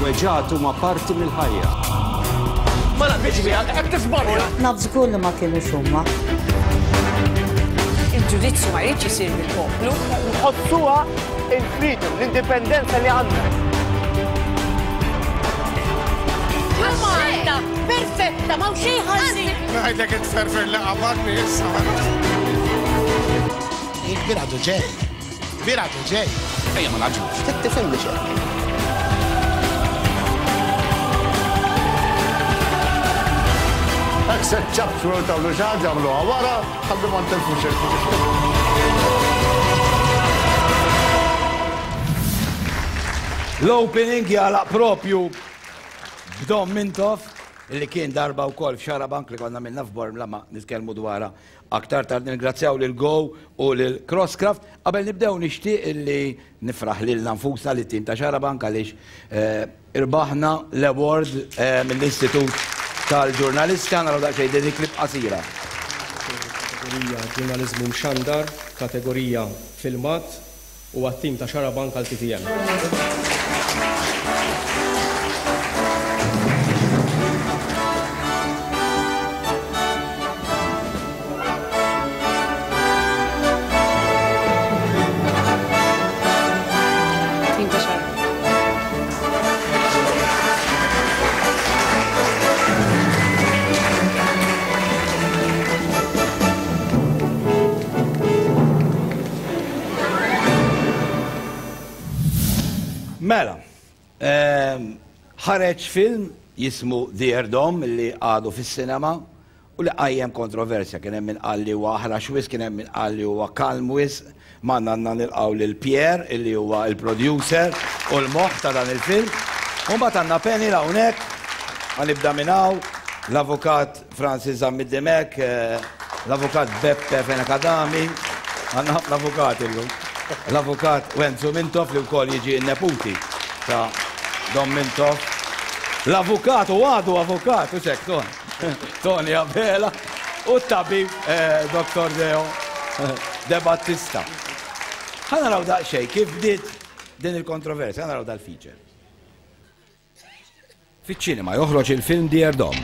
Weġgħat huma parti mill-ħajja. Ma naqbilx miegħek, qed tiżbalja! Naf żgur li ma kinux huma. Il-ġudizzju ma jridx isir mill-poplu. Nħossuha il-freedom, l-indipendenza li għandna. Malta perfetta, ma' xejn ħażin. Ngħidlek it-tferfer li qabadni issa. Il-kbir għadu ġej. Kbir għadu ġej. Ejja ma naġlux. Trid tifhimni xejn. Hekk se ċċapċpu jew tagħmlu xi ħaġa agħmluha wara ħalli ma ntilfux il-ħin. L-opening jagħlaq propju b'Dom Mintoff li kien darba wkoll f'Xarabank li konna minna f'Bormla ma nitkellmu dwarha Aktar tard nirringrazzjaw lil Go u lil Crosscraft. Qabel nibdew nixtieq illi nifraħ lilna nfusna lit-tim ta' Xarabank għaliex irbaħna l-award mill-Istitut tal-Ġurnalisti. Ħa naraw daqsxejn din il-clip qasira. Kategorija Ġurnaliżmu Mxandar, Kategorija Filmat, u għat-tim ta' Xarabank għal TVM. Tim ta' Xarabank. Mela, ehm, ħareġ film jismu Dear Dom li għadu fis-sinema u li qajjem kontroversja. Kien hemm min qal li huwa aħrax wisq, kien hemm min qal li huwa kalm wisq. Magħna għandna nilqgħu lil Pierre illi huwa il-producer u l-moħħ ta' dan il-film. U mbagħad għandna panel hawnhekk, ħa nibda minn hawn, l-avukat Francis Zammit Dimech, l-Avukat Beppe Fenech Adami, għandna ħafna avukati llum, l-Avukat Wenzu Mintoff li wkoll jiġi n-neputi ta' Dom Mintoff, l-Avukat u għadu avukat, u xek, Ton, Tony Abela, u t-tabib eh, Dr. Deo De Battista. Ħa naraw daqsxejn kif bdiet din il-kontroversja, ħa naraw dal-feature. Fiċ-ċinema joħroġ il-film Dear Dom,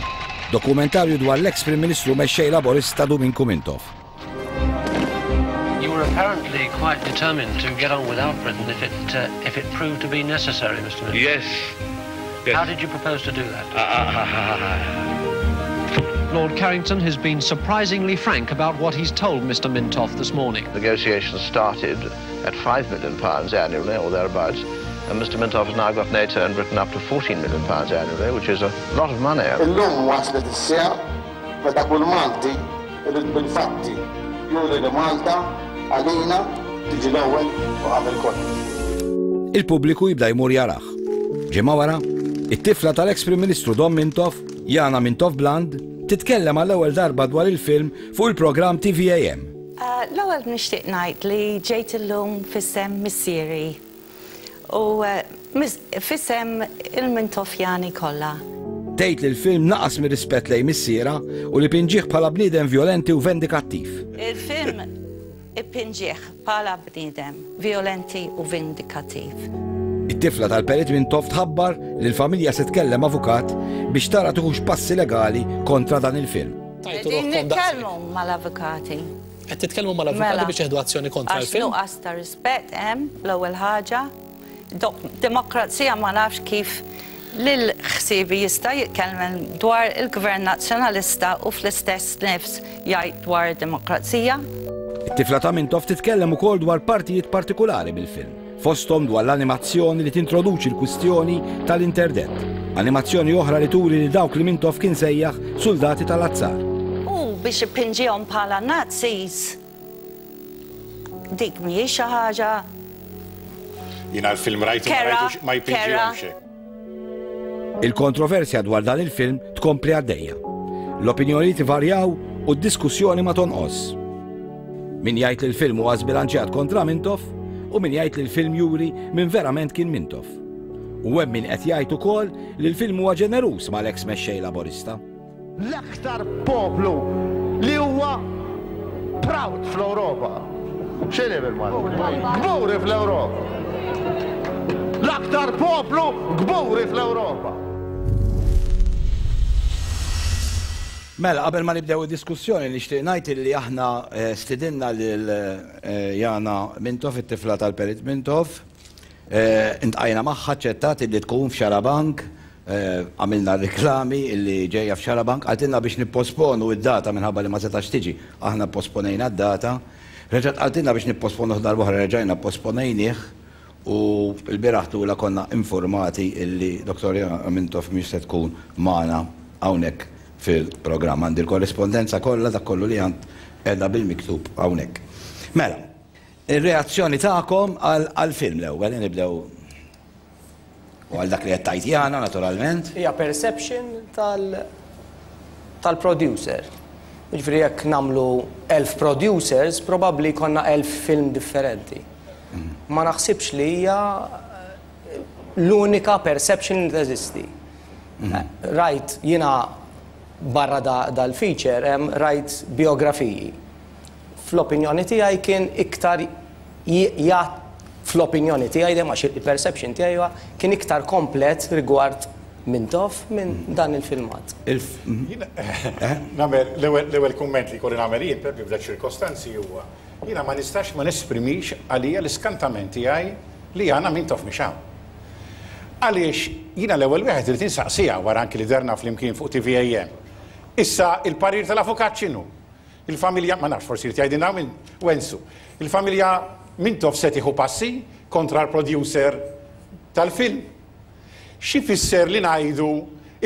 dokumentarju dwar l-eks Prim Ministru u Mexxej Laburista Duminku Mintoff. You were apparently quite determined to get on without Britain if it, uh, if it proved to be necessary, Mr. Mintoff. Yes. yes. How did you propose to do that? Uh, uh, Lord Carrington has been surprisingly frank about what he's told Mr. Mintoff this morning. Negotiations started at £5 million annually or thereabouts and Mr Mintoff has now got NATO and Britain up to 14 million pounds annually, which is a lot of money. Illum waslet is-siegħa meta kull Malti irid bil-fatti juri li Malta għalina tiġi l-ewwel u qabel kollox. Il-pubbliku jibda jmur jarah. Ġimgħa wara, it-tifla tal-eks Prim Ministru Dom Mintoff, Jana Mintoff Bland, titkellem għall-ewwel darba dwar il-film fuq il-programm TVAM. L-ewwel nixtieq ngħid li ġejt illum f'isem missieri U f'isem il-Mintoffjani kollha. Tgħid li l-film naqas mir-rispett lejn missierha u li pinġieh bħala bniedem vjolenti u vendikattiv. Il-film ipinġieh bħala bniedem vjolenti u vindikattiv. It-tifla tal-Perit Mintoff tħabbar li l-familja se tkellem avukat biex tara tiħux passi legali kontra dan il-film. Qegħdin nitkellmu mal-avukati. Qed titkellmu mal-avukati mela, biex jieħdu azzjoni kontra l-film? Għax nuqqas ta' rispett hemm l-ewwel ħaġa. Demokrazija ma nafx kif lil ħsiebi jista' jitkellem dwar il-Gvern Nazzjonalista u fl-istess nifs jgħid dwar demokrazija. It-tifla ta' Mintoff titkellem ukoll dwar partijiet partikulari mill-film. Fosthom dwar l-animazzjoni li tintroduċi l-kwistjoni tal-interdett. Animazzjoni oħra li turi lil dawk li Mintoff kien sejjaħ suldati tal-azzar. U biex ipinġihom bħala Nazis, dik mhijiex xi ħaġa Jiena l-film rajtu ma rajtux ma jpinġihomx hekk. Il-kontroversja dwar dan il-film tkompli għaddejja. L-opinjonijiet ivarjaw u d-diskussjoni ma tonqos. Min jgħid li l-film huwa żbilanċjat kontra Mintoff u min jgħid li l-film juri min verament kien Mintoff. U hemm min qed jgħid ukoll li l-film huwa ġeneruż mal-eks mexxej Laburista. L-aktar poplu li huwa proud fl-Ewropa. X'inhi bil-Malti? Kburi fl-Ewropa. l-iktar poplu kburi fl-Ewropa. Mela, qabel ma nibdew id-diskussjoni nixtieq ngħid illi aħna stidinna lil Jana Mintoff, it-tifla tal-Perit Mintoff. Intqajna magħha, aċċettat illi tkun f'Xarabank, għamilna r-riklami illi ġejja f'Xarabank, qaltilna biex nipposponu d-data minħabba li ma setax tiġi. Aħna pposponejna d-data. Reġgħet qaltilna biex nipposponuh darb'oħra, reġajna pposponejnih u lbieraħ tulha konna infurmati illi Dottor Jana Mintoff mhix se tkun magħna hawnhekk fil-programm. Għandi l-korrispondenza kollha, dak kollu li għand qiegħda bil-miktub hawnhekk. Mela, ir-reazzjoni tagħkom għall-film l-ewwel, nibdew u għal dak li qed tgħid Jana naturalment. Hija perception tal-producer. Jiġifieri jekk nagħmlu 1000 producers, probabbli jkollna 1000 film differenti. Ma naħsibx li hija l-unika perception li teżisti. Rajt jiena barra dal-feature hemm rajt biografiji. Fl-opinjoni tiegħi kien iktar fl-opinjoni tiegħi dejjem għax il-perception tiegħi huwa kien iktar komplet rigward Mintoff minn dan il-filmat. Nagħmel l-ewwel kumment li jkolli nagħmel jien propju f'dak ċirkostanzi huwa jiena ma nistax ma nesprimix għalija l-iskantament tiegħi li Jana Mintoff mhix hawn. Għaliex jiena l-ewwel wieħed irid insaqsiha wara anki li derna flimkien fuq TVAM. Issa il-parir tal-avukat x'inhu? Il-familja, ma nafx forsi jrid jgħidilna minn Wenzu. Il-familja Mintoff se tieħu passi kontra l-producer tal-film. X'ifisser li ngħidu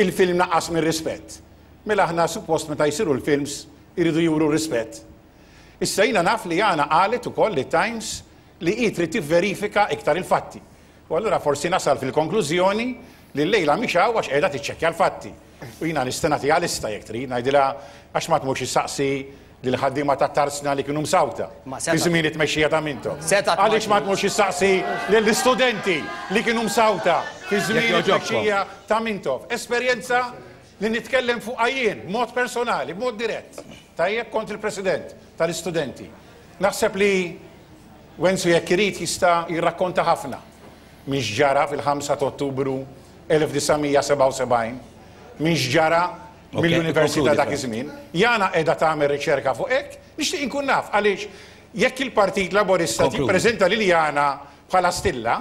il-film naqas mir-rispett? Mela aħna suppost meta jsiru l-films iridu juru rispett. Issa jiena naf li Jana qalet ukoll lit-Times li hi trid tivverifika iktar il-fatti. U allura forsi nasal fil-konklużjoni li llejla mhix hawn għax qiegħda tiċċekkja l-fatti. U jiena nista' nagħtiha lista jekk trid, ngħidilha għax ma tmurx issaqsi lill-ħaddiema tat-tarzna li kienu msawta fi żmien it-tmexxija ta' Mintoff. Għaliex ma tmurx issaqsi lill-istudenti li kienu msawta fi żmien it-tmexxija ta' Mintoff. Esperjenza li nitkellem fuqha jien b'mod personali, b'mod dirett. Tajjeb, kont il-president tal-istudenti. Naħseb li Wenzu jekk irid jista' jirrakkonta ħafna minn x'ġara fil-5 ta' Ottubru 1977, minn x'ġara mill-Università dak iż-żmien. Jana qiegħda tagħmel riċerka fuq hekk, nixtieq inkun naf għaliex jekk il-Partit Laburista jippreżenta lil Jana bħala stilla,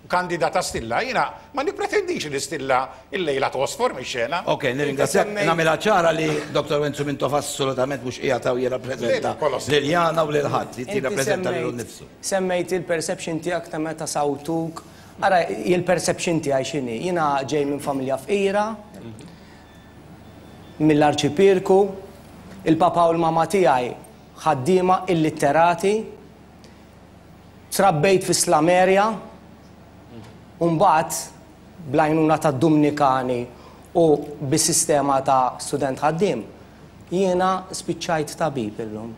Kandidata Stilla, jiena ma nippretendix li Stilla illejla tgħosfor mix-xena. Ok, nirringrazzjak. Nagħmilha ċara li Dottor Wenzu Mintoff assolutament mhux qiegħed hawn jirrappreżenta lil Jana u lil ħadd, jirrappreżenta lilu nnifsu. Semmejt il-perception tiegħek ta' meta sawtuk. Ara, il-perception tiegħi x'inhi? Jiena ġej minn familja fqira, mill-Arċipierku, il-papa u l-mama tiegħi ħaddiema illitterati, Trabbejt fi Slameria u mbagħad bl-għajnuna tad-Dumnikani u bis-sistema ta' student ħaddiem, jiena spiċċajt tabib illum.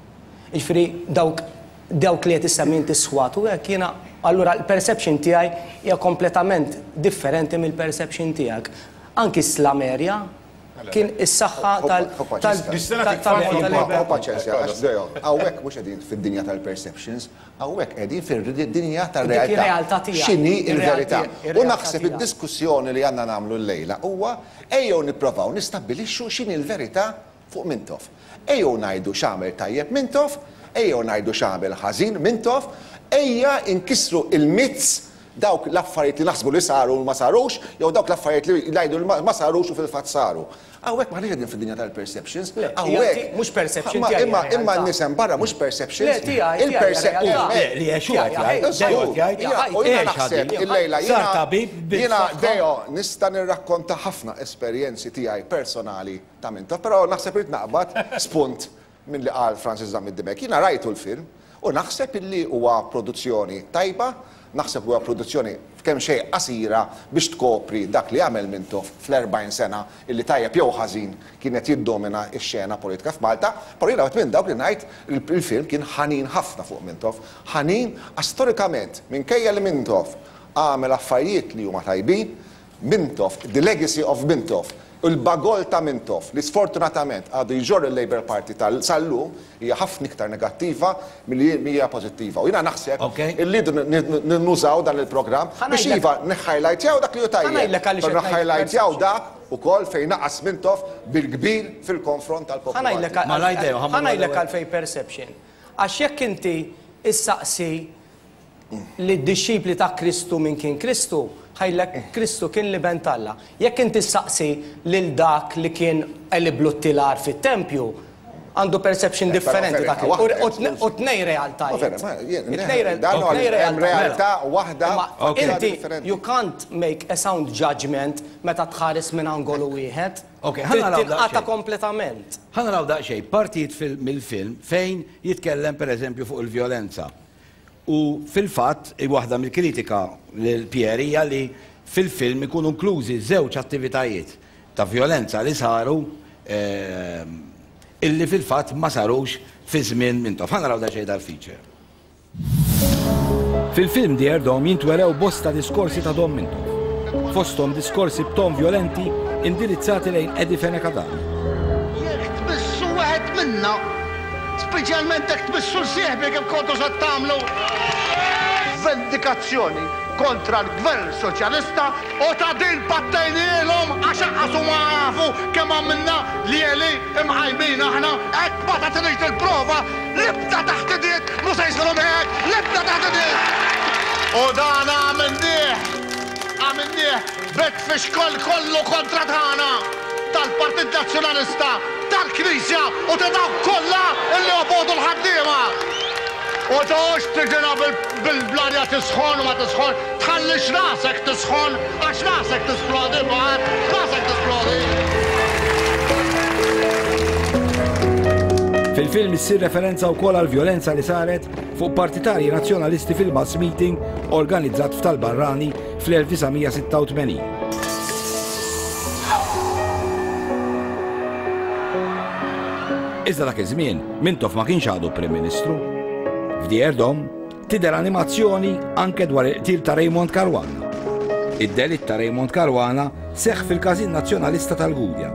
Jiġifieri dawk dawk li qed issemmi inti s-swat u hekk jiena allura l-perception tiegħi hija kompletament differenti mill-perception tiegħek. Anki s-Slameria kien is-saħħa tal. Hu paċenzja, għax Deo, hawnhekk mhux qegħdin fid-dinja tal-perceptions, hawnhekk qegħdin fid-dinja tar-realtà. X'inhi l-verità? U naħseb id-diskussjoni li għandna nagħmlu llejla huwa ejjew nipprovaw nistabbilixxu x'inhi l-verità fuq Mintoff. Ejjew ngħidu x'għamel tajjeb Mintoff, ejjew ngħidu x'għamel ħażin Mintoff, ejja nkissru l-myths Dawk l-affarijiet li naħsbu li saru u ma sarux, jew dawk l-affarijiet li ngħidu li ma sarux u fil-fatt saru. Hawnhekk m'aħniex qegħdin fid-dinja tal-perceptions. Hawnhekk. Mhux perception tiegħi. Imma imma n-nies hemm barra mhux perceptions. Le tiegħi. Il-perception. Le li għex hu qed jgħid. Deo qed jgħid. U jiena naħseb illejla jiena. Jiena Deo nista' nirrakkonta ħafna esperjenzi tiegħi personali ta' Mintoff, però naħseb irid naqbad spunt Minn li qal Francis Zammit Dimech. Jiena rajtu l-film u naħseb illi huwa produzzjoni tajba, naħseb li huwa produzzjoni kemxejn qasira biex tkopri dak li għamel Mintoff fl-40 sena illi tajjeb jew ħażin kien qed jiddomina x-xena politika f'Malta, però jiena wieħed minn dawk li ngħid li l-film kien ħanin ħafna fuq Mintoff. Ħanin għax storikament minkejja li Mintoff għamel affarijiet li huma tajbin, Mintoff, the legacy of Mintoff. Il-bagoll ta' Mintoff li sfortunatament għadu jġorr il-Labour Party tal sal-lum hija ħafna iktar negattiva milli hija pożittiva. U jiena naħseb illi rridu nużaw dan il-programm biex iva niħħajlajtjaw dak li hu tajjeb, però niħħajlajtjaw dak ukoll fejn naqas Mintoff bil-kbir fil-konfront tal-poplu Malti. Ħa ngħidlek għalfejn perception. Għax jekk inti issaqsi lid-dixxipli ta' Kristu min kien Kristu, ħa jgħidlek Kristu kien l-Iben t'Alla. Jekk inti ssaqsi lil dak li kien qeliblu t-tilar fit-tempju, għandu perception differenti ta' U tnej realtajiet. Hemm realtà waħda. Inti you can't make a sound judgment meta tħares minn angolu wieħed. Trid tinqata' kompletament. Ħa naraw daqsxejn partijiet mill-film fejn jitkellem pereżempju fuq il-vjolenza. U fil-fatt, waħda mill-kritika lil Pierre hija li fil-film ikunu inklużi żewġ attivitajiet ta' vjolenza li saru illi fil-fatt ma sarux fi żmien Mintoff. Ħa naraw daqsxejn dal-feature. Fil-film Dear Dom jintwerew bosta diskorsi ta' Dom Mintoff, fosthom diskorsi b'ton vjolenti indirizzati lejn Eddie Fenech Adami. Jekk tmissu wieħed minna, Speċjalment jekk tmissu 'l sieħbi kif kontu se tagħmlu. Vendikazzjoni kontra l-Gvern Soċjalista u ta' din pattejnielhom għax anqas huma jafu kemm għamilna ljieli imqajmin aħna. Hekk ma tagħtinix dil-prova, l-ibda taħt idiet mhu se jsirhom hekk, l-ibda taħt idiet! U dan għamilnieh, għamilnieh Bit-tfixkol kollu kontra tagħna, tal-Partit Nazzjonalista, tal-Knisja u ta' dawk kollha li jobogħdu l-ħaddiema. U toqgħodx tiġina bil-bl-arja tisħon u ma tisħon, tħallix rasek tisħon għax rasek tisplodi mbagħad, rasek tisplodi. Fil-film issir referenza wkoll għall-vjolenza li saret fuq partitarji Nazzjonalisti fil-mass meeting organizzat f'Tal-Barrani fl-1986. Iżda dak iż-żmien Mintoff ma kienx għadu Prim Ministru. F'Dear Dom tidher animazzjoni anke dwar il-qtil ta' Raymond Caruana. Id-delitt ta' Raymond Caruana seħħ fil-Każin Nazzjonalista tal-Gudja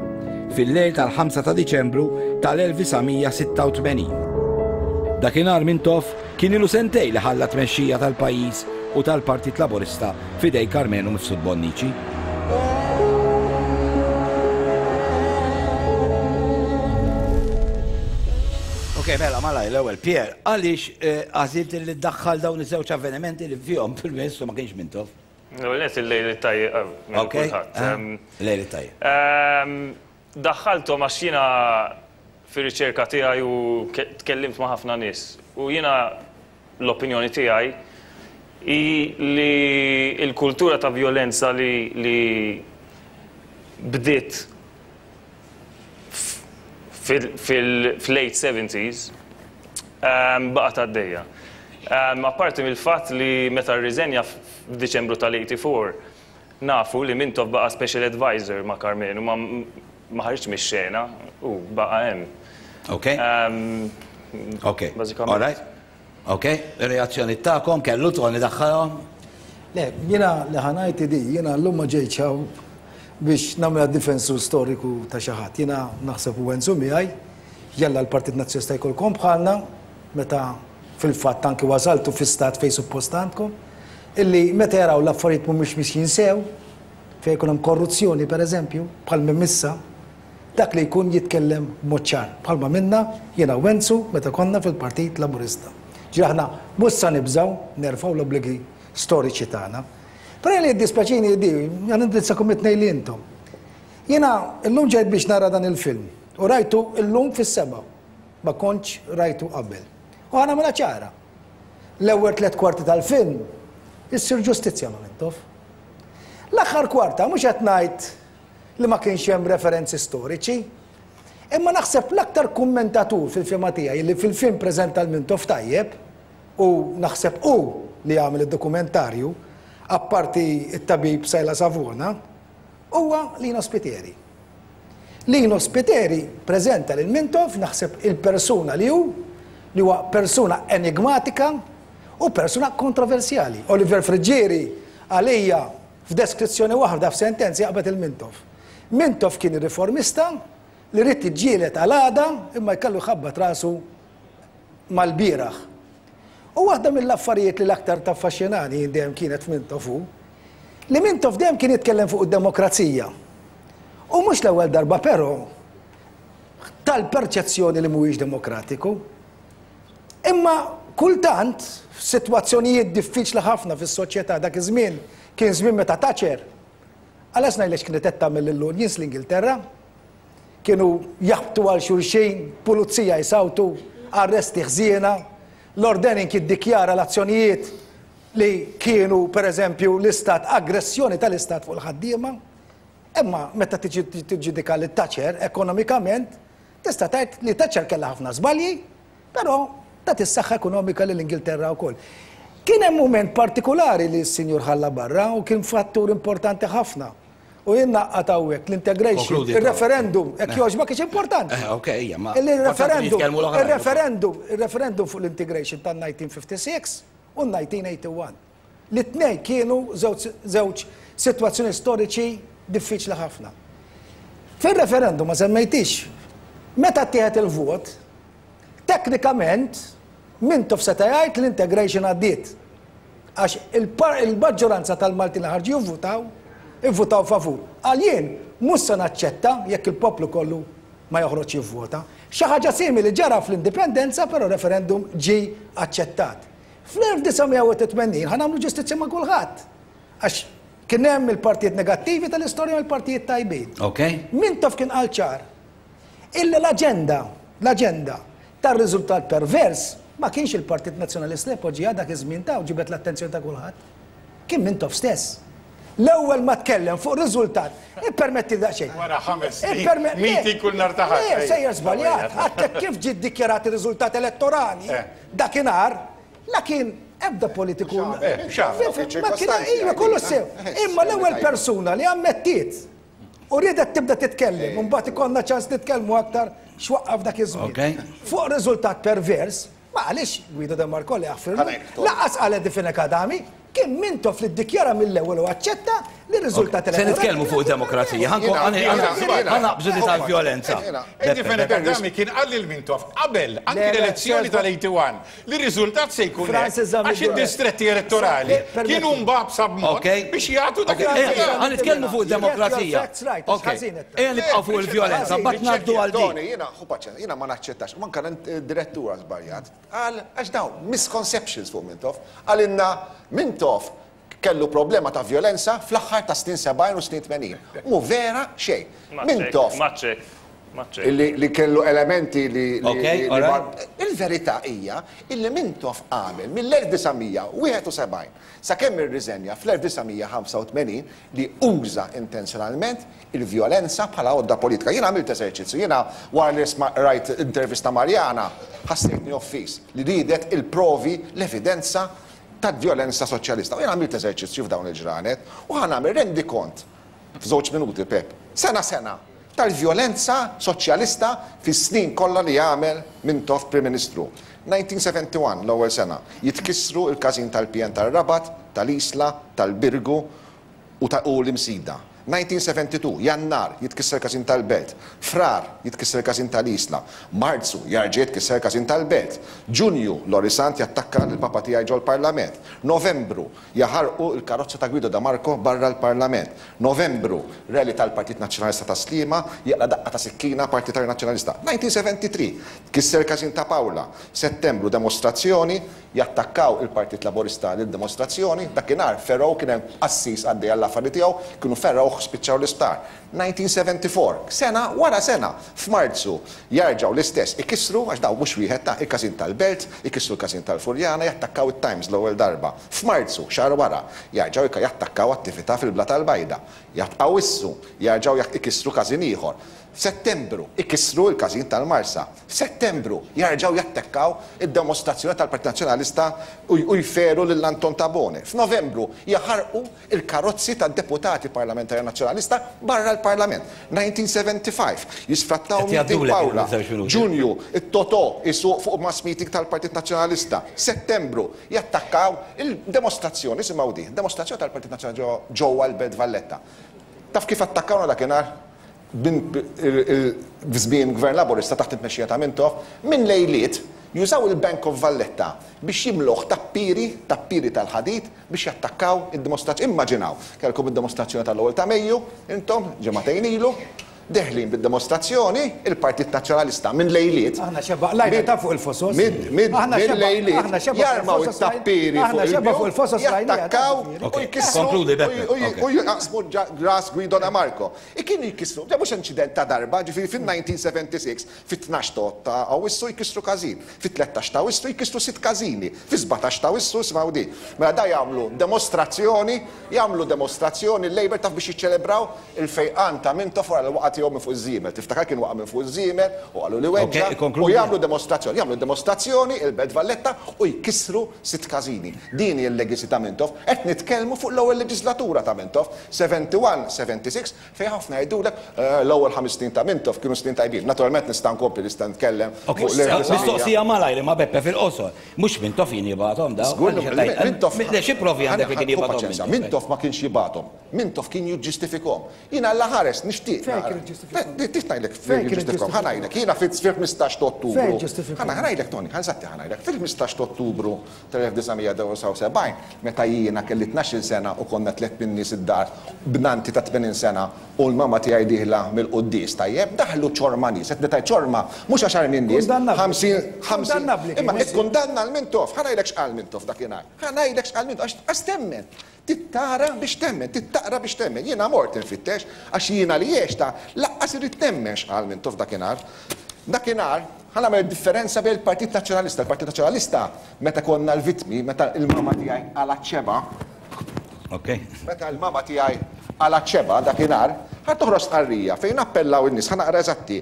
fil-lejl tal-5 ta' Diċembru tal-1986. Dakinhar Mintoff Kien ilu sentejn li ħalla t-tmexxija tal-pajjiż u tal-Partit Laburista f'idejn Karmenu Mifsud Bonnici. Ok, mela, malajr, l-ewwel, Pierre, għaliex għażilt li ddaħħal dawn iż-żewġ avvenimenti li fihom Prim Ministru ma kienx Mintoff? L-ewwel nett il-lejl it-tajjeb minn kulħadd. Lejl it-tajjeb. Daħħalthom għax jiena fir-riċerka tiegħi u tkellimt ma' ħafna nies u jiena l-opinjoni tiegħi hi li l-kultura ta' vjolenza li li bdiet fil-late 70s baqgħet għaddejja. Apparti mill-fatt li meta rriżenja f'Diċembru tal-84 Nafu li Mintoff baqa' special adviser ma' Karmenu, ma ma ħariġx mix-xena, hu baqa' hemm. Ok. Ok. Bażikament. All right. Ok. Ir-reazzjoni tagħkom kellu Tony daħħalhom? Le, jiena li ħa ngħid hi di, jiena llum ma ġejtx hawn biex nagħmilha difensur storiku ta' xi ħadd. Jiena naħseb u Enzu miegħi, jalla l-Partit Nazzjonalista jkollkom bħalna meta fil-fatt anki wasaltu fi stat fejn suppost għandkom, illi meta jaraw l-affarijiet mhumiex mixjin sew, fejn ikun hemm korruzzjoni pereżempju, bħal m'hemm issa, dak li jkun jitkellem b'mod ċar, bħalma għamilna jiena u Enzu meta konna fil-Partit Laburista. Ġifieri aħna mhux sa nibżgħu nerfgħu l-obbligi storiċi tagħna. Però jien li jiddispjaċini hi di, ħa nindirizzakom it-tnejn li intom. Jiena llum ġejt biex nara dan il-film u rajtu llum fis-sebgħa. Ma kontx rajtu qabel. U ħa nagħmilha ċara. L-ewwel tlett kwarti tal-film issir ġustizzja ma' Mintoff. L-aħħar kwarta mhux qed ngħid li ma kienx hemm referenzi storiċi, imma naħseb l-aktar kummentatur fil-fehma tiegħi li fil-film preżenta l-Mintoff tajjeb, u naħseb hu li għamel id-dokumentarju, apparti t-tabib Sajla Savona, huwa Lino Spiteri. Lino Spiteri preżenta lil Mintoff, naħseb il-persuna li hu, li huwa persuna enigmatika u persuna kontroversjali. Oliver Friggieri għalija f'deskrizzjoni waħda f'sentenza jaqbad il Mintoff. Mintoff kien riformista li ried jiġġieled għal għada imma jkellu jħabbat rasu mal-bieraħ. U waħda mill-affarijiet li l-aktar taffaxxinani jien dejjem kienet f'Mintoff hu li Mintoff dejjem kien jitkellem fuq id-demokrazija. U mhux l-ewwel darba però tal-perċezzjoni li mhuwiex demokratiku. Imma kultant, f'sitwazzjonijiet diffiċli ħafna fis-soċjetà dak iż-żmien kien żmien meta Thatcher, għalax ngħidlek x'kienet qed tagħmel lill-unions l-Ingilterra, kienu jaħbtu għal xulxin, pulizija jsawtu, arresti ħżiena, Lord Denning jiddikjara l-azzjonijiet li kienu pereżempju l-istat, aggressjoni tal-istat fuq il-ħaddiema. Imma meta tiġi tiġġudika lil Thatcher ekonomikament, tista' tgħid li Thatcher kellha ħafna żbalji, però tat is-saħħa ekonomika lill-Ingilterra wkoll. Kien hemm mument partikulari li s-Sinjur ħalla barra u kien fattur importanti ħafna. U jien naqqat hawnhekk l-integration, il-referendum, hekk jogħġbok kiex importanti. Eh, ok, ejja, ma. Il-referendum, il-referendum, il-referendum fuq l-integration tan-1956 u 1981. Li t-tnejn kienu żewġ sitwazzjoni storiċi diffiċli ħafna. Fil-referendum ma semmejtix, meta ttieħed il-vot, teknikament Mintoff seta' jgħid l-integration għaddiet. Għax il-maġġoranza tal-Maltin li ħarġu jivvutaw, ivvutaw favur. Qal jien mhux se naċċetta jekk il-poplu kollu ma joħroġx jivvota. Xi ħaġa simili ġara fl-Indipendenza però referendum ġie aċċettat. Fl-1981 ħa nagħmlu ġustizzja ma' kulħadd. Għax kien hemm il-partijiet negattivi tal-istorja u l-partijiet tajbin. Mintoff kien qal ċar illi l-aġenda, l-aġenda tar-riżultat pervers ma kienx il-Partit Nazzjonalista li poġġiha dak iż-żmien ta' u ġibed l-attenzjoni ta' kulħadd. Kien Mintoff stess. L-ewwel ma tkellem fuq riżultat, ippermetti daqsxejn. Wara 5 snin, meeting kull nhar ta' Ħadd. Le, sejjer żbaljat. Għadtlek kif ġie ddikjarat ir-riżultat elettorali dakinhar, la kien ebda politiku. Ma kien, iva, kollu sew. Imma l-ewwel persuna li ammettiet u riedet tibda titkellem, u mbagħad ikollna ċans nitkellmu aktar x'waqqaf dak iż-żmien. Fuq riżultat pervers, ma qalix Guido De Marco li jaħfirlu, lanqas qal Eddie Fenech Adami, kien Mintoff li ddikjara mill-ewwel u aċċetta li r-riżultat Se nitkellmu fuq id-demokrazija, ħa naqbżu di tal-vjolenza. Eddie Fenech Adami kien qal lil Mintoff qabel anki l-elezzjoni tal-81 li r-riżultat se jkun hekk għax id-distretti elettorali kienu mbagħbsa b'mod biex jagħtu dak il-. Ħa nitkellmu fuq id-demokrazija. Ejja nibqgħu fuq il-vjolenza, mbagħad ngħaddu għal din. Tony, jiena ħu paċenzja, jiena ma naċċettax, u anke d-direttura żbaljat, qal għax dawn misconceptions fuq Mintoff, qalilna Mintoff kellu problema ta' vjolenza fl-aħħar tas-snin 70 u snin 80. Mhu vera xejn. Mintoff. Li kellu elementi li. Il-verità hija illi Mintoff għamel mill-1971 sakemm irriżenja fl-1985 li uża intenzjonalment il-vjolenza bħala għodda politika. Jiena għamilt eżerċizzju, jiena wara li rajt intervista Mariana ħassejtni offiż li riedet il-provi, l-evidenza tal-vjolenza soċjalista. U jien għamilt eżerċizzju f'dawn il-ġranet u ħa nagħmel rendikont f'żewġ minuti, Pep, sena sena, tal-vjolenza soċjalista fis-snin kollha li għamel Mintoff Prim Ministru. 1971, l-ewwel sena, jitkissru l-każin tal-PN tar-Rabat, tal-Isla, tal-Birgu u ta' u l-Imsida. 1972, Jannar, jitkisser il-każin tal-Belt. Frar, jitkisser il-każin tal-Isla. Marzu, jarġa' jitkisser il-każin tal-Belt. Ġunju, Lorry Sant jattakka lill-papa tiegħi ġol-Parlament. Novembru, jaħarqu l-karozza ta' Guido de Marco barra l-Parlament. Novembru, rally tal-Partit Nazzjonalista ta' Sliema, jaqla' daqqa ta' sikkina partitarju Nazzjonalista. 1973, tkisser il-każin ta' Paola. Settembru, demostrazzjoni, Jattakkaw il-Partit Laburista lid-dimostrazzjoni, dakinhar fergħu kien hemm qassis għaddej għall-affari tiegħu, kienu fergħuh spiċċaw l-isptar. 1974, sena wara sena, f'Marzu, jarġgħu l-istess ikissru, għax dawn mhux wieħed ta', il-każin tal-Belt, ikissru l-każin tal-Furjana, jattakkaw it-Times l-ewwel darba. F'Marzu, xahar wara, jarġgħu jattakkaw attività fil-Blata l-Bajda. Jatqawissu, jarġgħu ikissru każin ieħor. F'Settembru, ikissru l-każin tal-Marsa. F'Settembru, jerġgħu jattekkaw id-demostrazzjoni tal-Partit Nazzjonalista u jferu lil Anton Tabone. F'Novembru, jaħarqu l-karozzi tad-deputati parlamentari Nazzjonalista barra l-Parlament. 1975, jisfrattaw Qed meeting jgħaddulek Pawla. il-żewġ minuti. Ġunju, it-Totò jsuq fuq mass meeting tal-Partit Nazzjonalista. Settembru, jattakkaw il-demostrazzjoni, isimgħu din, demostrazzjoni tal-Partit Nazzjonalista ġewwa l-Belt Valletta. Taf kif attakkawna dakinhar? F'żmien Gvern Laburista taħt it-tmexxija ta' Mintoff, minn lejliet jużaw il-Bank of Valletta biex jimluh tappieri, tappieri tal-ħadid biex jattakkaw id-dimostrazzjoni. Immaġinaw, kellkom id-dimostrazzjoni tal-ewwel ta' Mejju, intom, ġimagħtejn ilu, deħlin bid-dimostrazzjoni, il-Partit Nazzjonalista minn lejliet. Aħna xebgħa qlajna ta' fuq il-fosos. Minn lejliet jarmaw it-tappieri fuq il-bjut, jattakkaw u jkissru u jaqsmu ras Guido de Marco. Kienu jkissru, mhux inċident ta' darba, ġifieri fin-1976, fit-tnax ta' Awwissu jkissru każin, fit-tlettax ta' Awwissu jkissru sitt każini, fis-sbatax ta' Awwissu, isimgħu din, mela da jagħmlu demostrazzjoni, jagħmlu demostrazzjoni l-Labour taf biex jiċċelebraw il-fejqan ta' Mintoff wara li waqa' tiegħu minn fuq iż-żiemel. Tiftakar kien waqa' minn fuq iż-żiemel u qalu li weġġa' u jagħmlu demostrazzjoni, jagħmlu demostrazzjoni il-Belt Valletta u jkissru sitt każini. Din hi l-legacy ta' Mintoff. Qed nitkellmu fuq l-ewwel leġislatura ta' Mintoff. 71, 76, fejn ħafna jgħidulek, l-ewwel ħames snin ta' Mintoff kienu snin tajbin. Naturalment nista' nkompli nista' nitkellem fuq l-1900. Mistoqsija malajr imma Beppe fil-qosor. Mhux Mintoff kien jibgħathom dawn? Żgur li Mintoff. Le xi provi għandek li kien jibgħathom Mintoff? Mintoff ma kienx jibgħathom. Mintoff kien jiġġustifikhom. Jien Alla ħares nixtieq. Fejn kien jiġġustifikhom? Trid ngħidlek fejn jiġġustifikhom. Ħa ngħidlek, jiena fil-15 ta' Ottubru. Fejn ġġustifikhom? Ħa ngħidlek Tony, ħa nżatti ħa ngħidlek. Fil-15 ta' Ottubru tal-1979, meta jiena kelli tnax-il sena u konna tlett min-nies id-dar b'nannti ta' 80 sena u l-mama tiegħi dieħla mill-quddies, tajjeb, daħlu ċorma nies, qed ngħid ċorma, mhux għaxar min-nies, 50, 50, imma ikkundanna 'l Mintoff, ħa ngħidlek x'qal Mintoff dakinhar, ħa ngħidlek x'qal Mintoff, għax temmen. Trid tara biex temmen, trid taqra biex temmen. Jiena mort infittex, għax jiena li għextha, lanqas irrid nemmen x'qal Mintoff dakinhar. Dakinhar, ħa nagħmel id-differenza bejn il-Partit Nazzjonalista. Il-Partit Nazzjonalista, meta konna l-vittmi, meta l-mama tiegħi qalgħet xebgħa, meta l-mama tiegħi qalgħet xebgħa dakinhar, ħa toħroġ stqarrija fejn appellaw in-nies, ħa naqra eżatti.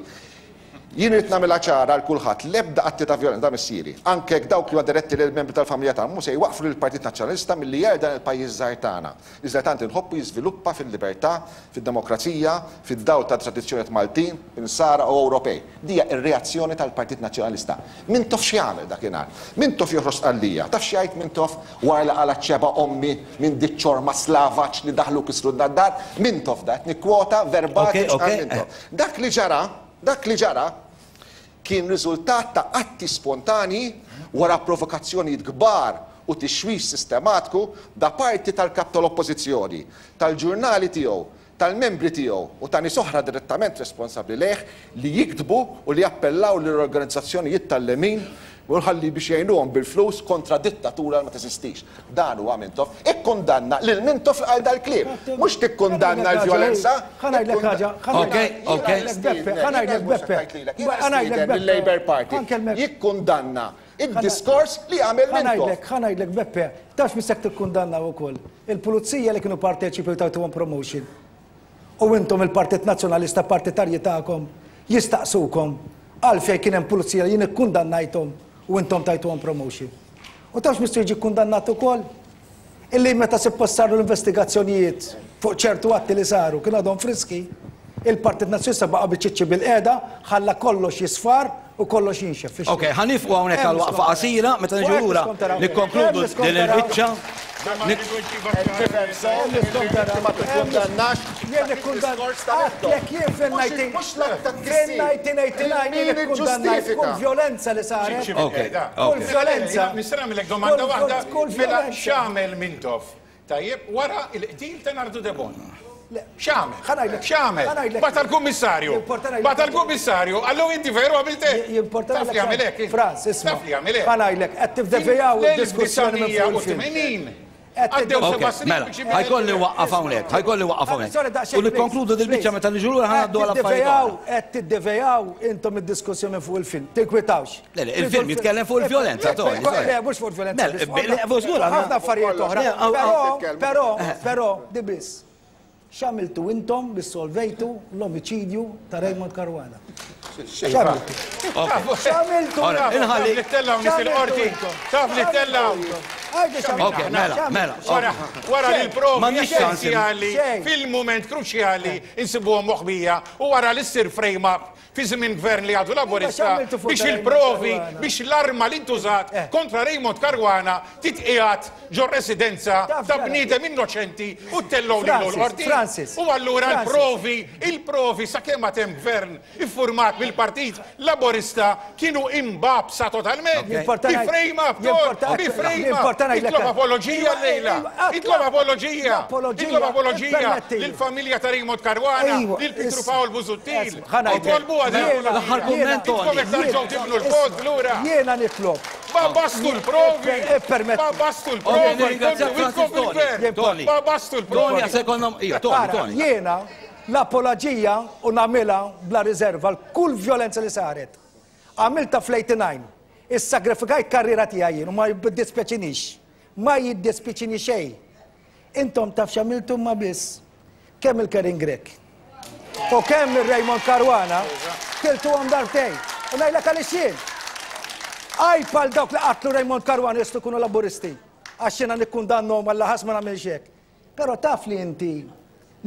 Jien irrid nagħmilha ċara għal kulħadd, l-ebda atti ta' vjolenza, da missieri, anke jekk dawk li huma diretti lejn membri tal-familja tagħna, mhu se jwaqqfu lill-Partit Nazzjonalista milli jgħir dan il-pajjiż żgħir tagħna, iżda tant inħobbu jiżviluppa fil-libertà, fid-demokrazija, fid-dawl tat-tradizzjonijiet Maltin, Insara u Ewropej. Di hija r-reazzjoni tal-Partit Nazzjonalista. Mintoff x'jagħmel dakinhar? Mintoff joħroġ stqarrija. Taf x'jgħid Mintoff wara li qalgħet xebgħa ommi minn diċ-ċorma slavaġ li daħlu u kisrulna d-dar? Mintoff da, qed nikkwota verbatim x'qal Mintoff. Dak li ġara, dak li ġara kien riżultat ta' atti spontanji wara provokazzjonijiet kbar u tixwix sistematku da parti tal-Kap tal-Oppożizzjoni, tal-ġurnali tiegħu, tal-membri tiegħu u ta' nies oħra direttament responsabbli lejh li jiktbu u li jappellaw lill-organizzazzjonijiet tal-lemin u ħalli biex jgħinuhom bil-flus kontra dittatura li ma teżistix. Dan huwa Mintoff. Ikkundanna lil Mintoff li qal dal-kliem. Mhux tikkundanna l-vjolenza. Ħa ngħidlek ħaġa, ħa ngħidlek Beppe, ħa ngħidlek Beppe. Jiena nistieden lill-Labour Party jikkundanna id-diskors li għamel Mintoff. Ħa ngħidlek Beppe, taf x'missek tikkundanna wkoll? Il-pulizija li kienu parteċipi u tajtuhom promotion. U intom il-Partit Nazzjonalista partitarji tagħkom jistaqsukom għalfejn kien hemm pulizija li jien ikkundannajthom u intom tajtuhom promotion. U tafx missu jiġi kkundannat ukoll? Illi meta suppost saru l-investigazzjonijiet fuq ċertu atti li saru kienu għadhom friski, il-Partit Nazzjonalista baqa' biċ-ċiċċi bilqiegħda, ħalla kollox jisfar u kollox jinxef fix-xejn. Ok, ħa nifqu hawnhekk għal waqfa qasira, meta niġu lura nikkonkludu din il-biċċa. Tifhem sew li inti ma tikkundannax Jien ikkundannat jien fil-1989 jien ikkundannajt kull vjolenza li saret. Kull vjolenza. Nista' nagħmilek domanda waħda? Mela x'għamel Mintoff tajjeb wara l-qtil ta' Nardu Debono? X'għamel? X'għamel? Bagħat għall-kummissarju. Bagħat għall-kummissarju, qallu inti veru għamilt hekk. Taf li għamel hekk? Frans, isma'. Taf li għamel hekk. Ħa ngħidlek, qed tivdevijaw id-diskussjoni minn fuq il-film. Fl-1989 Għaddew seba' snin Mela, biex jibda ħajkolli nwaqqaf hawnhekk, ħajkolli nwaqqaf hawnhekk. U nikkonkludu dil-biċċa meta niġu lura ħa ngħaddu għal affarijiet oħra. Qed tiddevejaw intom id-diskussjoni minn fuq il-film. Tinkwitawx. Le, le, il-film jitkellem fuq il-vjolenza, Tony. Le, mhux fuq il-vjolenza. Mela, żgur ħafna affarijiet oħra. Però, però, però, di biss. X'għamiltu intom biex solvejtu l-omiċidju ta' Raymond Caruana? X'għamiltu? X'għamiltu? Taf li ttellgħu nies il-qorti? Taf li ttellgħu? Ok, mela, mela. Wara li l-provi essenzjali fil-mument kruċjali insibuhom moħbija u wara li ssir frame-up. fi żmien gvern li għadu Laburista biex il-provi, biex l-arma li ntużat kontra Raymond Caruana titqiegħed ġo residenza ta' bniedem innoċenti u ttellgħu lilu l-qorti. U allura l-provi, il-provi sakemm għad hemm gvern iffurmat mill-Partit Laburista kienu imbagħbsa totalment. Bi frame up, Ton, bi frame up. Itlob apoloġija llejla. Itlob apoloġija. Itlob apoloġija lill-familja ta' Raymond Caruana, lil Pietru Pawl Busuttil. Itolbuha din L-aħħar kumment, Toni. Intkom qed terġgħu tibnu l-pont lura. Jiena nitlob. Babastu l-provi! Babastu l-provi! Toni. Babastu l-provi! Toni, sekonda, ija, Toni, Toni. Jiena l-apoloġija u nagħmilha bla riserva għal kull vjolenza li saret. Għamiltha fl-89. Issagrifikajt karriera tiegħi jien u ma jiddispjaċinix. Ma jiddispjaċini xejn. Intom taf x'għamiltu ma biss kemm il-Karin Grech u kemm il-Raymond Caruana tiltuhom darbtejn. U ngħidlek għaliex jien. Għajb għal dawk li qatlu Raymond Caruana jistgħu jkunu Laburisti. Għax jiena nikkundannhom għal ħass ma nagħmilx hekk. Però taf li inti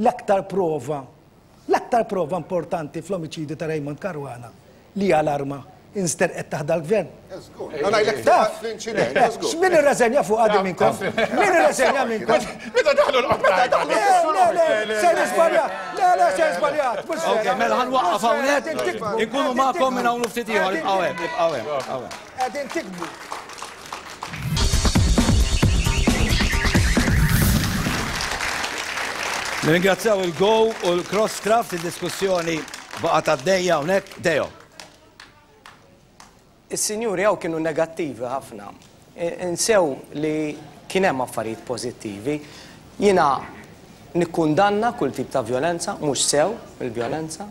l-aktar prova, l-aktar prova importanti fl-omiċidju ta' Raymond Caruana li hija l-arma insterqet taħt dal-gvern. Taf, x'min irreżenja fuq għadi minnkom? Min irreżenja minnkom? Meta daħlu l-qodda. Le, le, le, se nisbalja. Le, le, se nisbaljat. Ok, mela ħanwaqqaf hawnhekk. Inkunu magħkom minn hawn ftit ieħor, ibqgħu hemm, ibqgħu hemm, ibqgħu hemm. Qegħdin tikbu. Nirringrazzjaw il-Go u l-Crosscraft, id-diskussjoni baqgħet għaddejja hawnhekk. Deo. Is-sinjuri hawn kienu negattivi ħafna. Insew li kien hemm affarijiet pożittivi. Jiena nikkundanna kull tip ta' vjolenza, mhux sew il-vjolenza,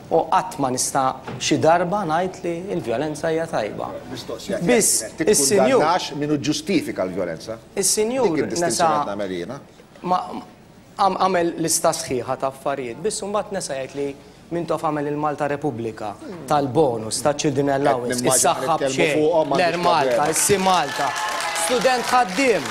u qatt ma nista' xi darba ngħid li l-vjolenza hija tajba. Mistoqsija Biss is-sinjur. Tikkundannax min hu ġġustifika l-vjolenza. Is-sinjur Dik id-distinzjoni qed nagħmel jiena. Ma għamel lista sħiħa ta' affarijiet, biss imbagħad nesa jgħid li Mintoff għamel il-Malta Repubblika, tal-bonus, taċ-children allowance, is-saħħa b'xejn, l-Air Malta, is-Sea Malta, student ħaddiem,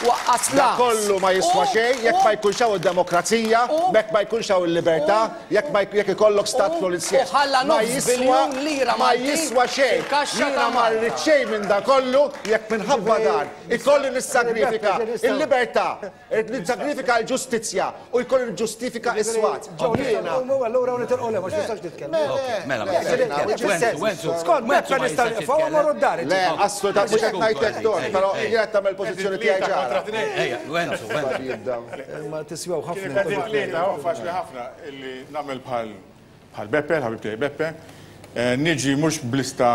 waqqas Da l-għaks. kollu ma jiswa xejn jekk ma jkunx hawn id-demokrazija, jekk ma jkunx hawn il-libertà, jekk ma jekk ikollok stat polizjesk. U ħalla Ma nofs jiswa biljun lira ma Maltin jiswa xejn. fil-kaxxa Jiena ta' ma Malta. rrid xejn minn da kollu jekk minħabba dan ikolli nissagrifika il-libertà, Irrid nissagrifika l-ġustizzja u jkolli niġġustifika s-swat. Jiena. Allura nitilqu le, mhux nistax nitkellem. Mela, mela. Skont Beppe nista' nieqfu u mmorru d-dar. Le, assolutament mhux qed ngħidlek Ton, però jien qed tagħmel pożizzjoni tiegħi ċara. Ejja, Wenzu, Wenzu. Ma tiswew ħafna. Kienet tlieta, faċli ħafna illi nagħmel bħal Bħal Beppe, l-ħabib tiegħi Beppe, niġi mhux b'lista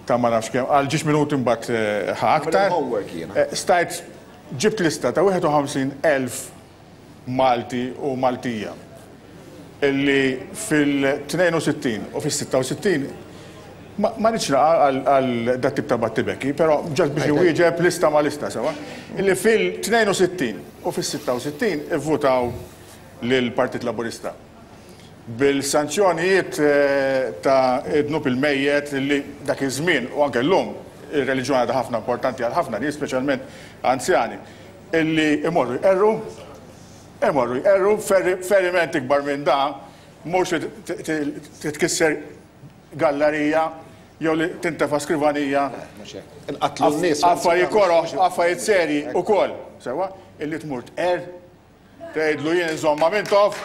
ta' ma nafx kemm, għal ġiex minuti mbagħad ħa aktar. Stajt ġibt lista ta' 51,000 Malti u Maltija illi fil-62 u fis-66 ma rridx naqa' għal dat-tip ta' battibekki, però ġast biex inwieġeb lista ma' lista sewwa, illi fil-62 u fis-66 ivvutaw lill-Partit Laburista. Bil-sanzjonijiet ta' dnub il-mejjet li dak iż-żmien u anke llum ir-reliġjon għadha ħafna importanti għal ħafna nies, speċjalment anzjani, illi imorru jqerru, imorru jqerru, feriment ikbar minn da mhux li titkisser gallarija jew li tintefa' skrivanija. Inqatlu n-nies. Affarijiet koroh, affarijiet serji wkoll, sewwa, illi tmur tqerr Tgħidlu jien inżomm ma' Mintoff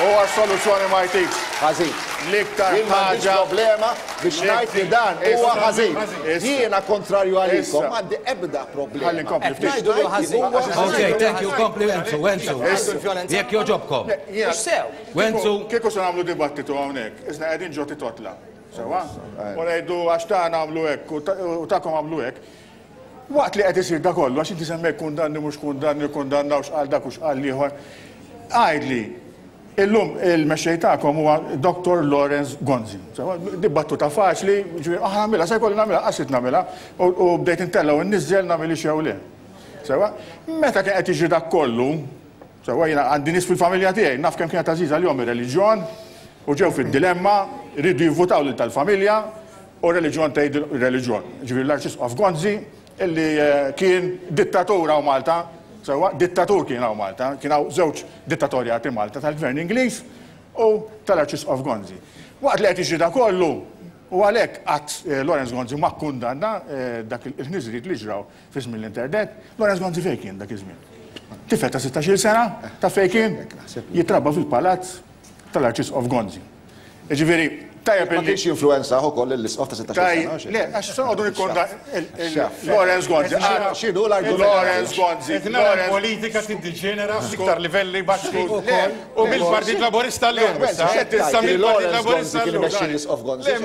u għas-soluzzjoni ma jtikx. Ħażin. L-iktar Jien m'għandix ħaġa problema biex ngħid li dan huwa ħażin. Jiena kontrarju għalikom, Issa. m'għandi ebda problema. Ħalli nkompli ftit. Biex ngħid li huwa Ok, ħażin. thank you, kompli Wenzu, Wenzu. Jekk jogħġobkom. Mhux sew. Wenzu. Kieku se nagħmlu dibattitu hawnhekk, iżda qegħdin ġo titotla. Sewwa? U ngħidu għax tagħna għamlu hekk u tagħkom għamlu hekk. Waqt li qed isir da kollu, għax inti semmejt kundanni mhux kundanni, kkundannaw x'qal dak u x'qal l-ieħor, għidli, illum il-mexxej tagħkom huwa Dottor Lawrence Gonzi. Sewwa, di battuta faċli, jiġifieri aħna nagħmilha, se jkolli nagħmilha, qas ridt nagħmilha, u bdejt intella' u nniżżel nagħmilhiex jew le. Sewwa, meta kien qed jiġri dak kollu, sewwa jiena għandi nies fil-familja tiegħi, naf kemm kienet għażiża għalihom ir-reliġjon, u ġew fid-dilemma, riedu jivvutaw lil tal-familja, U r-reliġjon tgħid ir-reliġjon. Jiġifieri l-Arċisqof Gonzi illi kien dittatur hawn Malta, sewwa, dittatur kien hawn Malta, kien hawn żewġ dittatorjati Malta tal-Gvern Ingliż u tal-Arċisqof Gonzi. Waqt li qed jiġri da kollu, u għalhekk qatt Lawrence Gonzi ma kkundanna dak il-ħniżriet li ġraw fi żmien l-interdet, Lawrence Gonzi fejn kien dak iż-żmien? Tifel ta' 16-il sena, taf fejn kien? Jitrabba fil-palazz tal-Arċisqof Gonzi. Jiġifieri, tajjeb Ma kienx jinfluwenzah ukoll lill-Isqof ta' 16 sena. Le, għax se noqogħdu nikkonda Lawrence Gonzi. X'inhu l-argument? Lawrence Gonzi. Qed nara l-politika tiddiġenera f'iktar livelli baxxi u mill-Partit Laburista llum issa. Issa mill-Partit Laburista llum. Le,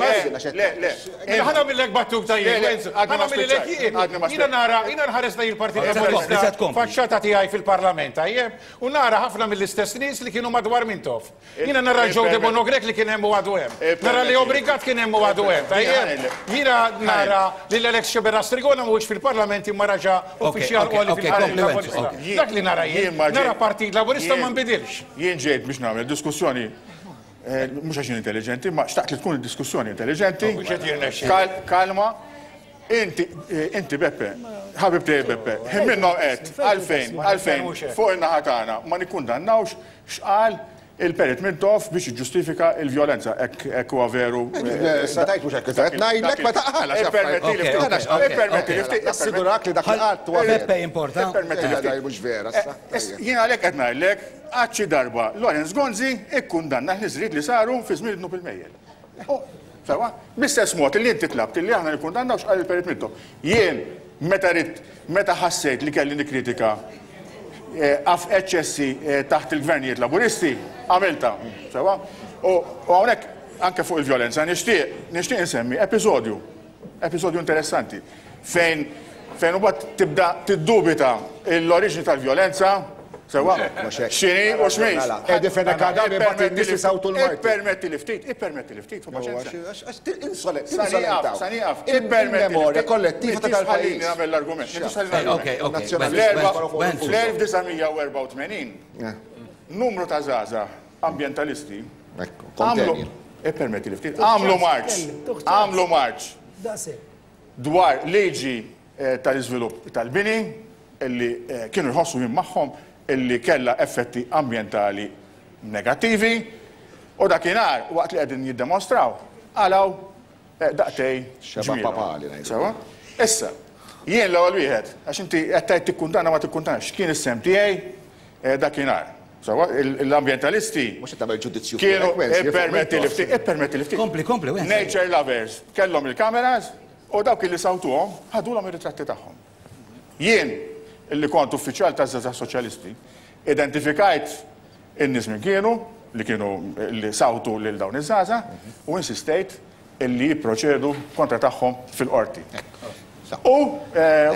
le, le. Ħa nagħmillek battuta jien, Enzo. Ħa nagħmilek jien. Jiena nara, jiena nħares lejn il-Partit Laburista faċċata tiegħi fil-Parlament, tajjeb? U nara ħafna mill-istess nies li kienu madwar Mintoff. Jiena nara Joe Debono Grech li kien hemm u għadu hemm. Nara Leo Brincat kien hemm u għadu hemm. Tajjeb? Jiena nara lil Alex Sceberras Trigona mhuwiex fil-Parlament imma raġa' uffiċjal għoli fil-Partit Laburista. Dak li nara jien. Nara Partit Laburista ma nbidilx. Jien ġejt biex nagħmel diskussjoni mhux għax jien intelliġenti, ma xtaqt li tkun diskussjoni intelliġenti. Kalma. Inti, inti Beppe, ħabib tiegħi Beppe, ħin minnhom għedt għalfejn, għalfejn fuq in-naħa tagħna ma nikkundannawx x'qal il-Perit Mintoff biex jiġġustifika l-vjolenza, hekk huwa veru. Issa tgħid mhux hekk, qed ngħidlek meta qal għax Ippermettili ftit, ippermettili ftit. Nassigurak li dak li qalt huwa veru. Beppe jimporta. Ippermettili ftit. Mhux vera issa. Jien għalhekk qed ngħidlek, għad xi darba Lawrence Gonzi kkundanna l-ħniżriet li saru fi żmien id-dnub il-mejjel. Sewwa? Bl-istess mod li inti tlabt li aħna nikkundannaw x'qal il-Perit Mintoff. Jien meta ridt, meta ħassejt li kelli nikkritika eċċessi taħt il-gvernijiet Laburisti, għamiltha. Sewwa? U hawnhekk anke fuq il-vjolenza nixtieq, nixtieq insemmi episodju, episodju interessanti fejn fejn imbagħad tibda tiddubita l-oriġni tal-vjolenza Sewwa? X'inhi u x'mhix. Mela, Eddie Fenech Adami bagħat in-nies isawtu l-martu. Ippermetti li ftit, ippermetti li ftit, paċenzja. Insolentaw. Sa nieqaf, ippermetti. Il-memorja kollettiva ta' dal-pajjiż. Nagħmel l-argument. Fl-1984 numru ta' żgħażagħ ambjentalisti għamlu ippermetti li ftit, għamlu marċ, għamlu marċ dwar liġi tal-iżvilupp tal-bini illi kienu jħossu jien magħhom illi kellha effetti ambjentali negattivi u dakinhar waqt li qegħdin jiddemostraw qalgħu daqtej ġmielhom. Sewwa? Issa, jien l-ewwel wieħed, għax inti qed tgħid tikkundanna ma tikkundannax, x'kien is-sehem tiegħi dakinhar? Sewwa, l-ambjentalisti Mhux qed tagħmel ġudizzju kienu ippermetti li ftit, ippermetti li ftit. Kompli, kompli, Nature lovers kellhom il-kameras U dawk illi sawtuhom ħadulhom ir-ritratti tagħhom. Jien, illi kont uffiċjal taż-Żgħażagħ Soċjalisti, identifikajt in-nies min kienu, li kienu li sawtu lil dawn iż-żgħażagħ u insistejt illi jipproċedu kontra tagħhom fil-qorti. U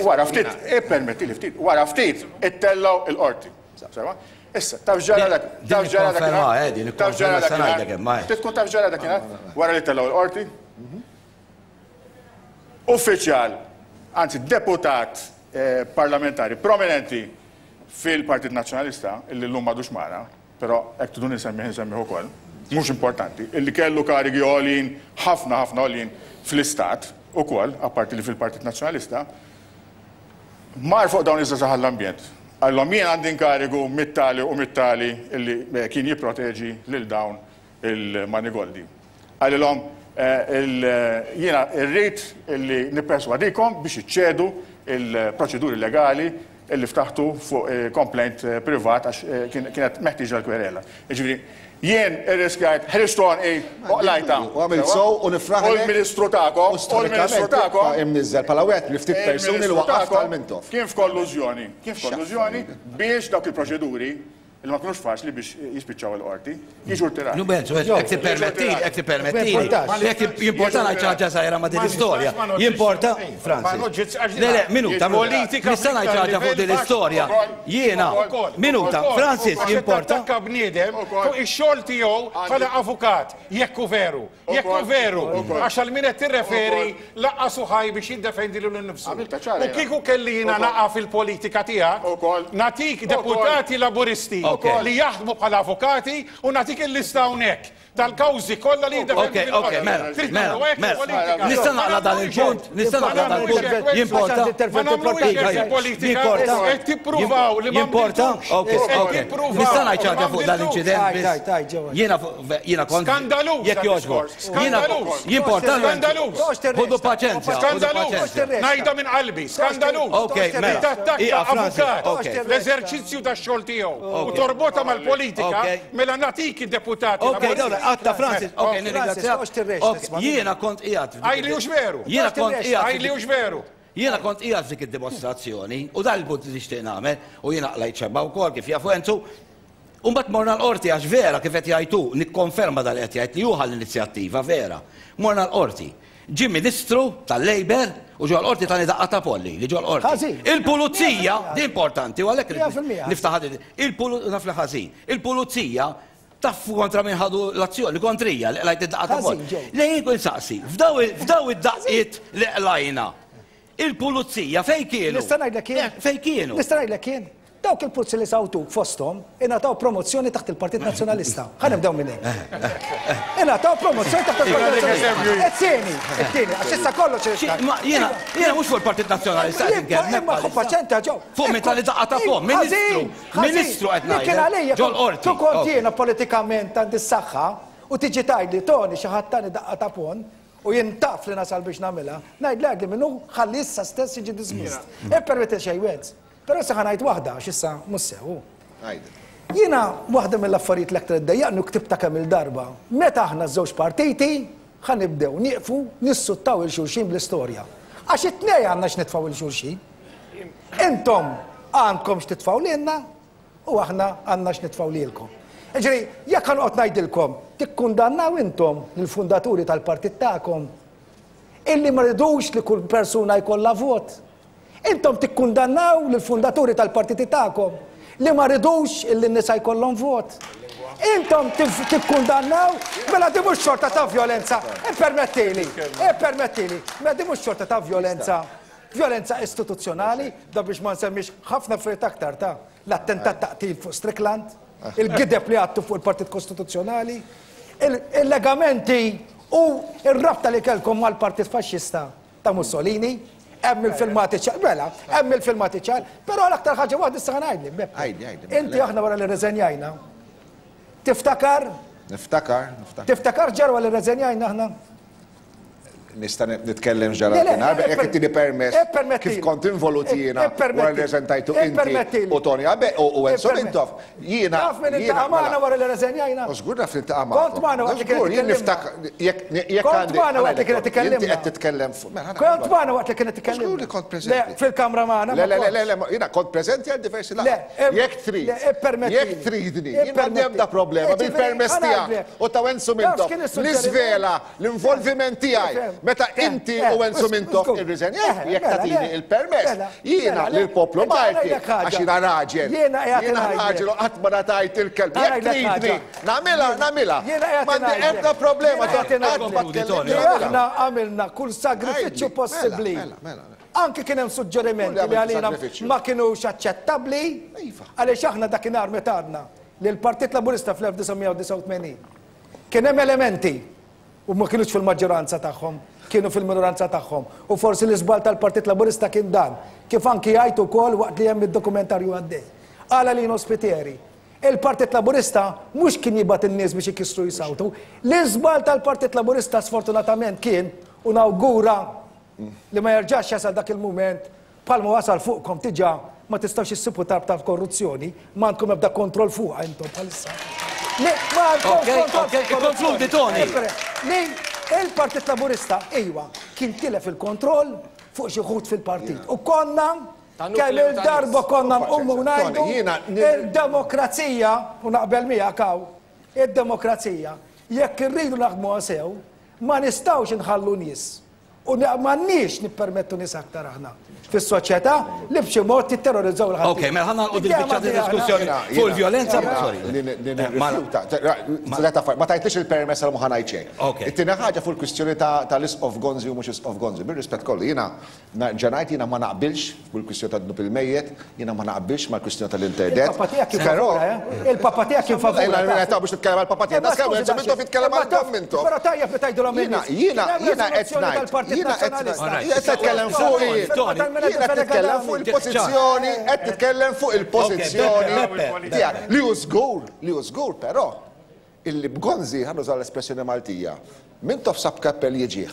wara ftit, ippermettili ftit, wara ftit ittellgħu il-qorti. Sewwa? Issa, taf x'ġara dak, taf x'ġara dakinhar? Taf x'ġara dakinhar? Trid tkun taf x'ġara dakinhar? Wara li ttellgħu il-qorti? Uffiċjal, anzi deputat parlamentari prominenti fil-Partit Nazzjonalista, illi llum m'għadux magħna, però hekk triduni nsemmih insemmih ukoll, mhux importanti, illi kellu karigi għoljin, ħafna ħafna għoljin fl-Istat ukoll, apparti li fil-Partit Nazzjonalista, mar fuq dawn iż-żgħażagħ għall-ambjent. Qalilhom jien għandi inkarigu mit-tali u mit-tali illi kien jipproteġi lil dawn il-manigoldi. Qalilhom, Jiena rrid li nipperswadikom biex iċċedu l-proċeduri legali li ftaħtu fuq complaint privat għax kienet meħtieġa l-kwerela. Jiġifieri, jien irriskjajt, ħriġt għonqi u qlajtha. U għamilt sew u nifraħlek. U l-Ministru tagħkom, u l-Ministru tagħkom. Imniżżel bħala wieħed mill-ftit persuni li waqqaft għal Mintoff. Kien f'kollużjoni, kien f'kollużjoni biex dawk il-proċeduri Li ma kinux faċli biex jispiċċaw il-qorti, jiġu rtirati. Nu Benzo, jekk tippermettili, jekk tippermettili, jekk jimporta ngħid xi ħaġa żgħira ma' din l-istorja. Jimporta, Francis. Le, le, minuta, nista' ngħid xi ħaġa fuq din l-istorja. Jiena, minuta, Francis, jimporta. Attakka bniedem fuq ix-xogħol tiegħu bħala avukat, jekk hu veru. Jekk hu veru, għax għal min qed tirreferi lanqas hu ħaj biex jiddefendi lilu nnifsu. U kieku kelli jiena naqa' fil-politika tiegħek, nagħtik deputati Laburisti li jaħdmu bħala avukati u nagħtik il-lista hawnhekk. tal-kawżi kollha li jiddefendu Ok, ok, mela, mela, mela. Nista' naqla dan il-punt, nista' naqla dan il-punt. Jimporta. Ma nagħmluhiex hekk il-politika. Qed tippruvaw li ma Jimporta? Ok, ok. Nista' ngħid xi ħaġa fuq dan l-inċident biss. Jiena jiena kont. Skandaluż Jekk jogħġbok. Skandaluż. Jimporta. Skandaluż. Ħudu paċenzja. Skandaluż. Ngħidha minn qalbi. Skandaluż. Ok, mela. Tattakka avukat fl-eżerċizzju tax-xogħol tiegħu u torbotha mal-politika mela nagħtik id-deputati. Ok, dawra, għatta Francis, ok, nirringrazzjak. Jiena kont qiegħed. Għajli hux veru. Jiena kont qiegħed. Għajli hux veru. Jiena kont qiegħed f'dik id-dimostrazzjoni u dan il-punt li nixtieq nagħmel u jiena qlajt xebba wkoll kif jafu Enzu. U mbagħad morna l-qorti għax vera kif qed jgħid hu, nikkonferma dan li qed jgħid li hu ħa l-inizjattiva vera. Morna l-qorti. Ġie ministru tal-Labour u ġo l-qorti tani daqqa ta' polli li ġo l-qorti. Ħażin. Il-pulizija, din importanti u għalhekk 100% niftaħ din, naf li ħażin. Il-pulizija taf kontra min ħadu l-azzjoni, kontrija li qlajt id-daqqa ta' polli. Ħażin, ġew. Le jien kun saqsi, f'daw id-daqqiet li qlajna, il-pulizija fejn kienu? Nista' ngħidlek jien? Fejn kienu? Nista' ngħidlek jien? Dawk il-pulizija li sawtuk fosthom ingħataw promozzjoni taħt il-Partit Nazzjonalista. Ħa nibdew minn hemm. Ingħataw promozzjoni taħt il-Partit Nazzjonalista. It-tieni, it-tieni, għax issa kollox irid Xi, ma jiena, jiena mhux fuq il-Partit Nazzjonalista qed nitkellem, Imma ħu paċenzja ġew. Fuq min tali daqqa ta' fuq, ministru, ministru qed Li kien ngħidlek, għalija, ġol qorti. Tu kont jiena politikament għandi s-saħħa u tiġi tgħidli Tony xi ħadd tani daqqa ta' pon u jien taf li nasal biex nagħmilha, ngħidlek li minnu ħalli issa stess jiġi dismissed. Ippermetti xejn weds. Però issa ħa ngħid waħda għax issa mhux sew. Jiena waħda mill-affarijiet l-aktar iddejjaqni u ktibtha kemm-il darba, meta aħna ż-żewġ partiti ħa nibdew nieqfu nissuttaw 'il xulxin bl-istorja. Għax it-tnejn għandna x'nitfgħu 'il xulxin. Intom għandkom x'titfgħu lilna u aħna għandna x'nitfgħu lilkom. Jiġifieri, jekk ħa noqgħod ngħidilkom tikkundannaw intom lill-fundaturi tal-partit tagħkom illi ma ridux li kull persuna jkollha vot. Intom tikkundannaw lill-fundaturi tal-partiti tagħkom li ma ridux illi n-nisa jkollhom vot. Intom tikkundannaw, mela di mhux xorta ta' vjolenza. Ippermettili, ippermettili, mela di mhux xorta ta' vjolenza, vjolenza istituzzjonali, da biex ma nsemmix ħafna affarijiet aktar ta' l-attentat ta' qtil fuq Strickland, il-gideb li għadtu fuq il-Partit Kostituzzjonali, il-legamenti u r-rabta li kellkom mal-Partit Faxxista ta' Mussolini, hemm il-filmati ċar, mela, hemm il-filmati ċar, però l-aktar ħaġa waħda issa ngħidli, Beppe. Għidli, għidli, mela, Inti aħna wara li rreżenjajna, tiftakar? Niftakar, niftakar. Tiftakar ġar wara li rreżenjajna aħna? Nista' nitkellem x'ġara Le, le, dakinhar, jekk ittini permess, ippermettili. kif kont involut jiena wara li Ippermettili. rreżentajtu inti Ippermettili. u Tony Abe u Enzo Ipperme- Mintoff, jiena Taf min jiena iltaqa' magħna mela. wara li rreżenjajna? U żgur naf li niltaqa' magħkom. Kont magħna waqt li kienet Żgur, jien tkellimna. niftakar, jekk jekk Kont għandi magħna waqt li kienet Inti tkellimna. qed titkellem fuq mela, Kont magħna waqt li kienet tkellimna. Żgur li kont preżenti. Le, fil-kamra magħna. Le, le, le, le, le, jiena kont preżenti għal diversi laqgħat. Le, Jekk trid. le, ippermettili. Jekk tridni, jien m'għandi ebda problema Ippermettili. bil-permess Ġifieri, tiegħek ħa ngħidlek. u ta' Enzo Taf Mintoff x'kien is-suġġeriment? niżvela l-involviment tiegħi meta inti u Enzo Mintoff irriżenjajt, jekk tagħtini il-permess, jiena lill-poplu Malti, għax jiena raġel, jiena raġel u qatt ma ngħatajt il-kelb. Jekk tridni nagħmilha, nagħmilha. M'għandi ebda problema, qatt ma tkellimni. Aħna għamilna kull sagrifiċċju possibbli. Anki kien hemm suġġerimenti li għalina ma kinux aċċettabbli, għaliex aħna dakinhar meta għadna li l-Partit Laburista fl-1989 kien hemm elementi u ma kinux fil-maġġoranza tagħhom, kienu fil-minoranza tagħhom. U forsi l-iżball tal-Partit Laburista kien dan, kif anki jgħid ukoll waqt li hemm id-dokumentarju għaddej. Qal Lino Spiteri, il-Partit Laburista mhux kien jibgħat in-nies biex ikissru jsawtu. L-iżball tal-Partit Laburista sfortunatament kien, u nawgura li ma jerġax jasal dak il-mument, Bħalma wasal fuqkom diġà ma tistgħux issibu tarb tal-korruzzjoni, ma għandkom ebda kontroll fuqha intom bħalissa. Li ma għandkomx Ok, kontroll ok, fuq il-korruzzjoni. ikkonkludi, Tony. Li il-Partit Laburista, iwa, kien tilef il-kontroll fuq xi wħud fil-partit. U konna Ta' kemm nukleu ta' il-darba nies. konna nqumu u ngħidu Tony, jiena il-demokrazija, u naqbel miegħek hawn, id-demokrazija, jekk irridu naħdmuha sew, ma nistgħux inħallu nies. U m'għandniex nippermettu nies aktar aħna fis-soċjetà li b'xi mod jitterrorizzaw il Ok, mela ħa nagħlqu din il-biċċa ta' diskussjoni fuq il-vjolenza. Sorry. Ma tajtlix il-permess għal ma ħa ngħid xejn. It-tieni ħaġa fuq il-kwistjoni tal-Isqof Gonzi u mhux Isqof Gonzi. Bir-rispett kollu, jiena Nerġa' ngħid jiena ma naqbilx bil-kwistjoni tad-dnub il-mejjet, jiena ma naqbilx mal-kwistjoni tal-interdet. Il-Papa tiegħek kien favur, eh? Il-Papa tiegħek kien favur. Jiena qed biex nitkellem għall-Papa tiegħi. Nas kemm Enzo Mintoff jitkellem għal Dom Mintoff. Però tajjeb li tgħidulhom lin-nies. Jiena jiena qed ngħid. Jiena qed qed nitkellem fuq Jiena qed nitkellem fuq il-pożizzjoni, qed nitkellem fuq il-pożizzjoni tiegħek. Li hu żgur, li hu żgur però illi b'Gonzi, ħa nuża l-espressjoni Maltija, Mintoff sab kappell jiġih.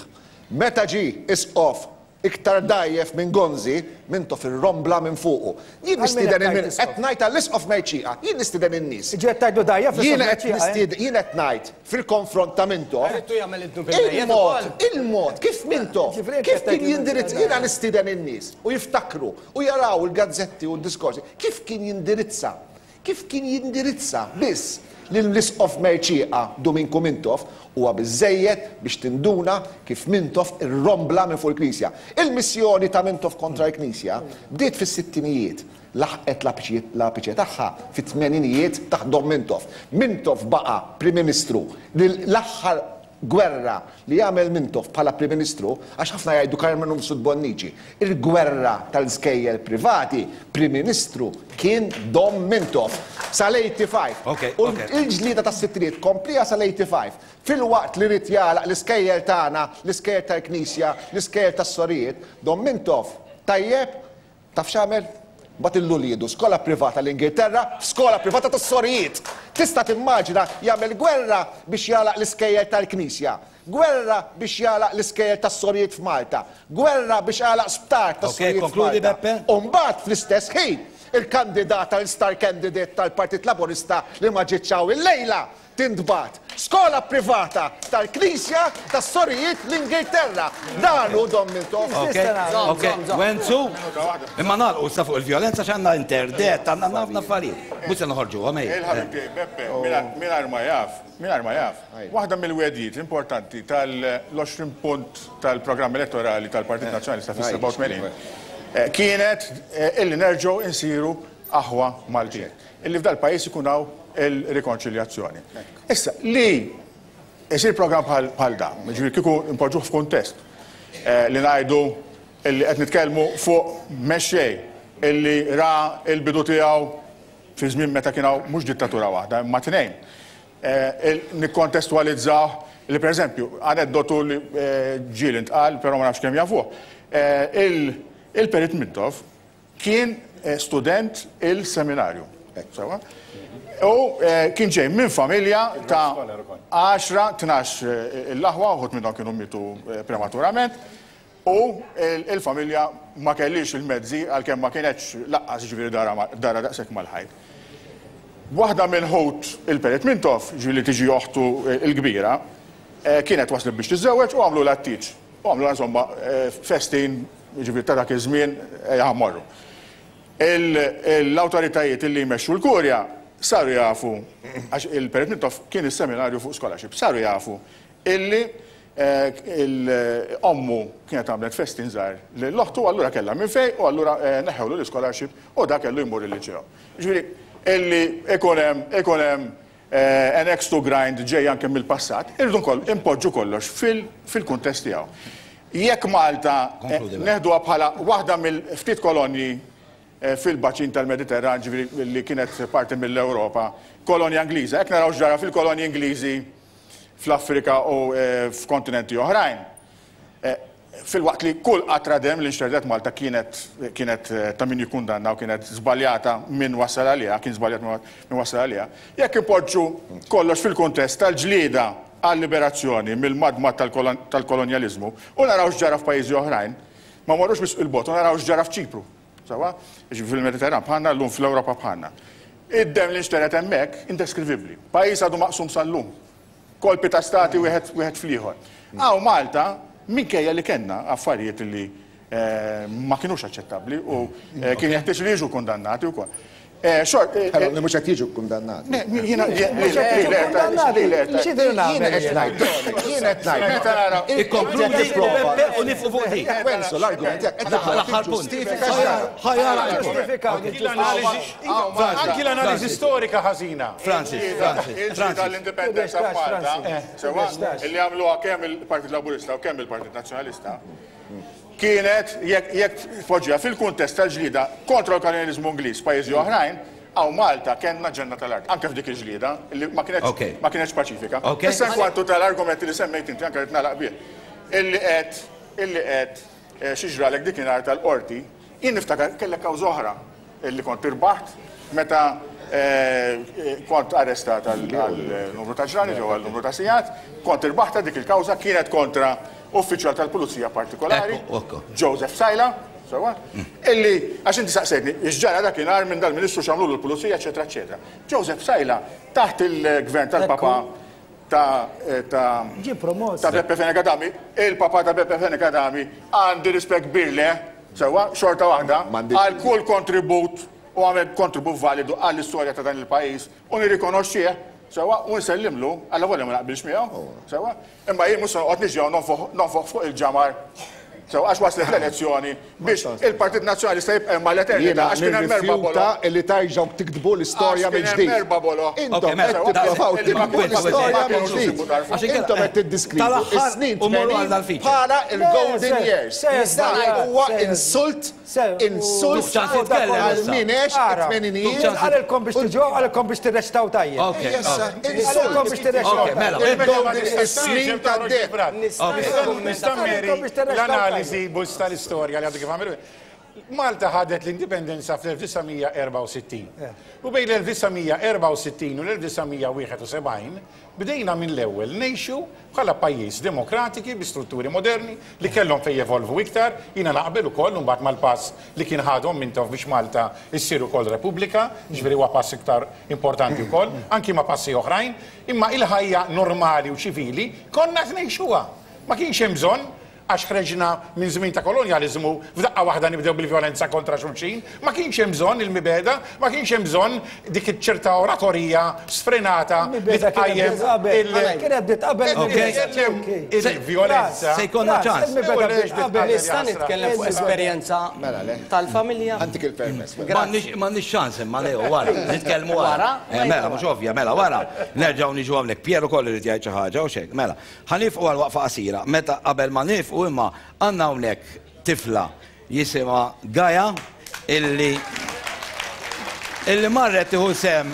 Meta ġie Isqof iktar dgħajjef minn Gonzi, Mintoff irrombla minn fuqu. Jien nistieden il qed ngħid għall-Isqof Mercieca, jien nistieden in-nies. Jiġifieri qed tgħidlu dgħajjef l-Isqof Mercieca, eh? Jien qed ngħid fil-konfront ta' Mintoff, il-mod, il-mod kif Mintoff, kif kien jindirizza, jiena nistieden in-nies u jiftakru u jaraw il-gazzetti u d-diskorsi, kif kien jindirizza Kif kien jindirizza biss lill-Isqof Mercieca Duminku Mintoff huwa biżżejjed biex tinduna kif Mintoff irrombla minn fuq il-Knisja. Il-missjoni ta' Mintoff kontra l-Knisja bdiet fis-sittinijiet, laħqet l-apiċe tagħha fit-tmeninijiet taħt Dom Mintoff. Mintoff baqa' Prim Ministru l-aħħar gwerra li għamel Mintoff bħala Prim Ministru, għax ħafna jgħidu Karmenu Mifsud Bonnici, il-gwerra tal-iskejjel privati, Prim Ministru kien Dom Mintoff sal-85. U l-ġlieda tas-sittinijiet kompliha sal-85. Filwaqt li ried jagħlaq l-iskejjel tagħna, l-iskejjel tal-Knisja, l-iskejjel tas-sorijiet, Dom Mintoff tajjeb Taf x'għamel? Bagħat lil uliedu skola privata l-Ingilterra, f'skola privata tas-sorijiet! Tista' timmaġina jagħmel gwerra biex jagħlaq l-iskejjel tal-Knisja, gwerra biex jagħlaq l-iskejjel tas-sorijiet f'Malta, gwerra biex għalaq sptar tas-sorijiet f'Malta. U mbagħad fl-istess ħin, il-kandidata, l-star candidate tal-Partit Laburista li ma ġietx hawn illejla, tintbagħat skola privata tal-Knisja tas-Sorijiet l-Ingilterra. Dan hu Dom Mintoff. Ok, ok, Wenzu, imma nagħlqu issa fuq il-vjolenza x'għandna interdett, għandna ħafna affarijiet. Mhux se noħorġuhom ejja. Il-ħabib tiegħi Beppe, mingħajr ma jaf, mingħajr ma jaf, waħda mill-wegħdiet importanti tal-20 punt tal-programm elettorali tal-Partit Nazzjonalista fis-87 kienet illi nerġgħu insiru aħwa Maltin. Illi f'dal-pajjiż ikun hawn il-rikonċiljazzjoni. Issa, li jsir programm bħal dan, jiġifieri kieku npoġġuh f'kuntest li ngħidu illi qed nitkellmu fuq mexxej illi ra l-bidu tiegħu fi żmien meta kien hawn mhux dittatura waħda imma tnejn. Nikkontestwalizzah li pereżempju, aneddotu li ġieli ntqal, però ma nafx kemm jafuh, il-Perit Mintoff Kien student il-seminarju. Sewwa? U kien ġej minn familja ta' 10, 12 l-aħwa, uħud minnhom kienu mietu prematurament, u il-familja ma kellhiex il-mezzi għalkemm ma kinetx laqqas jiġifieri dara daqshekk mal-ħajt. Waħda minn ħut il-Perit Mintoff, jiġifieri li tiġi oħtu l-kbira, kienet waslet biex tiżżewweġ u għamlulha t-tieġ. U għamlulha insomma festin jiġifieri ta' dak iż-żmien, ejja ħa mmorru. L-awtoritajiet li jmexxu l-Kurja saru jafu, għax il-Perit Mintoff kien is-seminarju fuq scholarship, saru jafu illi ommu kienet għamlet festin żgħir lil oħtu, allura kellha minn fejn u allura neħħewlu l-ischolarship u dak kellu jmur il-liċeo. Jiġifieri illi ikun hemm ikun hemm An axe to grind ġej anke mill-passat, irridu npoġġu kollox fil-kuntest tiegħu. Jekk Malta neħduha bħala waħda mill-ftit kolonji fil-baċin tal-Mediterran, ġifieri li kienet parti mill-Ewropa, kolonja Ingliża, jekk naraw x'ġara fil-kolonji Ingliżi fl-Afrika u f'kontinenti oħrajn, Filwaqt li kull qatra demm li nxterdet Malta kienet kienet ta' min jikkundanna u kienet żbaljata min wassal għaliha, kien żbaljat min wassal għaliha, jekk inpoġġu kollox fil-kuntest tal-ġlieda għal-liberazzjoni mill-madmad tal-kolonjaliżmu u naraw x'ġara f'pajjiżi oħrajn, ma mmorrux wisq 'il bogħod u naraw x'ġara f'Ċipru, sewwa? Jiġifieri fil-Mediterran bħalna, llum fl-Ewropa bħalna. Id-demm li nxtered hemmhekk indeskrivibbli. Pajjiż għadu maqsum sal-lum. Kolpi ta' stati wieħed wieħed fl-ieħor. Hawn Malta, minkejja li kellna affarijiet li ma kinux aċċettabbli u kien jeħtieġ li jiġu kundannati wkoll. Xort. Però li mhux qed jiġu kkundannati. Jiena X'idher nagħmel Jien qed ngħid, jien qed ngħid. Meta nara. Ikkonkludi Beppe u nifqu fuq dik. Wenzu l-argument tiegħek qed L-aħħar punt. ġustifika Ħajara. Anki l-analiżi storika ħażina. Francis, Francis, Il-ġlieda tal-indipendenza f'Malta, sewwa, illi għamluha kemm il-Partit Laburista u kemm il-Partit Nazzjonalista, kienet, jekk tpoġġiha fil-kuntest tal-ġlieda kontra l-kolonjaliżmu Ingliż f'pajjiżi oħrajn, hawn Malta kellna ġenna tal-art, anke f'dik il-ġlieda, li ma kinetx ma kinetx paċifika. Issa inkwantu tal-argument li semmejt inti, anke rrid nagħlaq bih, illi qed illi qed xi ġralek dikinhar tal-qorti, jien niftakar kellek kawża oħra illi kont irbaħt meta kont arrestat għal numru ta' ġranet jew għal numru ta' sigħat, kont irbaħtha dik il-kawża kienet kontra uffiċjal tal-pulizija partikolari, Joseph Psaila, sewwa, illi għax inti saqsejtni x'ġara dakinhar minn dal-Ministru x'għamlulu l-pulizija eċċetera eċċetera. Joseph Psaila taħt il-gvern tal-Papa ta' ta' Ġie promoss. ta' Beppe Fenech Adami, il-Papa ta' Beppe Fenech Adami għandi rispett kbir leh, sewwa, xorta waħda, għal kull kontribut u għamel kontribut validu għall-istorja ta' dan il-pajjiż u nirrikonoxxih, sewwa, u nsellimlu, allavolja ma naqbilx miegħu, sewwa, imma jien mhux se noqgħod niġi hawn nonfoħ fuq il-ġamar, sewwa, għax waslet l-elezzjoni biex il-Partit Nazzjonalista jibqa' hemm għall-eternità għax kien hemm erba' boloh. Jiena nirrifjuta li terġgħu tiktbu l-istorja mill-ġdid. Għax kien hemm erba' boloh. Intom qed tipprovaw tiktbu l-istorja mill-ġdid. Intom qed tiddiskrivu s-snin 80 bħala l-golden years. Dan huwa insult Insult għal min għex it-tmeninijiet. Qalilkom biex tiġu hawn, qalilkom biex tirreċtaw tajjeb. Qalilkom biex tirreċtaw tajjeb. Is-snin tad-deheb. Nista' mmeri l-analiżi bus tal-istorja li għadu kif għamel. Malta ħadet l-indipendenza fl-1964. U bejn l-1964 u l-1971 bdejna mill-ewwel ngħixu bħala pajjiż demokratiki bi strutturi moderni li kellhom fejn jevolvu iktar, jiena naqbel ukoll imbagħad mal-pass li kien ħa Dom Mintoff biex Malta ssir ukoll Repubblika, jiġifieri huwa pass iktar importanti wkoll, anki ma' passi oħrajn, imma il-ħajja normali u ċivili konna qed ngħixuha. Ma kienx hemm bżonn Għax ħreġna minn żmien ta' kolonjaliżmu, f'daqqa waħda nibdew bil-vjolenza kontra xulxin. Ma kienx hemm bżonn il-mibegħda, ma kienx hemm bżonn dik iċ-ċerta oratorija sfrenata li tqajjem il- Kienet bdiet qabel. Il-vjolenza. Se jkollna ċans. Nista' nitkellem fuq esperjenza tal-familja? Ħa ntik il-permess. M'għandniex ċans imma Leo, wara. Nitkellmu wara. Mela, mhux ovvja, mela wara. Nerġgħu niġu hawnhekk. Pier ukoll irid jgħid xi ħaġa, hux hekk? Mela. Ħa niefqu għal waqfa qasira. Meta qabel ma niefqu imma għandna hawnhekk tifla jisimha Gaia illi illi marret tieħu sehem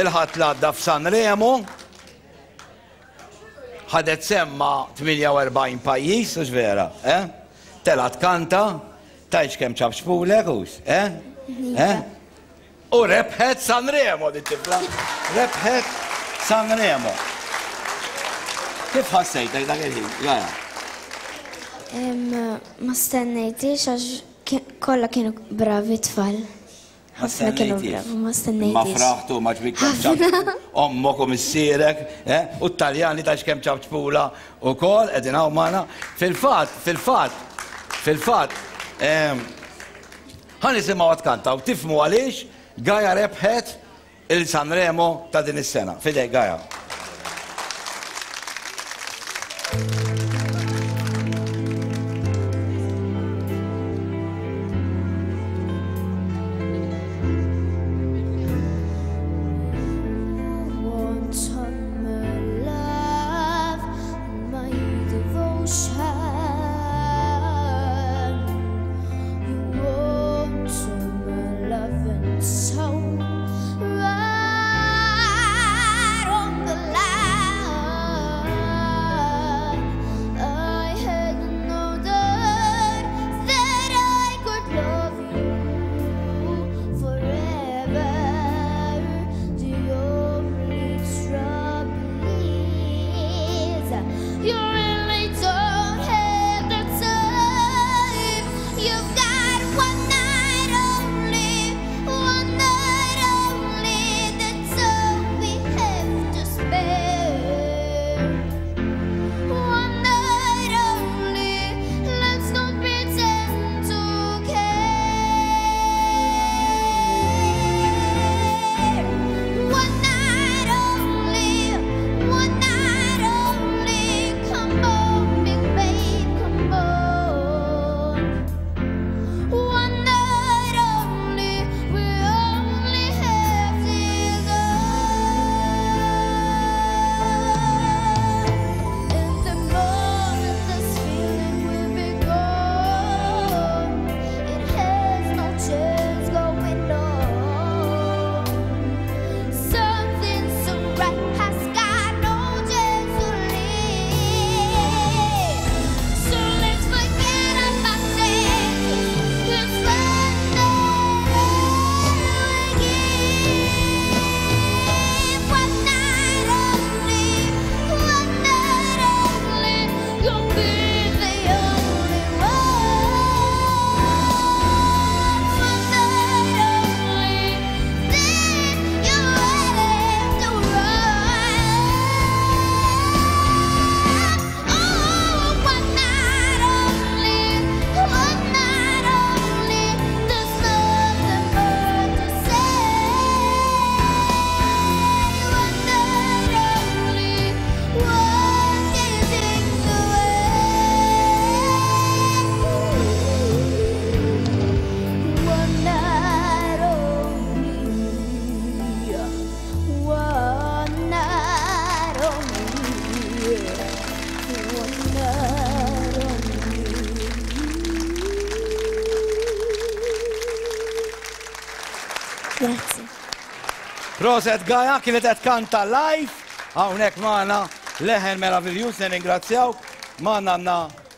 il-Ħadd l-għadda f'Sanremo. Ħadet sehem ma' 48 pajjiż, hux vera, eh? Telgħet tkanta, tgħidx kemm ċapċpulek, hux, eh? Eh? U rebħet Sanremo din tifla. Rebħet Sanremo. Kif ħassejtek dak il-ħin, Gaja? Ma stennejtix għax kollha kienu bravi tfal. Ħafna kienu bravi, ma stennejtix. Ma fraħtu, ma ġbik kemm ċapċpu. Ommok u missierek, eh? u t-Taljani ta' x'kemm ċapċpula u kol, qegħdin hawn magħna. Fil-fatt, fil-fatt, fil-fatt, Ħa nisimgħuha tkanta u tifhmu għaliex Gaia rebħet il-Sanremo ta' din is-sena. F'idejk Gaia. Grazzi. Proset Gaia kienet qed tkanta live hawnhekk magħna leħen meraviljuż nirringrazzjawk. Magħna għandna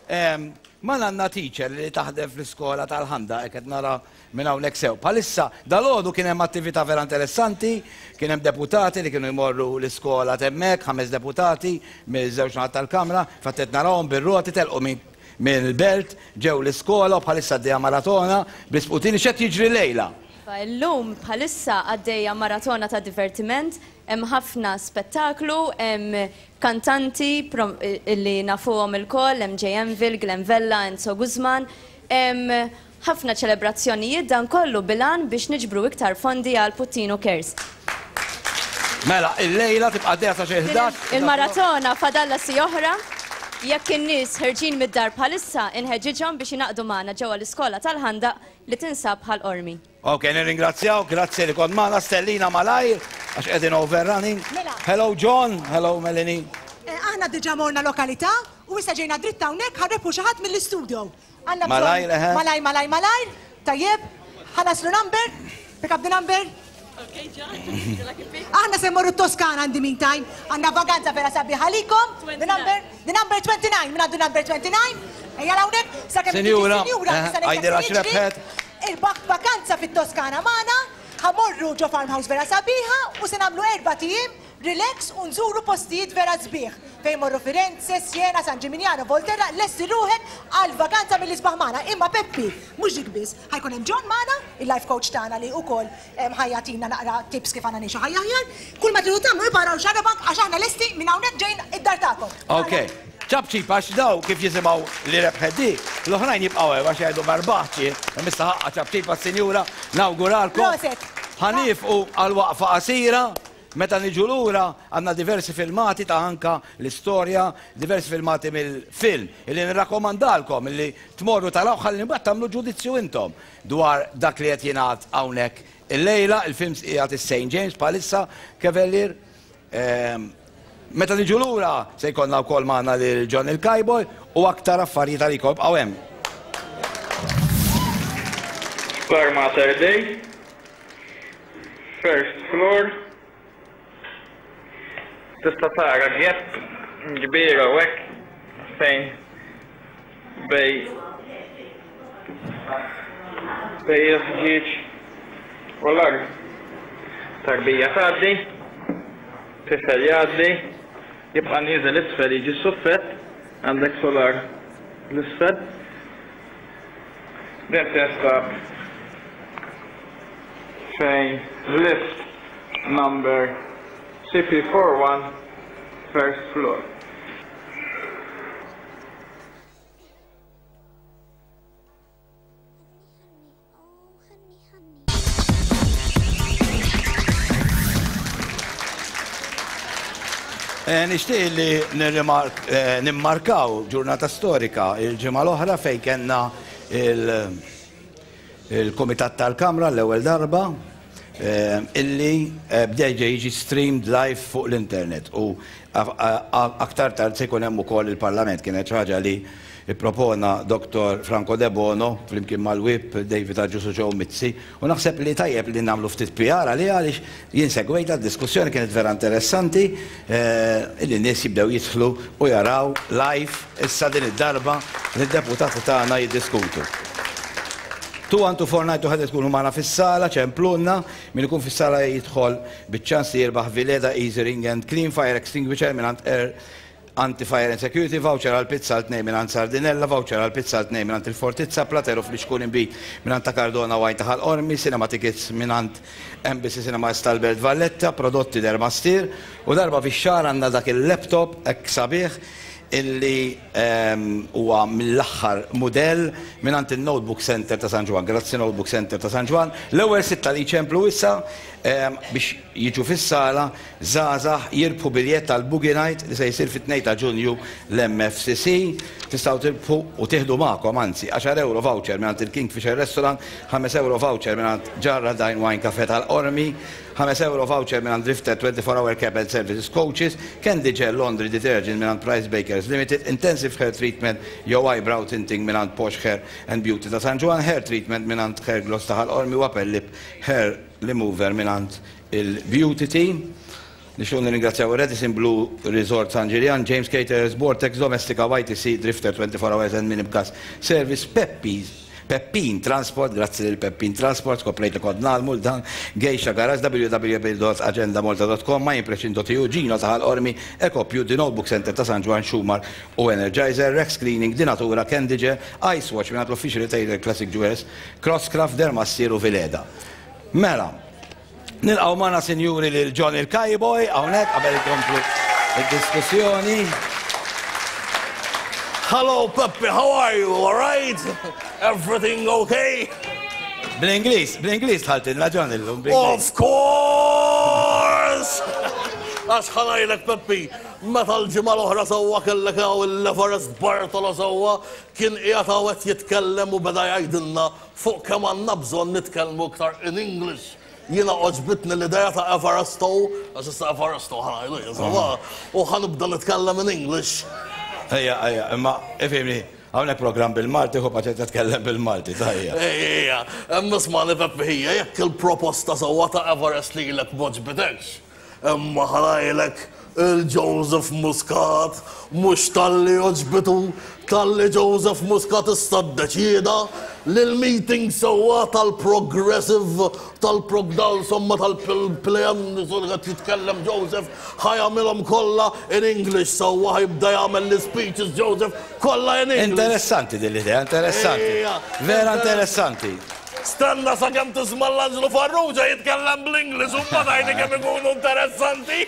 ehm, magħna għandna teacher li taħdem fl-iskola tal-ħanda hekk qed nara minn hawnhekk sew. Bħalissa dalgħodu kien hemm attività vera interessanti, kien hemm deputati li kienu jmorru l-iskola t'hemmhekk, ħames deputati miż-żewġ naħat tal-Kamra, fatt qed narahom bir-roti telqu minn mill-belt, ġew l-iskola u bħalissa għaddejja maratona bl-isputini. X'qed jiġri llejla? Iva, illum bħalissa għaddejja maratona ta' divertiment, hemm ħafna spettaklu, hemm kantanti li nafuhom ilkoll, hemm Jay Anvil, Glenn Vella, Enzo Guzman, hemm ħafna ċelebrazzjonijiet, dan kollu bil-għan biex niġbru iktar fondi għal Puttinu Cares. Mela, illejla tibqa' għaddejja sa xi 11. Il-maratona fadalha siegħa oħra. Jekk in-nies ħerġin mid-dar bħalissa, inħeġġiġhom biex jingħaqdu magħna ġewwa l-iskola tal-Ħandaq li tinsab Ħal Qormi. Ok, nirringrazzjawk, grazzi li kont magħna, Stellina malajr, għax qegħdin overrunning. Mela. Hello John, hello Melanie. Eh, aħna diġà morna lokalità u issa ġejna dritt hawnhekk ħa nrebħu xi ħadd mill-istudio. Għandna bżonn. Malajr, eħe. Malajr, malajr, malajr. Tajjeb. Ħa naslu number. Pick up the number. Okay, John. Would you like a pick? Aħna se mmorru t-Toskana in the meantime. Għandna vaganza vera sabiħa għalikom. The number, the number 29. Min għandu number 29? Ejja hawnhekk. Sakemm tiġi Sinjura, s-sinjura, eh, issa ngħidlek għidilha se jiġri. x'rebħet. Irbaħt vakanza fit-Toskana magħna. Ħa mmorru ġo farmhouse vera sabiħa u se nagħmlu erbat ijiem Relax u nżuru postijiet vera sbieħ, fejn morru Firenze, Siena, San Gimignano, Volterra, lesti ruħek għal vaganza mill-isbaħ magħna. Imma Peppi, mhux dik biss, ħa jkun hemm John magħna, il-life coach tagħna li ukoll ħa jagħtina naqra tips kif għandna ngħixu ħajja aħjar. Kull ma tridu tagħmlu ibqgħu araw Xarabank għax aħna lesti minn hawnhekk ġejn id-dar tagħkom. Ok. Ċapċip għax daw kif jisimgħu li rebħet di, l-oħrajn jibqgħu hemm għax jgħidu ma rbaħtx jien, imma issa ħaqqa ċapċip għas-sinjura, nawguralkom. Proset. Ħa niefqu għal waqfa qasira. Meta niġu lura għandna diversi filmati ta' anka l-istorja, diversi filmati mill-film illi nirrakkomandalkom illi tmorru tarawh ħalli mbagħad tagħmlu ġudizzju intom dwar dak li qed jingħad hawnhekk illejla. Il-film qiegħed is-St James bħalissa, Cavalier. Meta niġu lura se jkollna wkoll magħna lil John il-Cowboy u aktar affarijiet għalikom. Ibqgħu hemm. Spar Mater Dei. First floor. Tista' tara gap kbir hawnhekk fejn bej bej il-ħġieġ u l-art. Tarbija tgħaddi, tifel jgħaddi, jibqa' nieżel isfel jiġi s-suffett, għandek solar l-isfel. Din tinstab fejn lift number CP41 first floor. Eh, nixtieq li eh, nimmarkaw ġurnata storika il-ġimgħa l-oħra fejn kellna il-Kumitat tal-Kamra l-ewwel darba eh, illi bdew jiġi streamed live fuq l-internet u aktar tard se jkun hemm ukoll il-Parlament kienet ħaġa li Ippropona Dottor Franco Debono flimkien mal-Whip David Agius u Joe Mizzi u naħseb li tajjeb li nagħmlu ftit PR għaliha għaliex jien segwejtha d-diskussjoni kienet vera interessanti li n-nies jibdew jidħlu u jaraw live issa din id-darba lid-deputati tagħna jiddiskutu. 21249 ħa tkunu magħna fis-sala, ċemplulna, min ikun fis-sala jidħol biċ-ċans li jirbaħ Vileda Easy Ring and Clean Fire Extinguisher mingħand Air Anti-Fire and Security, voucher għal pizza għal tnejn mingħand Sardinella, voucher għal pizza għal tnejn mingħand Il-Fortizza, Platero fl-Ixkun inbid mingħand Ta' Cardona Wine ta' Ħal Qormi, Cinema Tickets mingħand Embassy Cinemas tal-Belt Valletta, prodotti Dermastir, u darba fix-xahar għandna dak il-laptop hekk sabiħ illi huwa mill-aħħar mudell mingħand in-Notebook Centre ta' San Ġwann. Grazzi Notebook Centre ta' San Ġwann. L-ewwel sitta li jċemplu issa biex jiġu fis-sala Żgħażagħ jirbħu biljett għal Boogie Night li se jsir fit-2 ta' Ġunju l-MFCC. Tistgħu tirbħu u tieħdu magħkom, anzi, għaxar ewro voucher mingħand il-Kingfisher Restaurant, ħames ewro voucher mingħand Ġarra Dine Wine Cafe tal-Qormi, ħames ewro voucher mingħand Drifter 24 Hour Cab and Services Coaches, Candy Gel Laundry Detergent mingħand Price Bakers Limited, Intensive Hair Treatment jew Eyebrow Tinting mingħand Posh Hair and Beauty ta' San Ġwann, Hair Treatment mingħand Hair Gloss ta' Ħal Qormi u Upper Lip Hair. Remover mingħand il-Beauty Team. Nixtiequ nirringrazzjaw ir-Radisson Blu Resort San Ġiljan, James Caterers, Vortex Domestika, YTC, Drifter 24 Hours and Minibgas Service, Peppi's, Peppin Transport, grazzi lil Peppin Transport, skoprejt li kont ngħallmu 'l dan, Geisha Garage, www.agendamolta.com, myimpression.eu, Gino ta' Ħal Qormi, Ecopju, The Notebook Centre ta' San Ġwann, Schumar u Energizer, Rex Cleaning, Dinatura, Candyger, Ice Watch mingħand l-Official Retailer Classic Jewelers, Crosscraft, Dermassir u Vileda. Mela, Nilqgħu magħna sinjuri lil John il-Kajboj hawnhekk qabel ikomplu id-diskussjoni. Hello Peppi, how are you? All right? Everything okay? Bl-Ingliż, bl-Ingliż tħaltilna John illum. Of course! Għax ħanajlek Peppi, meta l-ġimgħa l-oħra sewwa kellek hawn il-Everest Bartolo sewwa kien qiegħed hawn qed jitkellem u beda jgħidilna Fuq kemm għandna bżonn nitkellmu iktar in English. Jiena għoġbitni l-idea ta' Evaristo, għax issa Evaristo ħa ngħidu jien sewwa, u ħa nibda nitkellem in English. Ejja, ejja, imma ifhimni, hawnhekk programm bil-Malti, ħu paċenzja tkellem bil-Malti, tajja. Ejja, imma ismagħni Peppi ħija, jekk il-proposta sewwa ta' Everest lilek m'għoġbitekx, Imma ħa ngħidlek, il-Joseph Muscat mhux talli għoġbitu, talli Joseph Muscat issa ddeċieda li l-meeting sewwa tal-Progressive, tal-Prog insomma tal-PLM li qed jitkellem Joseph, ħa jagħmilhom kollha in English sewwa ħa jibda jagħmel l-ispeeches Joseph kollha in English. Interessanti din l-idea, interessanti. Vera interessanti. Stenna sakemm tisma' l-Anġlu Farrugia jitkellem bl-Ingliż u mbagħad għidli kemm ikunu interessanti.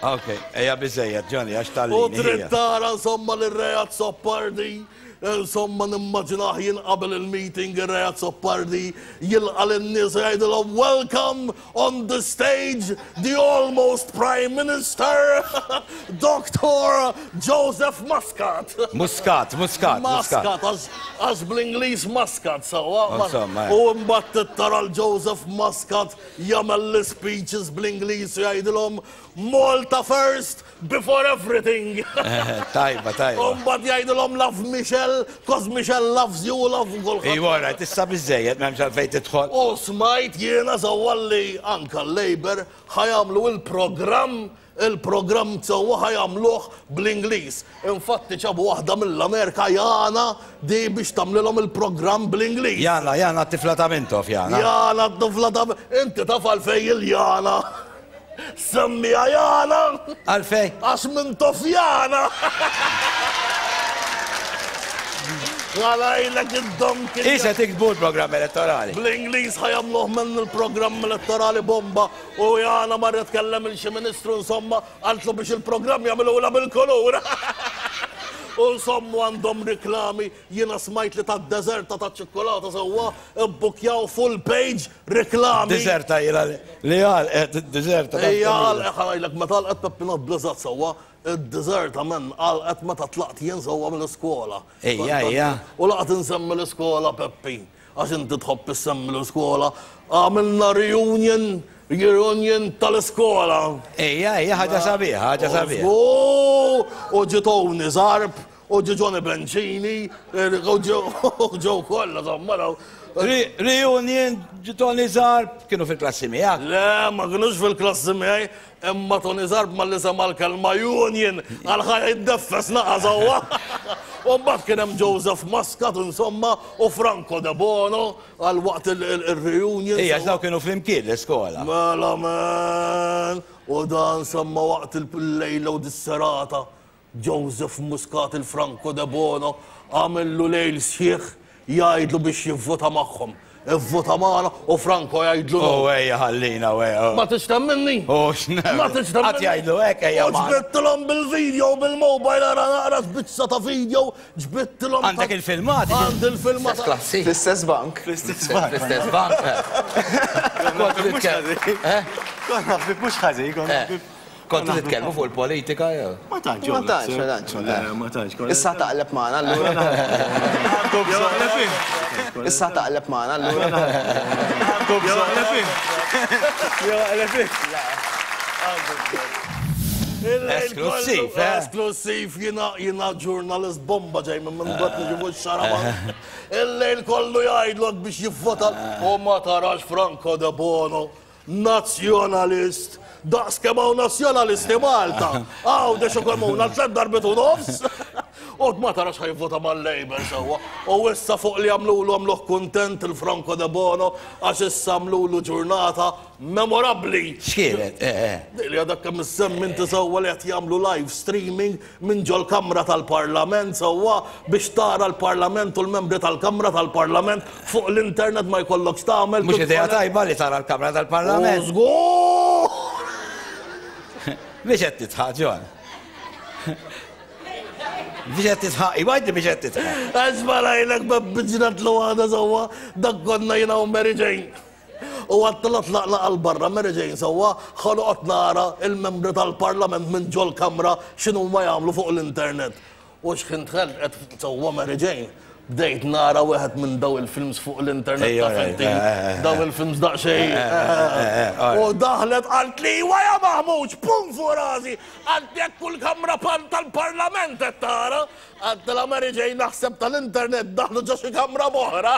Ok, ejja biżejjed Johnny għax tgħallini. U trid tara insomma lir-Re Azzopardi, insomma nimmaġinah jien qabel il-meeting ir-Re Azzopardi jilqa' lin-nies u jgħidilhom welcome On the stage, the almost Prime Minister, Doctor Joseph Muscat. Muscat, Muscat, Muscat. Għax bl-Ingliż Muscat, sewwa. U mbagħad tara l-Joseph Muscat jagħmel l-speeches bl-Ingliż u jgħidilhom Malta first, Before everything. Tajba, tajba. U mbagħad jgħidilhom love Michelle, cause Michelle loves you, love kulħadd. Iva, right, issa biżejjed m'hemmx għalfejn tidħol. U smajt jiena sewwa li anka l-Labour ħajamlu il-programm il-programm sewwa ħajamluh bl-Ingliż. Infatti ġabu waħda mill-Amerika Jana di biex tagħmlilhom il-programm bl-Ingliż. Jana, Jana t-tifla ta' Mintoff, Jana. Jana t-tifla ta' Inti taf għalfejn il-Jana. Semmiha Jana! Għalfejn? Għax minn Tofjana! Għalajlek id-dom kien. Isa tiktbu l-programm elettorali. Bl-Ingliż ħajamluh minn il-programm elettorali bomba u Jana marret kellem il xi ministru insomma qaltlu biex il-programm jagħmilula bil-kulur. U insomma għandhom riklami jiena smajt li tad-deżerta taċ-ċikkulata sewwa Ibbukjaw full page reklami. Diżerta ilha li għalqet id-diżerta. Hija għalqet ħa ngħidlek meta għalqet Peppino bl-eżatt sewwa, id-diżerta men għalqet meta tlaqt jien sewwa mill-iskola. Ejja, ejja. U laqgħet insemmi l-iskola Peppi, għax inti tħobb issemmi l-iskola, għamilna reunion, reunion tal-iskola. Ejja, ejja, ħaġa sabiħa, ħaġa sabiħa. U ġie Tony Zarb, U ġie Johnny Bencini, u ġew kollha insomma daw. Reunion, ġie Tony Zarb, kienu fil-klassi miegħek? Le, ma kinux fil-klassi miegħi, imma Tony Zarb malli sema' l-kelma union, qal ħa jiddeffes naqa' sewwa. U mbagħad kien hemm Joseph Muscat insomma u Franco Debono għal waqt il-reunion. Ija, għax daw kienu flimkien l-iskola. Mela man, u dan semma waqt il-lejla u dis-serata. Joseph Muscat il-Franco Debono għamillu lejl sħiħ jgħidlu biex jivvota magħhom. Ivvota magħna u Franco jgħidlu no. U ejja ħallina u ejja. Ma tridx temminni? U x'nemmel. Ma tridx temminni? Qatt jgħidlu hekk ejja magħna. U ġbidtilhom bil-video bil-mobile ara naqra x'biċċa ta' video ġbidtilhom. Għandek il-filmati? Għandi il-filmati. Klassi. Fl-istess bank. Fl-istess bank. Fl-istess bank. Konna ħbib mhux ħażin, konna ħbib. Kontu titkellmu fuq il-politika jew? Ma tantx. Ma tantx, ma tantx. Le, ma tantx. Issa taqleb magħna allura. Issa taqleb magħna allura. Esklussiv, eh? Esklussiv, jiena jiena ġurnalist bomba ġej minn minn dwat niġibu x-xaraba. Il-lejl kollu jgħidlok biex jivvota u ma tarax Franco de Bono, nazzjonalist, daqs kemm hawn nazzjonalisti Malta. Għawdex u kemm hawn għal darbit u nofs. U ma tarax ħajvota mal-Labour sewwa. U issa fuq li għamlulu għamluh kuntent il-Franco de Bono għax issa għamlulu ġurnata Memorabbli! X'kienet? Eh, eh. Dik li għadek kemm issemmi inti sewwa li qed jagħmlu live streaming minn ġol-Kamra tal-Parlament sewwa biex tara l-Parlament u l-membri tal-Kamra tal-Parlament fuq l-internet ma jkollokx tagħmel. Mhux idea tajba li tara l-Kamra tal-Parlament. U żgur! Biex qed tidħaq, John. Biex qed tidħaq, iwa għidli biex qed tidħaq. Għax ma rajlek b'ġratlu għada sewwa dak konna jiena u Mary Jane. U għadtilha tlaqna għal barra Mary Jane sewwa, ħa noqgħod nara l-membri tal-Parlament minn ġol-Kamra x'inhuma jagħmlu fuq l-internet. U x'ħin dħalt qed sewwa Mary Jane, bdejt nara wieħed minn daw il-films fuq l-internet taf inti, daw il-films daqsxejn. U daħlet qaltli iwa ja Maħmuġ, pum fuq rasi, qaltli hekk kull kamra tal-Parlament qed tara. Għedtilha Mary Jane naħseb tal-internet daħlu ġo xi kamra b'oħra.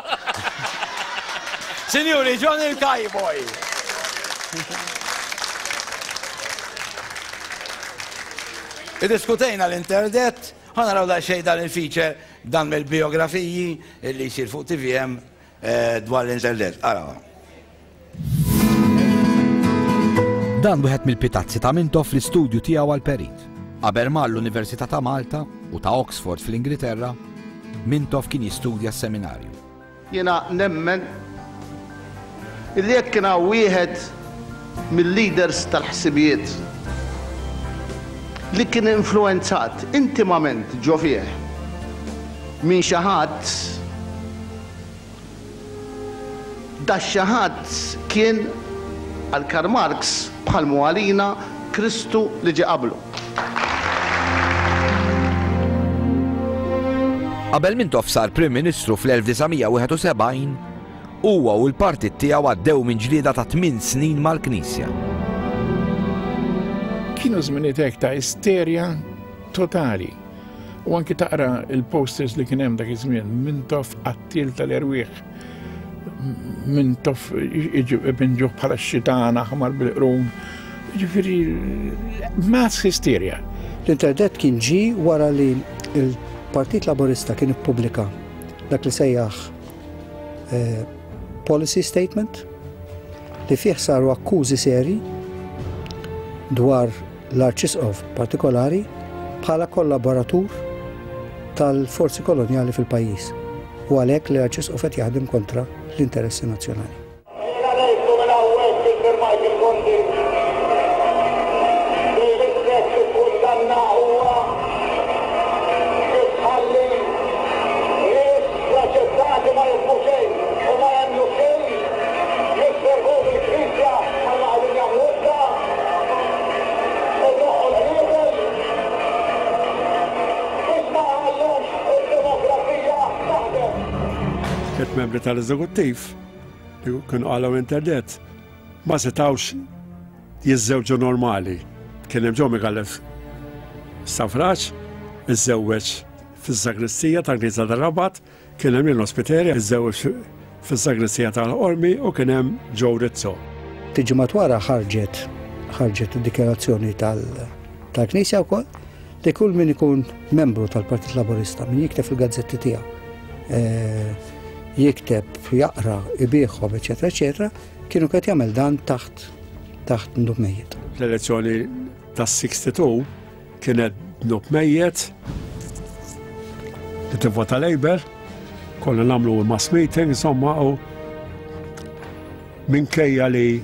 Sinjuri, John il-Cowboy. Iddiskutejna l-internet, ħa naraw daqsxejn dan il-feature dan mill-biografiji li jsir fuq TVM dwar l-internet. Araw. Dan wieħed mill-pitazzi ta' Mintoff fl-istudju tiegħu għal perit. Qabel mar l-Università ta' Malta u ta' Oxford fl-Ingilterra, Mintoff kien jistudja s-seminarju. Jiena nemmen illi jekk kien hawn wieħed mil-leaders tal-ħsibijiet li kien influwenzat intimament ġo fih minn xi ħadd, Dax-xi ħadd kien għal Karl Marx bħal mhu għalina Kristu li ġie qablu. Qabel Mintoff sar Prim Ministru fl-1971, huwa u l-partit tiegħu għaddew minn ġlieda ta' tmien snin mal-Knisja. Kienu żminijiet hekk ta' isterja totali. U anki taqra il-posters li kien hemm dak iż-żmien, Mintoff qattiel tal-erwieħ, Mintoff ipinġuh bħala x-xitan aħmar bil-qrun. Ġifieri mass hysteria. L-interdett kien ġie wara li l-Partit Laburista kien ippubblika dak li sejjaħ eh, policy statement li fih saru akkużi seri dwar l-Arċisqof partikolari bħala kollaboratur tal-forzi kolonjali fil-pajjiż u għalhekk li l-Arċisqof qed jaħdem kontra l-interessi nazzjonali. Jiena ngħidlu minn hawnhekk lil Sir Michael Conti li l-istess ikkundanna huwa li tħalli nies preċettati ma jifhmu xejn u ma jemmnu f'xejn jisservu lill-Knisja bħalma qegħdin jagħmlu issa. Idoqqu l-qniepen biex ma jħallux id-demokrazija taħdem. Tliet membri tal-eżekuttiv li kienu qalgħu interdett ma setgħux jiżżewġu normali. Kien hemm Joe Micallef Stafraċ, iżżewweġ fis-sagristija tal-Knisja tar-Rabat, Kien hemm Lino Spiteri iżżewweġ fis-sagristija tal-Qormi u kien hemm Joe Rizzo. Ftit ġimgħat wara ħarġet ħarġet id-dikjarazzjoni tal-Knisja wkoll li kull min ikun membru tal-Partit Laburista, min jikteb fil-gazzetti tiegħu, eh, jikteb, jaqra, ibiħhom, eċetera, eċetera, kienu qed jagħmel dan taħt taħt ndub mejjet. L-elezzjoni tas-62 Kienet dnub mejjet li tivvota Labour, konna nagħmlu mass meeting, insomma, u minkejja li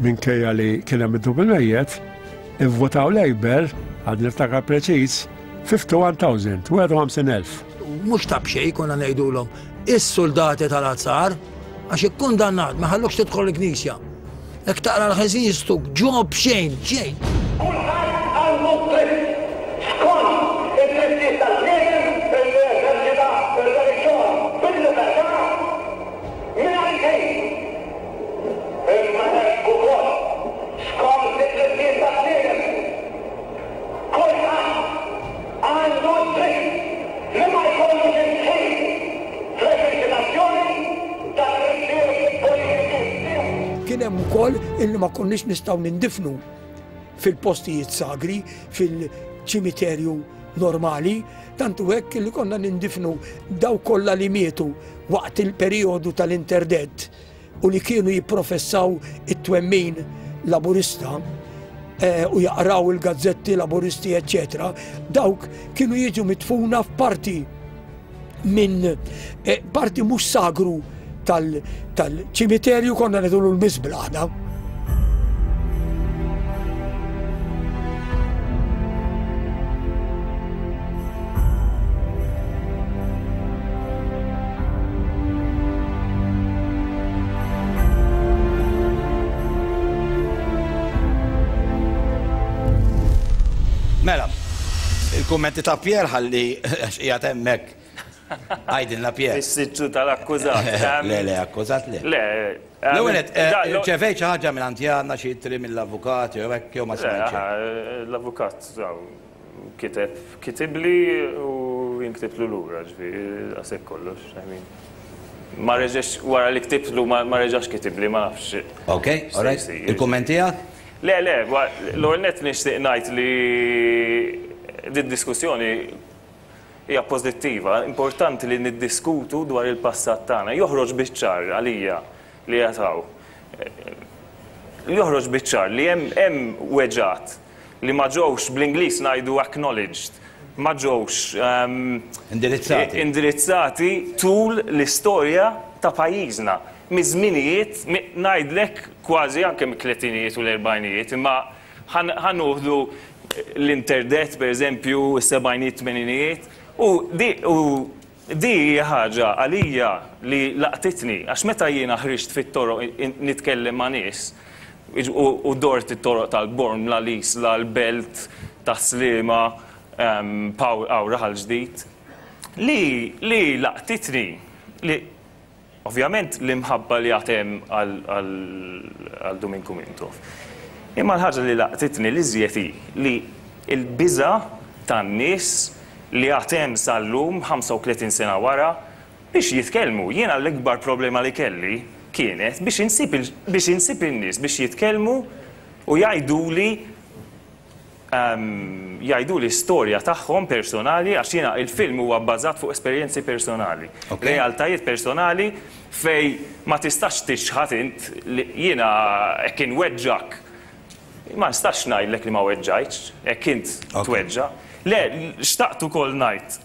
minkejja li kien hemm id-dnub il-mejjet, ivvotaw Labour, għad niftakar preċiż, 51,000, 51,000. Mhux ta' b'xejn konna ngħidulhom is-suldati tal-azzar għax ikkundannat ma ħallukx tidħol il-knisja. Jekk taqra l-ħażin jistuk ġo b'xejn, xejn. Kulħadd għandu d-dritt, skont id-drittijiet tal-bniedem, illi jeżerċita r-reliġjon bil-libertà mingħajr xejn. Imma hekk ukoll, skont id-drittijiet tal-bniedem. Kien hemm ukoll illi ma konniex nistgħu nindifnu fil-postijiet sagri, fil-ċimiterju normali, tant hu hekk li konna nindifnu dawk kollha li mietu waqt il-perijodu tal-interdett u li kienu jipprofessaw it-twemmin Laburista eh, u jaqraw il-gazzetti Laburisti, eċċetera, dawk kienu jiġu mitfuna f'parti minn eh, parti mhux sagru tal-ċimiterju konna nidulu l-miżbla aħna. Mela, il-kummenti ta' Pier ħalli għax qiegħed hemmhekk. Għidilna Pier. Fis-siġġu tal-akkużat. Le, le, akkużat le. Le. L-ewwel nett, irċevejt xi ħaġa minn Antjana, xi ittri mill-avukat jew hekk jew ma smajtx xejn? Le, l-avukat kiteb, kitibli u jien ktibtlu lura, ġifieri daqshekk kollox, I mean. Ma reġax, wara li ktibtlu ma reġax kitibli, ma nafx. Ok, all right. Il-kumment tiegħek? Le, le, l-ewwel nett nixtieq ngħid li did-diskussjoni hija pożittiva, importanti li niddiskutu dwar il-passat tagħna. Joħroġ biċ-ċar għalija li qiegħed hawn. Joħroġ biċ-ċar li hemm hemm weġgħat li ma ġewx bl-Ingliż ngħidu acknowledged, ma ġewx Indirizzati. indirizzati tul l-istorja ta' pajjiżna. Miż-żminijiet, ngħidlek kważi anke mit-tletinijiet u l-erbgħinijiet, imma Ħa nuħdu l-interdett, per eżempju, is-sebgħinijiet, tmeninijiet, u di u di hija ħaġa għalija li laqtitni, għax meta jiena ħriġt fit-toroq nitkellem ma' nies, u dort it-toroq tal-Bormla, l-Isla, l-Belt, Tas-Sliema, hawn Raħal Ġdid, li li laqtitni li Ovvjament l-imħabba li għad hemm għal Duminku Mintoff. Imma l-ħaġa li laqtitni l-iżjed hi li l-biża' tan-nies li għad hemm sal-lum, 35 sena wara, biex jitkellmu. Jiena l-ikbar problema li kelli kienet biex insib biex insib in-nies biex jitkellmu u jgħiduli jgħiduli storja tagħhom personali għax jiena il-film huwa bbażat fuq esperjenzi personali. Realtajiet personali fejn ma tistax tiċħad int li jiena hekk inweġġgħek ma nistax ngħidlek li ma weġġajtx, hekk int tweġġa'. Le, xtaqt ukoll ngħid,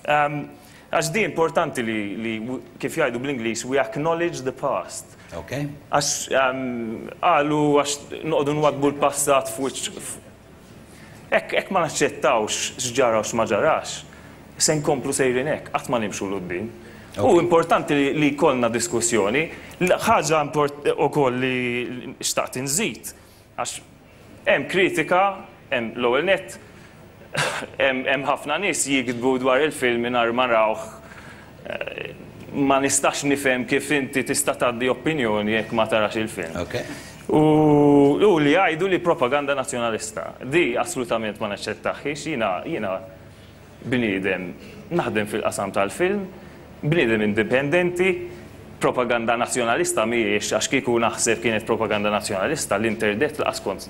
għax di importanti li kif jgħidu bl-Ingliż we acknowledge the past. Għax qalu għax noqogħdu nwaddbu l-passat f'wiċċ Hekk hekk ma naċċettawx x'ġara u x'ma ġarax, se nkomplu sejrin hekk, qatt ma nimxu 'l quddiem. Hu importanti li li jkollna diskussjoni. Ħaġa ukoll li xtaqt inżid, għax hemm kritika, hemm l-ewwel nett, hemm ħafna nies jiktbu dwar il-film mingħajr ma rawh. Ma nistax nifhem kif inti tista' tgħaddi opinjoni jekk ma tarax il-film. U li jgħidu li propaganda nazzjonalista. Di assolutament ma naċċettaħiex, jiena jiena bniedem naħdem fil-qasam tal-film, bniedem indipendenti, propaganda nazzjonalista mhijiex għax kieku naħseb kienet propaganda nazzjonalista l-interdett laqas kont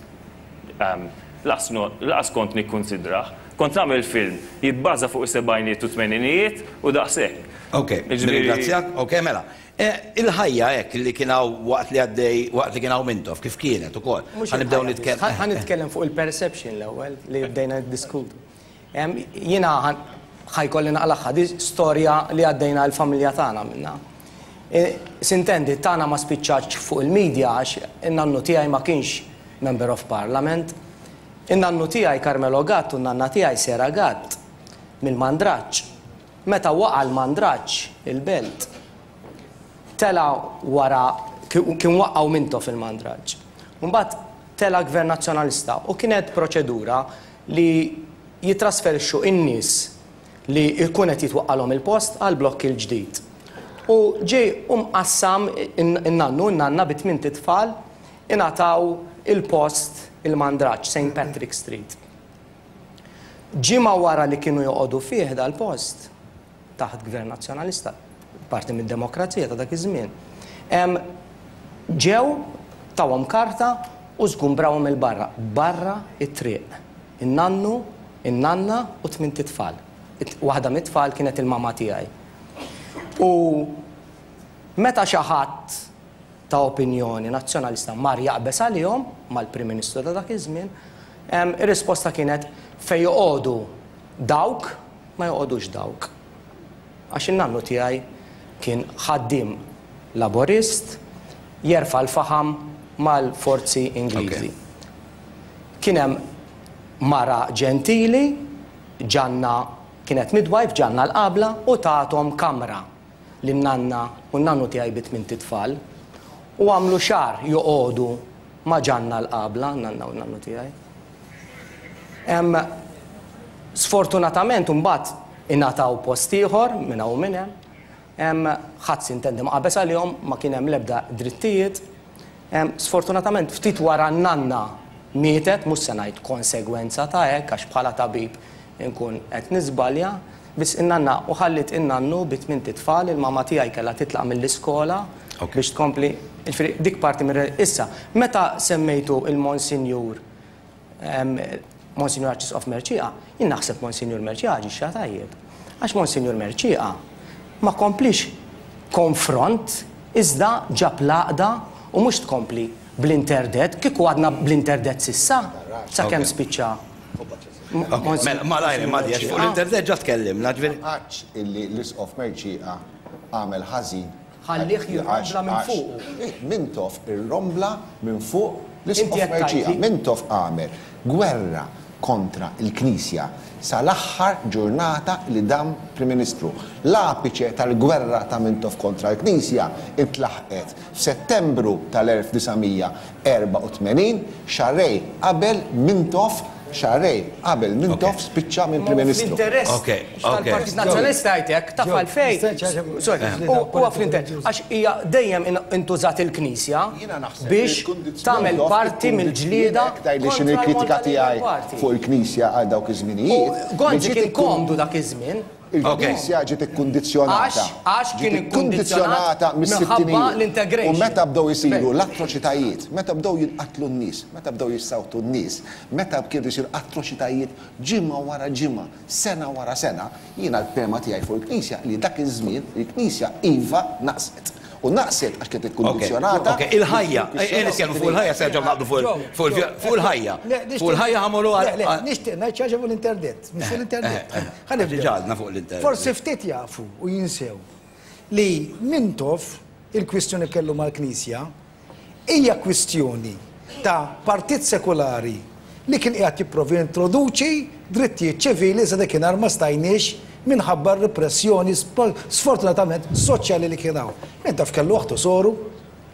Laqas kont nikkunsidrah. Kont nagħmel film jibbaża fuq is-sebgħinijiet u t-tmeninijiet u daqshekk. Ok, nirringrazzjak. Ok, mela. Il-ħajja hekk li kien hawn waqt li għaddej, waqt li kien hawn Mintoff, kif kienet ukoll? Mhux Ħa nibdew nitkellmu. Ħa nitkellem fuq il-perception l-ewwel li bdejna niddiskutu. Jiena ħa jkolli naqlagħha, di storja li għaddejna l-familja tagħna minnha. Sintendi, tagħna ma spiċċatx fuq il-media għax in-nannu tiegħi ma kienx Member of Parliament. In-nannu tiegħi Carmelo Gatt u n-nanna tiegħi Sera Gatt mill-Mandraġġ. Meta waqa' l-Mandraġġ, il-Belt, tela' wara, kien waqqgħu Mintoff il-Mandraġġ. Mbagħad tela' Gvern Nazzjonalista u kienet proċedura li jittrasferixxu n-nies li jkun qed jitwaqqalhom il-post għall-blokk il-ġdid. U ġie u mqassam in-nannu u n-nanna bi tmint itfal ingħataw il-post il-Mandraġġ, Saint Patrick Street. Ġimgħa wara li kienu joqogħdu fih dal-post, taħt Gvern Nazzjonalista, parti mid-demokrazija ta' dak iż-żmien, ġew Tawhom karta u żgumbrawhom 'il barra, barra t-triq. In-nannu, in-nanna u tmint itfal. Waħda mit-tfal kienet il-mama tiegħi. U meta xi ħadd ta' opinjoni Nazzjonalista mar jaqbeż għalihom mal-Prim Ministru ta' dak iż-żmien, ir-risposta kienet fejn joqogħdu dawk ma joqogħdux dawk. Għax in-nannu tiegħi kien ħaddiem Laburist jerfa' l-faħam mal-forzi Ingliżi. Kien hemm mara ġentili, Ġanna, kienet midwife, Ġanna l-Qabla, u tathom kamra lin-nanna u n-nannu tiegħi bi tmint itfal. U għamlu xahar joqogħdu ma' Ġanna l-Qabla, n-nanna u n-nannu tiegħi. Sfortunatament imbagħad ingħataw post ieħor minn hawn u minn hemm. Ħadd sintendi ma qabeż għalihom, ma kien hemm l-ebda drittijiet. Sfortunatament ftit wara n-nanna mietet, mhux se ngħid konsegwenza ta' hekk għax bħala tabib inkun qed niżbalja, biss in-nanna u ħalliet in-nannu bi tmint itfal, il-mama tiegħi kellha titlaq mill-iskola biex tkompli, jiġifieri dik parti mir Issa, meta semmejtu il-Monsinjur Monsinjur Arċisqof Mercieca, jien naħseb Monsinjur Mercieca aġixxa tajjeb. Għax Monsinjur Mercieca ma kompliex konfront iżda ġab l-għaqda u mhux tkompli bl-interdett, kieku għadna bl-interdett s'issa, sakemm spiċċa Mela, malajr imma għax fuq l-interdett ġa tkellimna, ġifieri. Ma għadx illi l-Isqof Mercieca għamel ħażin Ħallih jirrombla minn fuqu. Mintoff irrombla minn fuq l-Isqof Mercieca. Mintoff għamel gwerra kontra l-Knisja sal-aħħar ġurnata li dam Prim Ministru. L-apiċe tal-gwerra ta' Mintoff kontra l-Knisja ntlaħqet f'Settembru tal-1984, xahrejn qabel Mintoff xahrejn qabel Mintoff spiċċa minn Prim Ministru. Fl-interess tal-Partit Nazzjonalista jgħid hekk, taf għalfejn? Sorry, huwa fl-interess għax hija dejjem intużat il-Knisja biex tagħmel parti mill-ġlieda Tgħidli x'inhi l-kritika tiegħi fuq il-Knisja għal dawk iż-żminijiet. Gonzi kien komdu dak iż-żmien. Il-Knisja ġiet ikkundizzjonata. Għax kien ikkundizzjonata mis-sittinijiet. U meta bdew isiru l-atroċitajiet, meta bdew jinqatlu n-nies, meta bdew jissawtu n-nies, meta kienu jsiru atroċitajiet ġimgħa wara ġimgħa, sena wara sena, jiena l-fehma tiegħi fuq il-Knisja li dak iż-żmien il-Knisja iva naqset. U naqset għax kienet ikkundizzjonata. Ok, il-ħajja, ejja nitkellmu fuq il-ħajja se nerġgħu naqbdu fuq il-ħajja. Fuq il-ħajja ħa mmorru għal. Le, le, nixtieq ngħid xi ħaġa fuq l-interdett, mhux fuq l-interdett. Ħa nibdew. Diġà għadna fuq l-interdett. Forsi ftit jafu u jinsew li Mintoff il-kwistjoni kellu mal-Knisja Hija kwistjoni ta' partit sekulari li kien qiegħed jipprova jintroduċi drittijiet ċivili iżda dakinhar ma stajniex minħabba r-ripressjoni sfortunatament soċjali li kien hawn. Min taf kellu oħtu soru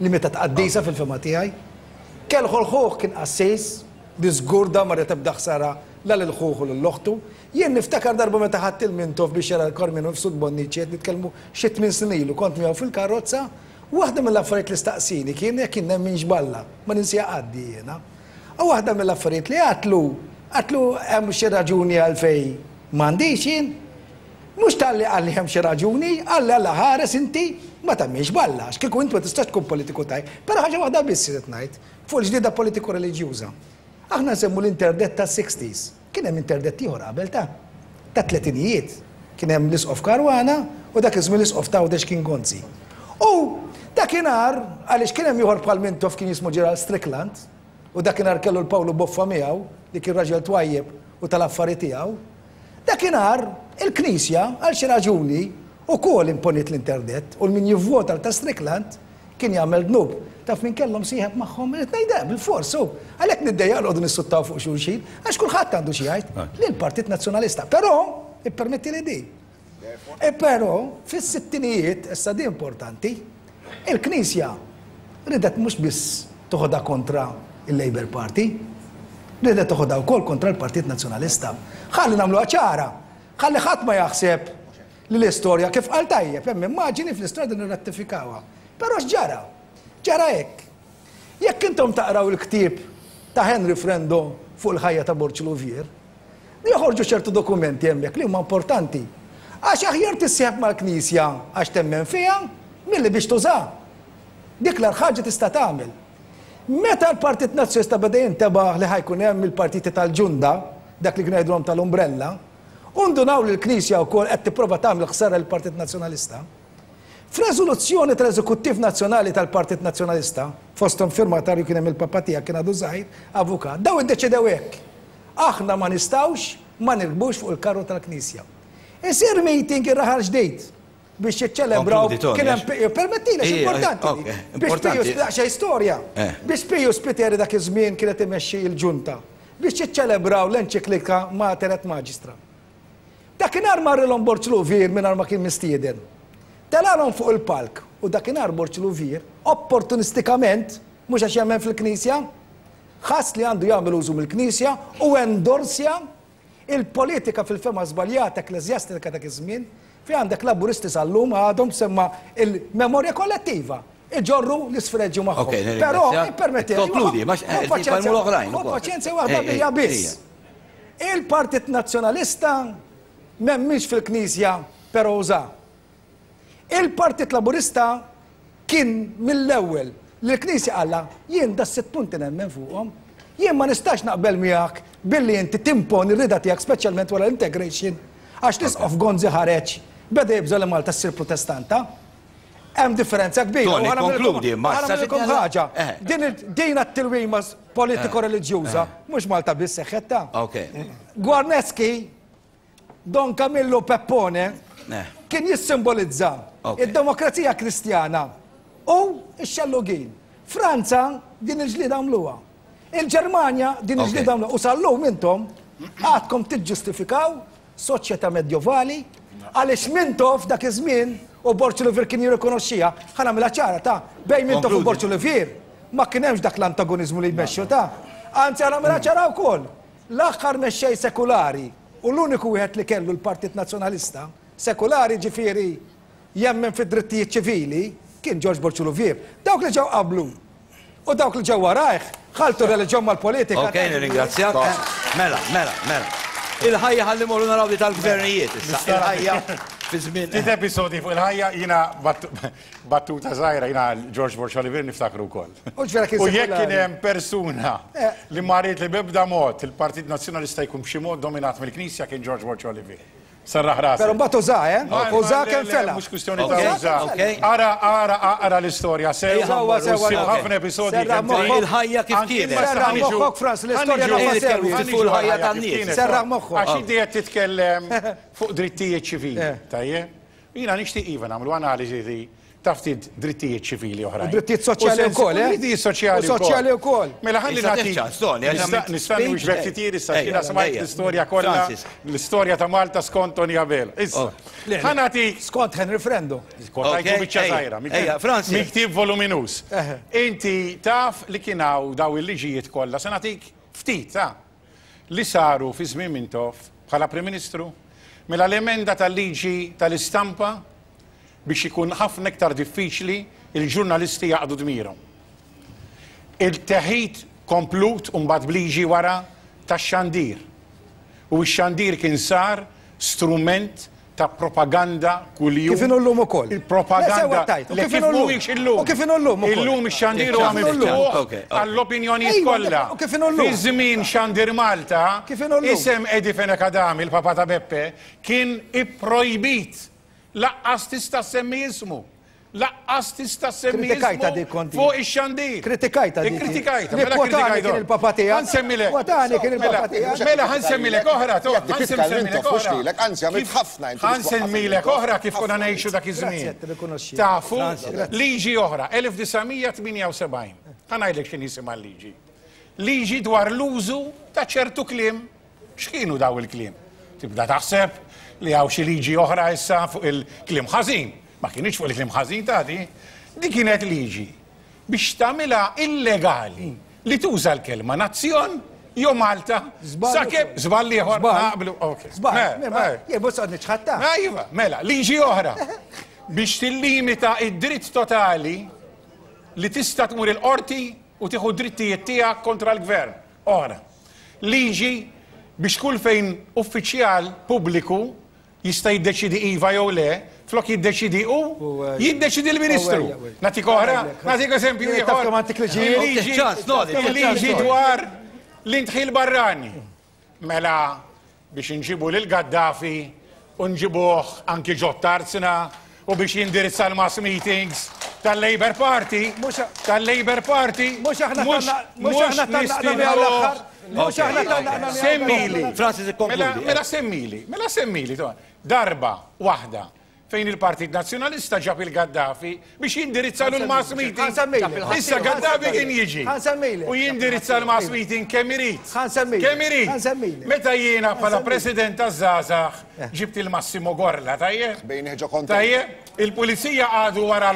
li mietet qaddisa fil-fehma tiegħi. Kellu l-ħuh kien qassis li żgur dan ma ried ebda ħsara la lil ħuh u lil oħtu. Jien niftakar darba meta ħadt il-Mintoff biex jara l-Karmenu Mifsud Bonnici qed nitkellmu xi tmien snin ilu kont miegħu fil-karozza Waħda mill-affarijiet li staqsieni kien jekk jien nemminx b'Alla. Ma ninsiha qatt di jiena. U waħda mill-affarijiet li għadtlu, għadtlu hemm xi raġuni għalfejn m'għandix jien? Mhux talli qalli hemm xi raġuni, qalli Alla ħares inti ma temminx b'Alla, għax kieku int ma tistax tkun politiku tajjeb. Però ħaġa waħda biss irrid ngħid, fuq il-ġlieda politiko-reliġjuża. Aħna nsemmu l-interdett tas-sixties. Kien hemm interdett ieħor qabel ta' tat-tletinijiet. Kien hemm l-Isqof Caruana u dak iż-żmien l-Isqof t'Għawdex kien Gonzi. U dakinhar, għaliex kien hemm ieħor bħal Mintoff kien jismu Gerald Strickland, u dakinhar kellu l-Pawlu Boffa miegħu li kien raġel twajjeb u tal-affari tiegħu, dakinhar il-Knisja għal xi raġuni ukoll imponiet l-interdett u l-min jivvota għal ta' Strickland Kien jagħmel dnub. Taf min kellhom sieħeb magħhom? Irrid ngħid hekk, bilfors, hu. Għalhekk niddejjaq noqogħdu nissuttaw fuq xulxin, għax kulħadd għandu xi jgħid. Lill-Partit Nazzjonalista. Però, ippermettili din. E però, fis-sittinijiet, issa din importanti, il-Knisja ridet mhux biss toħodha kontra il-Labour Party, ridet toħodha wkoll kontra l-Partit Nazzjonalista. Ħalli nagħmluha ċara, ħalli ħadd ma jaħseb Li l-istorja, kif qal tajjeb, hemm immaġini fl-istorja din nirrattifikawha. Però x'ġara? Ġara hekk. Jekk intom taqraw il-ktieb ta' Henry Frendo fuq il-ħajja ta' Borg Louvier, joħorġu ċertu dokumenti hemmhekk li huma importanti. Għax aħjar tissieħeb mal-Knisja għax temmen fiha milli biex tużaha. Dik l-agħar ħaġa tista' tagħmel. Meta l-Partit Nazzjonalista beda jintebaħ li ħa jkun hemm il-partiti tal-ġunda, dak li kienu jgħidulhom tal-umbrella, u ndunaw li l-Knisja wkoll qed tipprova tagħmel ħsara lill-Partit Nazzjonalista, f'reżoluzzjoni tal-Eżekuttiv Nazzjonali tal-Partit Nazzjonalista, fosthom firmatarju kien hemm il-papa tiegħek kien għadu żgħir, avukat, dawn iddeċidew hekk, Aħna ma nistgħux ma nirkbux fuq il-karru tal-Knisja. Isir meeting ir-Raħal Ġdid. biex jiċċelebraw kien hemm permettili għax importanti. Biex Pius daqsxejn storja. Eh. Biex Pius Spiteri dak iż-żmien kienet imexxi l-ġunta biex jiċċelebraw l-enċiklika Mater et Magistra. Dakinhar marrilhom Borġ Luvier mingħajr ma kien mistieden. Telalhom fuq il-palk u dakinhar Borġ Luvier opportunistikament mhux għax jemmen fil-Knisja, ħass li għandu jagħmel użu mill-Knisja u endorsja Il-politika fil-fehma żbaljata ekkleżjastika dak iż-żmien, fejn għandek Laburisti sal-lum għadhom semma il-memorja kollettiva, iġorru l-isfreġju magħhom. Però, ippermettili. Konkludi, ma l-oħrajn. Ħu paċenzja waħda bija biss. Il-Partit Nazzjonalista m'hemmx fil-Knisja però uża. Il-Partit Laburista kien mill-ewwel li l-Knisja qallha, jien das-sitt punti nemmen fuqhom. Jien ma nistax naqbel miegħek billi inti timponi r-rieda tiegħek speċjalment wara l-integration għax l-Isqof Gonzi ħareġ beda jibża' li Malta ssir Protestanta. Hemm differenza kbira. Tony, konkludi, ma nagħmlilkom ħaġa. Eh. Din din t-tilwima politiko-reliġjuża eh. mhux Malta biss seħħet ta. Gwarneski Don Camillo Peppone eh. kien jissimbolizza id-demokrazija kristjana u x-xellugin. Franza din il-ġlieda għamluha. Il-Ġermanja din il-ġlieda għamluha. U sal-lum intom għadkom tiġġustifikaw soċjetà medjovali għaliex Mintoff dak iż-żmien u Borġ Olivier kien jirrikonoxxiha, ħa nagħmilha ċara ta' bejn Mintoff u Borġ Olivier ma kien hemmx dak l-antagonizmu li jmexxu ta'. Anzi ħa nagħmilha ċara wkoll. L-aħħar mexxej sekulari u l-uniku wieħed li kellu l-Partit Nazzjonalista, sekulari ġifieri jemmen fid-drittijiet ċivili, kien Ġorġ Borg Louvier. Dawk li ġew qablu u dawk li ġew warajh ħalltu r-reliġjon mal-politika. Ok, nirringrazzjak. Mela, mela, mela. Il-ħajja ħalli morru naraw di tal-gvernijiet issa. Il-ħajja fi żmien. Ftit episodji fuq il-ħajja jiena Battuta żgħira jiena George Borg Olivier niftakru wkoll. U jekk kien hemm persuna eh. li ma ried li b'ebda mod il-Partit Nazzjonalista jkun b'xi mod dominat mill-Knisja kien George Borg Olivier. Serraħ rasi. Però mbagħad uża, eh? Uża kemm fela. Mhux kwistjoni ta' uża. Ara, ara, ara l-istorja sew. Sewwa, sewwa. Ħafna episodji. Il-ħajja kif kienet. Serraħ moħħok Frans, l-istorja nafa sew. Fuq il-ħajja tan-nies. Serraħ moħħok. Għax inti qed titkellem fuq drittijiet ċivili, eh. tajjeb? Jiena nixtieq iva nagħmlu analiżi ta' ftit drittijiet ċivili oħrajn. U drittijiet soċjali wkoll, eh? Drittijiet soċjali wkoll. Soċjali wkoll. Mela ħalli nagħti. Nista' nwieġbek ftit issa jiena smajt l-istorja kollha, l-istorja ta' Malta skont Tony Abela. Issa, oh. ħa nagħti. Skont Henry Frendo. Kont biċċa żgħira. Minn ktieb voluminuż. Inti taf li kien hawn daw il-liġijiet kollha, se nagħtik ftit, ta' li saru fi żmien Mintoff bħala Prim Ministru, mela l-emenda tal-liġi tal-istampa biex ikun ħafna iktar diffiċli l-ġurnalisti jaqdu dmirhom. Il-teħid komplut u mbagħad b'liġi wara tax-xandir. U x-xandir kien sar strument ta' propaganda kuljum. Kif inhu llum ukoll. Il-propaganda. Le kif mhuwiex illum. U kif inhu llum ukoll. Illum ix-xandir huwa miftuħ għall-opinjonijiet kollha. U kif inhu llum. Fi żmien Xandir Malta, isem Eddie Fenech Adami, il-papa ta' Beppe, kien ipprojbit. Laqqas tista' ssemmi ismu. Laqqas tista' ssemmi Kritikajta dik kont fuq ix-xandir. Kritikajta dik. Kritikajta. Mela kritikajta. kien il-papa tiegħek. Ħa nsemmilek. Kwotani kien il-papa tiegħek. Mela ħa nsemmilek oħra, to. Jekk titkellem mhux lilek, anzi għamilt ħafna inti. Ħa nsemmilek oħra kif konna ngħixu dak iż-żmien. Tafu liġi oħra, 1978. Ħa ngħidlek x'inhi isimha l-liġi. Liġi dwar l-użu ta' ċertu kliem X'kienu daw il-kliem? Tibda taħseb li hawn xi liġi oħra issa fuq il-kliem ħażin. Ma kinitx fuq il-kliem ħażin ta' di. Di kienet liġi biex tagħmilha illegali li tuża l-kelma nazzjon jew Malta sakemm żball ieħor naqblu. Żball. Jien mhux qed niċħadta. Iva, mela, liġi oħra biex tillimita id-dritt totali li tista' tmur il-qorti u tieħu d-drittijiet tiegħek kontra l-gvern. Oħra. Liġi biex kull fejn uffiċjal pubbliku jista' jiddeċiedi iva jew le, Flok jiddeċidi hu, jiddeċidi l-Ministru. Nagħtik oħra, nagħtik eżempju ieħor. Il-liġi dwar l-indħil barrani. Mela biex inġibu lil Gaddafi u nġibuh anki ġo tarzna u biex jindirizza l-mass meetings tal-Labour Party, tal-Labour Party, mhux aħna mhux aħna nistiednuh. Mhux aħna tannaqna Semmili. Francis ikkonkludi. Mela semmili, mela semmili. Darba waħda fejn il-Partit Nazzjonalista ġab il-Gaddafi biex jindirizza l-mass meeting. Issa Gaddafi kien jiġi u jindirizza l-mass meeting kemm irid. Kemm irid. Meta jiena bħala President taż-żgħażagħ ġibt il-Massimo Gorla, tajjeb? Tajjeb, il-pulizija qagħdu wara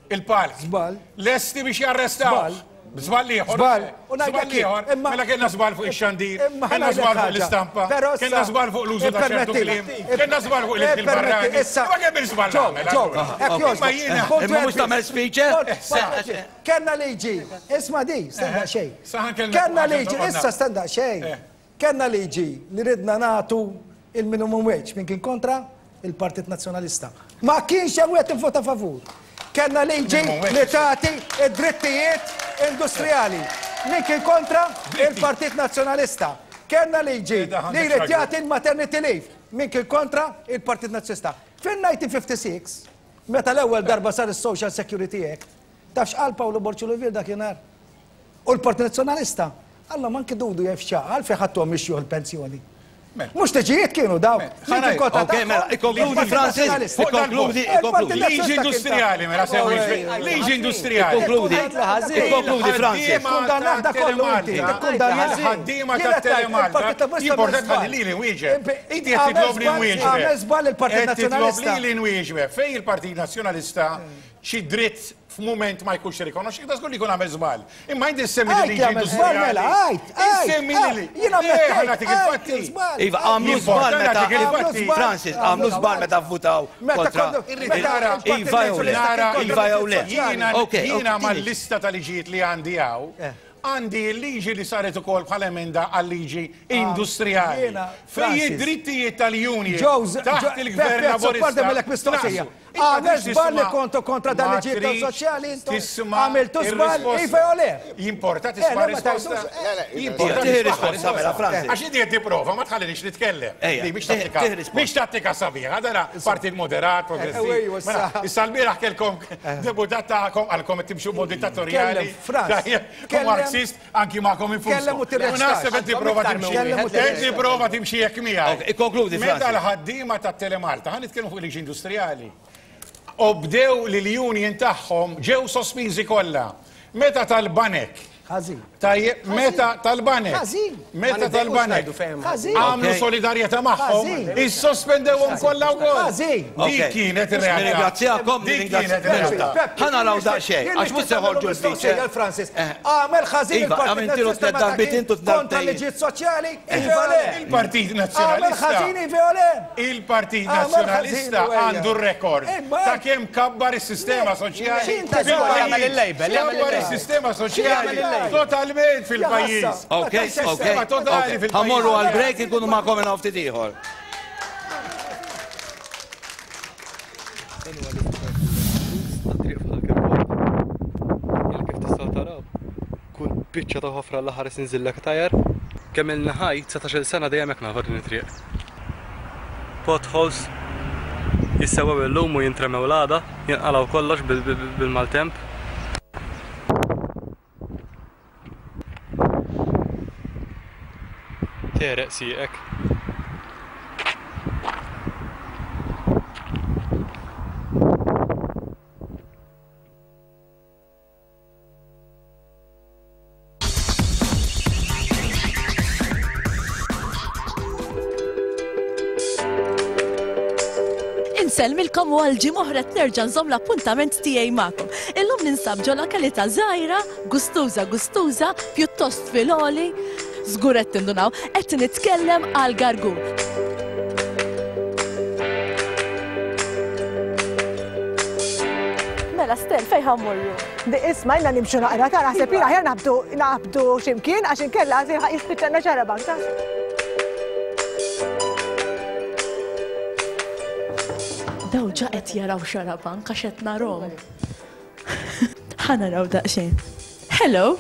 il-palk. Żball. Lesti biex jarrestaw. Żball. Żball ieħor. Żball. Żball ieħor. Mela kellna żball fuq ix-xandir, kellna żball fuq l-istampa, kellna żball fuq l-użu ta' ċertu kliem, kellna żball fuq il-barrani. Ma kemm il-żball nagħmel. Imma jiena. Imma mhux tagħmel speech, eh? Kellna liġi, isma' di, stenda xejn. Kellna liġi, issa stenda xejn. Kellna liġi li ridna nagħtu il-minimum wage, min kien kontra? Il-Partit Nazzjonalista. Ma kienx hemm wieħed ivvota favur. Kellna liġi li tagħti id-drittijiet industrijali. Min kien kontra? Il-Partit Nazzjonalista. Kellna liġi li jrid jagħti l-maternity leave. Min kien kontra? Il-Partit Nazzjonalista. Fil-1956, meta l-ewwel darba sar is-Social Security Act, taf x'qal Pawlu Borg Olivier dakinhar? U l-Partit Nazzjonalista, Allhom anki Dudu jaf x'għa, għalfejn ħadtuhom ix-xjuħ il-pensjoni. Mhux liġijiet kienu dawk. Ok, mela, ikkonkludi Francis, ikkonkludi, ikkonkludi. Liġi industrijali, mela semmi. Liġi industrijali. Ikkonkludi, ikkonkludi Francis. Kundannat da kollu inti. Ħaddiema ta' Telemalta. Jimportat ħalli lili nwieġeb. Inti qed titlob li nwieġeb. Għamel żball il-Partit Nazzjonalista. Titlob lili nwieġeb. Fejn il-Partit Nazzjonalista xi dritt f'mument ma jkunx rikonoxxi, da żgur li jkun għamel żball. Imma inti semmi li liġi industrijali. Mela, għajt, għajt. Semmi li. Jiena nagħtik il-fatti. Iva, għamlu żball meta. Francis, għamlu żball meta vvutaw kontra. Iva jew le. Iva jew le. Jiena mal-lista ta' liġijiet li għandi hawn, eh. għandi l-liġi li saret ukoll bħala emenda għal-liġi ah, industrijali. Fejn id-drittijiet tal-union taħt il-gvern laburista. Għamel żball li kontu kontra dan liġijiet soċjali intom. Għamiltu żball iva jew le? Jimporta tisma' risposta. Jimporta tisma' risposta mela Francis. Għax inti qed tipprova ma tħallinix nitkellem. Di mhix tattika. Mhix tattika sabiħa, dana partit moderat, progressiv. Mela, issa l-bieraħ kellkom deputat tagħkom għalkom qed timxu mod dittatorjali. U Marxist anki magħkom infushom. Kellem u tirreċtax. U naħseb qed tipprova timxi. Qed tipprova timxi hekk miegħi. Ikkonkludi, Meta l-ħaddiema tat-Telemalta, ħa nitkellmu fuq liġi industrijali, obdew li l-union tagħhom ġew sospiżi kollha. Meta tal-banek. Ħażin. Tajjeb, meta tal-banek. Ħażin. Meta tal-banek. Ħażin. Għamlu solidarjetà magħhom, issospendewhom kollha wkoll. Ħażin. Dik kienet ir-realtà. Nirringrazzjakom, Dik kienet ir-realtà. Ħa naraw daqsxejn, għax mhux se joħorġu l-feature. Francis, għamel ħażin Iva, il-Partit għamiltilu Nazzjonalista tliet meta darbiet kien intu kontra darbtejn. liġijiet soċjali, iva le. Il-Partit Għamel Nazzjonalista. ħażin iva jew le? Il-Partit Għamel ħażin Nazzjonalista u ejja. għandu r-rekord Imma ta' kemm kabbar is-sistema soċjali X'inti żball? Jagħmel il-label, jagħmel Kabbar il-label. is-sistema soċjali totalment fil-pajjiż. Ok, ok. Sistema totali ok. fil-pajjiż. Ħa mmorru għall-break inkunu magħkom minn hawn ftit ieħor. Dan huwa l-iktar ġuż tat-triq f'Ħal Kirkop. Illi kif tistgħu taraw, kull biċċa ta' ħofra Alla ħares inżillek tajer. Kemm ilni ħaj, 19-il sena dejjem hekk nafa din it-triq. Potholes jissewwew illum u jintremew l-għada, jinqalgħu kollox bil-maltemp. Tegħreq sieqek. Insellmilkom u għal ġimgħa oħra nerġa' nżomm l-appuntament tiegħi magħkom. Illum ninsab ġo lokalità żgħira, gustuża gustuża, pjuttost fil-għoli. Żgur qed tindunaw, qed nitkellem għal Gargur. Mela Stel, fejn ħa mmorru? Isma' ilna nimxu naqra ta' naħseb jien aħjar naħbdu naħbdu x'imkien għax inkella jispiċċalna xarabank ta'. Daw ġa qed jaraw Xarabank għax qed narhom. Ħa naraw daqsxejn. Hello!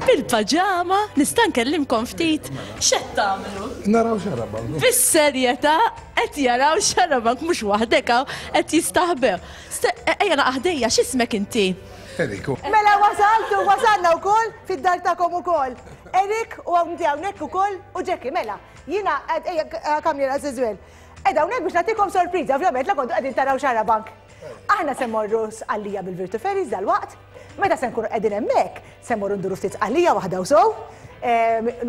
Bil-paġama, nista' nkellimkom ftit? X'qed tagħmlu? Naraw Xarabank. Bis-serjetà qed jaraw Xarabank mhux waħdek hawn qed jistaħbew. Ejja naqa' ħdejja, x'ismek inti? Eric. Mela wasaltu, wasalna wkoll fid-dar tagħkom ukoll. Eric u inti hawnhekk ukoll u Jackie, mela. Jiena ejja come here as well. Qiegħda hawnhekk biex nagħtikom sorpriża, ovvjament la kontu qegħdin taraw Xarabank. Aħna se mmorru Sqallija bil-Virtu Ferries dalwaqt. Meta se nkunu qegħdin hemmhekk, se mmorru nduru ftit Sqallija waħda u sew,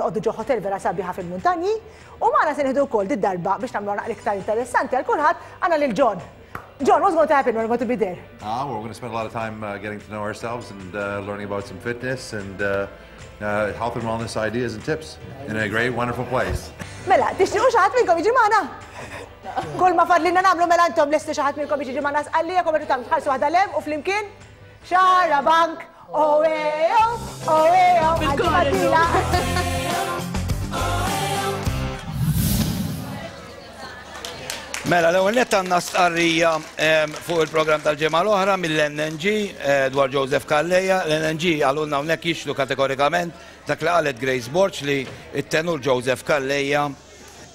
noqogħdu ġo hotel vera sabiħa fil-muntanji, u magħna se nieħdu wkoll did-darba biex nagħmluha naqra iktar interessanti għal kulħadd għandna lil John. John, what's going to happen when we're going to be there? Ah, we're going to spend a lot of time uh, getting to know ourselves and uh, learning about some fitness and uh, uh, health and wellness ideas and tips in a great, wonderful place. Mela, tixtiqu xi ħadd minnkom jiġi magħna? Kull ma fadlilna nagħmlu mela intom lesti xi ħadd minnkom jiġi magħna Sqallija kom tagħmlu tħallsu waħda lem u flimkien Xarabank, oh eh oh, oh eh oh, għal-ġimgħa Mela, l-ewwel nett għandna stqarrija fuq il-programm tal-ġimgħa l-oħra mill-NNG eh, dwar Joseph Calleja. L-NNG għalulna hawnhekk jixlu kategorikament dak li qalet Grace Borg li t-tenur Joseph Calleja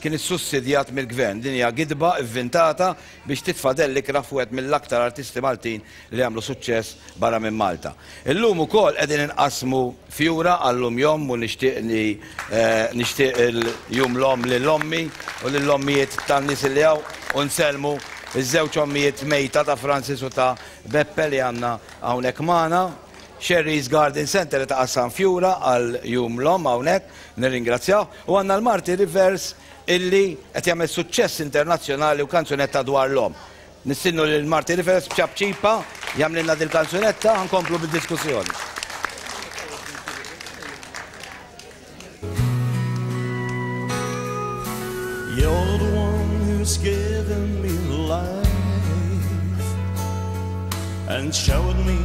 kien issussidjat mill-gvern. Din hija gidba ivvintata biex titfa' dell ikrah fuq wieħed mill-aktar artisti Maltin li għamlu suċċess barra minn Malta. Illum ukoll qegħdin inqassmu fjura għal-Lum Jom u nixtieq li nixtieq il-Jum l-Omm lil ommi u lill-ommijiet tan-nies li hawn u nsellmu ż-żewġ ommijiet mejta ta' Francis u ta' Beppe li għandna hawnhekk magħna. Sherry's Garden Centre qed iqassam fjura għal Jum l-Omm hawnhekk, nirringrazzjawh. U għandna l-Marty Rivers illi qed jagħmel suċċess internazzjonali u kanzunetta dwar l-omm. Nistiednu lil Marty Rivers b'ċapċipa jagħmlilna dil-kanzunetta ħa nkomplu bid-diskussjoni. You're the one who's given me life and showed me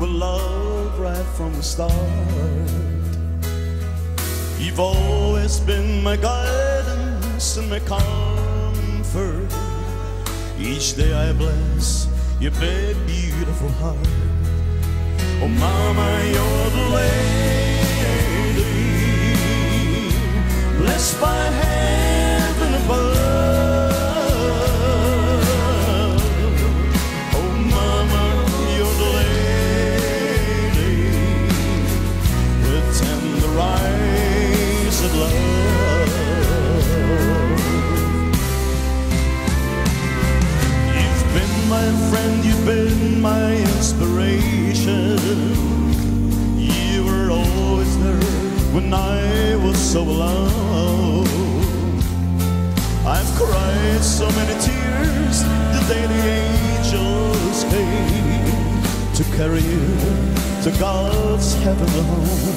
with love right from the start. You've always been my guidance and my comfort. Each day I bless your big, beautiful heart. Oh, Mama, you're the lady, blessed by heaven above. Oh, Mama, you're the lady with tender eyes of love. You've been my friend, you've been my inspiration. You were always there when I was so alone. I've cried so many tears the day the angels came to carry you to God's heavenly home.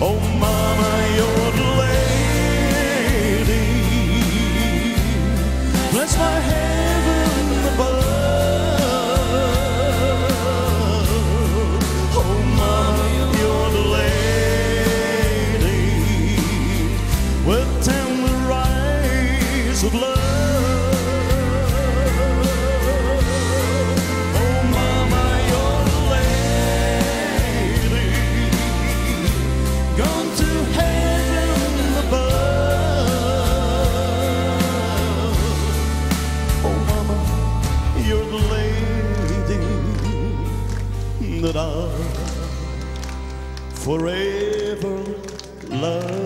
Oh, Mama, you're the lady. Bless my heaven above. Oh, Mama, you're the lady with tender eyes of love. Oh, Mama, you're the lady gone to heaven above. Oh, Mama, you're the lady that I'll forever love.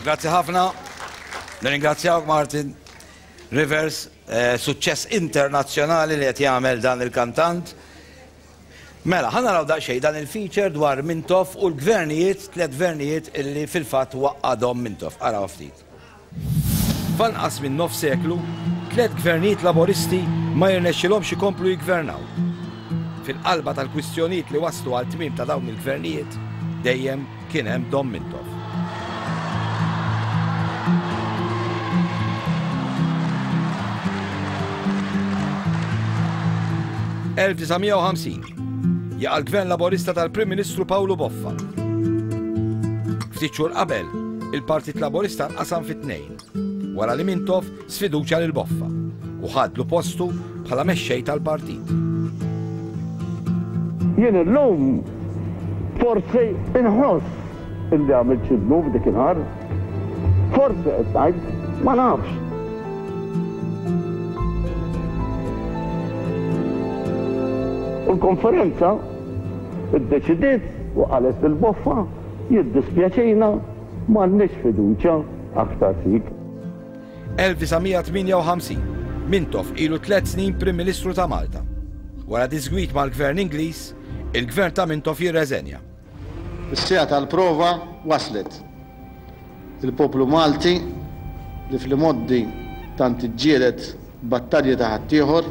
Grazzi ħafna. Nirringrazzjawk Martin Rivers, eh, suċċess internazzjonali li qed jagħmel dan il-kantant. Mela, ħa naraw daqsxejn dan il-feature dwar Mintoff u l-gvernijiet, tlett gvernijiet illi fil-fatt waqqadhom Mintoff. Araw ftit. F'anqas minn nofs seklu, tlett gvernijiet Laboristi ma jirnexxilhomx ikomplu jiggvernaw. Fil-qalba tal-kwistjonijiet li wasslu għal tmiem ta' dawn il-gvernijiet, dejjem kien hemm Dom Mintoff. ...1950. Jaqa' l-Gvern Laburista tal-Prim Ministru Pawlu Boffa. Ftit xhur qabel, il-Partit Laburista nqasam fi tnejn, wara li Mintoff sfiduċja lil Boffa u ħadlu postu bħala mexxej tal-partit. Jien illum forsi inħoss illi għamilt xi dnub dikinhar. Forsi qed ngħid, ma nafx. U l-konferenza iddeċidiet u qalet lil Boffa, jiddispjaċina m'għandniex fiduċja aktar fik. 1958, Mintoff ilu tlett snin Prim Ministru ta' Malta. Wara diżgwid mal-Gvern Ingliż, il-Gvern ta' Mintoff jirreżenja. Is-siegħa tal-prova waslet. Il-poplu Malti, li fl-imgħoddi tant iġġieled battalji ta' ħaddieħor,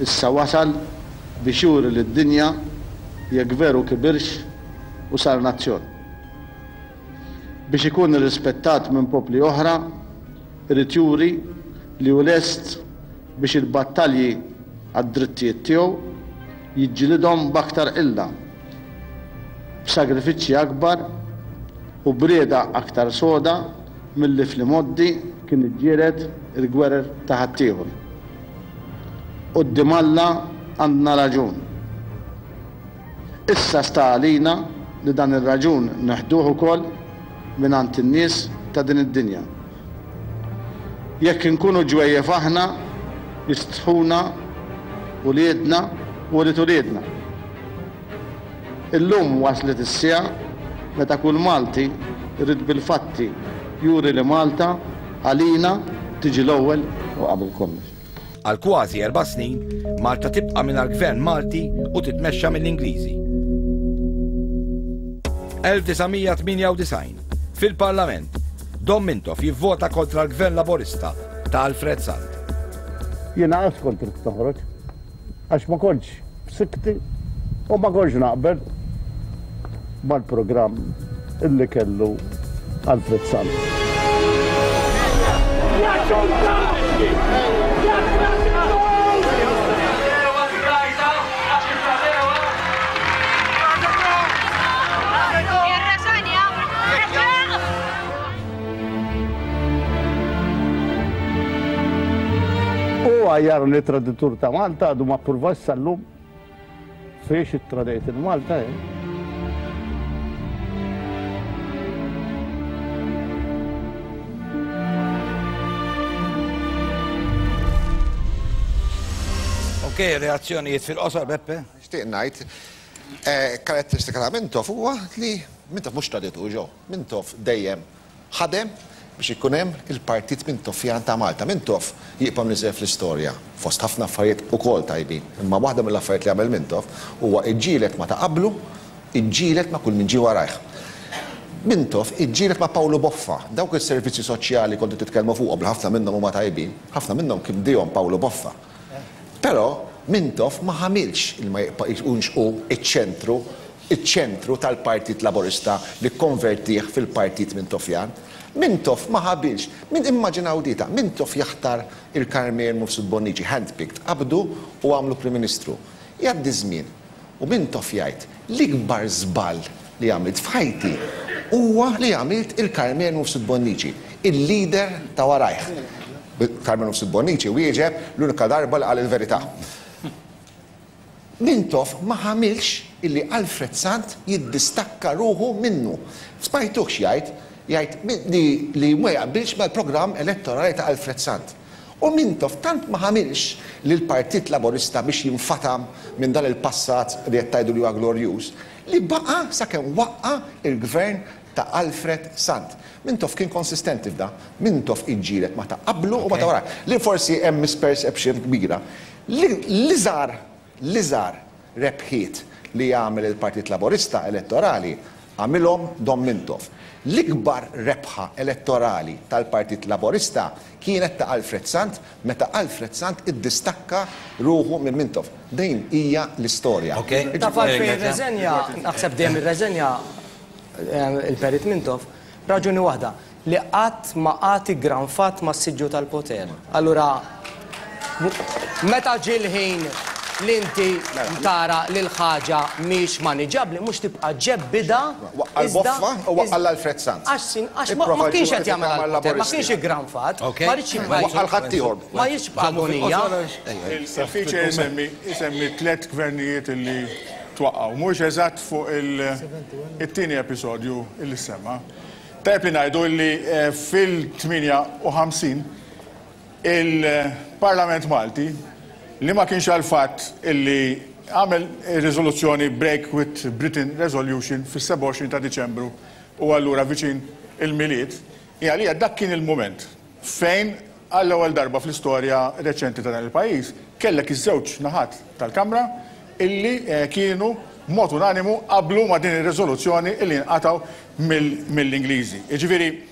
issa wasal biex juri lid-dinja jekk veru kibirx u sar nazzjon. Biex ikun irrispettat minn popli oħra, irid juri li hu lest biex il-battalji għad-drittijiet tiegħu jiġġilidhom b'aktar qilla, b'sagrifiċċji akbar u b'rieda aktar soda milli fl-imgħoddi kien iġġieled il-gwerer ta' ħaddieħor. Quddiem Alla għandna raġun. Issa sta għalina li dan ir-raġun neħduh ukoll mingħand in-nies ta' din id-dinja. Jekk inkunu ġwejjef aħna, jistħuna uliedna u ulied uliedna. Illum waslet is-siegħa meta kull Malti jrid bil-fatti juri li Malta għalina tiġi l-ewwel u qabel kollox. Għal kważi erba' snin, Malta tibqa' mingħajr gvern Malti u titmexxa mill-Ingliżi. 1998, Fil-Parlament, Dom Mintoff jivvota kontra l-Gvern Laburista ta' Alfred Sant. Jiena qatt kont ridt noħroġ għax ma kontx b'sikti u ma kontx naqbel mal-programm illi kellu Alfred Sant. U għajjarni traditur ta' Malta għadu ma ppruvax sal-lum Fiex ittradejt il-Malta jien? Ok, reazzjonijiet fil-qosor, Beppe? Nixtieq ngħid, eh, karatteristika ta' Mintoff huwa li Mintoff mhux traditur ġo, Mintoff dejjem Ħadem biex ikun hemm il-Partit Mintoffjan ta' Malta. Mintoff jibqa' mniżżel fl-istorja fost ħafna affarijiet ukoll tajbin. Imma waħda mill-affarijiet li għamel Mintoff huwa iġġieled ma' ta' qablu, iġġieled ma' kull min ġie warajh. Mintoff iġġieled ma' Pawlu Boffa. Dawk is-servizzi soċjali kontu titkellmu fuqhom li ħafna minnhom huma tajbin, ħafna minnhom kien bdiehom Pawlu Boffa. Però Mintoff ma ħamilx li ma jkunx hu ċ-ċentru iċ-ċentru tal-Partit Laburista li kkonvertih fil-Partit Mintoffjan. Mintoff ma ħabilx. Min immaġinaw di ta' Mintoff jaħtar il-Karmel Mifsud Bonnici, handpicked, qabdu u għamlu Prim Ministru. Jgħaddi ż-żmien u Mintoff jgħid, l-ikbar żball li għamilt f'ħajti huwa li għamilt il-Karmel Mifsud Bonnici, il-leader ta' warajh. Karmel Mifsud Bonnici wieġeb l-unika darba li qal il-verità. Mintoff ma ħamilx illi Alfred Sant jiddistakka ruħu minnu. Smajtuhx jgħid, jgħid li li ma jaqbilx mal-programm elettorali ta' Alfred Sant. U Mintoff tant ma ħamilx lill-Partit Laburista biex jinfatam minn dan il-passat li qed tgħidu li huwa glorjuż, li baqa' sakemm waqqa' il-Gvern ta' Alfred Sant. Mintoff kien konsistenti f'dan. Mintoff iġġieled ma' ta' qablu u ma' ta' warajh. Li forsi hemm misperception kbira. L-iżgħar, l-iżgħar rebħiet li għamel il-Partit Laburista elettorali għamilhom Dom Mintoff. L-ikbar rebħa elettorali tal-Partit Laburista kienet ta' Alfred Sant meta Alfred Sant iddistakka ruħu minn Mintoff. Din hija l-istorja. Taf għalfejn irreżenja, naħseb dejjem irreżenja il-Perit Mintoff, raġuni waħda, li qatt ma qagħad iggranfat mas-siġġu tal-poter. Allura, meta ġie l-ħin li inti tara li l-ħaġa mhix maniġabbli mhux tibqa' ġebbidha. Waqqa' l-Boffa u waqqa' l-Alfred Sant. Għax sin għax ma kienx qed jagħmel għall-poter, ma kienx iggranfat, ma riedx jibqa' Waqqa' l-ħaddieħor. Ma riedx jibqa' agonija. Il-feature isemmi isemmi tlett gvernijiet illi twaqqgħu. Mhuwiex eżatt fuq it-tieni episodju illi ssemma. Tajjeb li ngħidu illi fil-58 Il-Parlament Malti, li ma kienx għall-fatt illi għamel ir-riżoluzzjoni Break with Britain Resolution fis-27 ta' Diċembru u allura viċin il-Milied, hi għalija dak kien il-mument fejn għall-ewwel darba fl-istorja reċenti ta' dan il-pajjiż kellek iż-żewġ naħat tal-Kamra illi kienu b'mod unanimu qablu ma' din ir-riżoluzzjoni illi jinqatgħu mill-Ingliżi. Jiġifieri,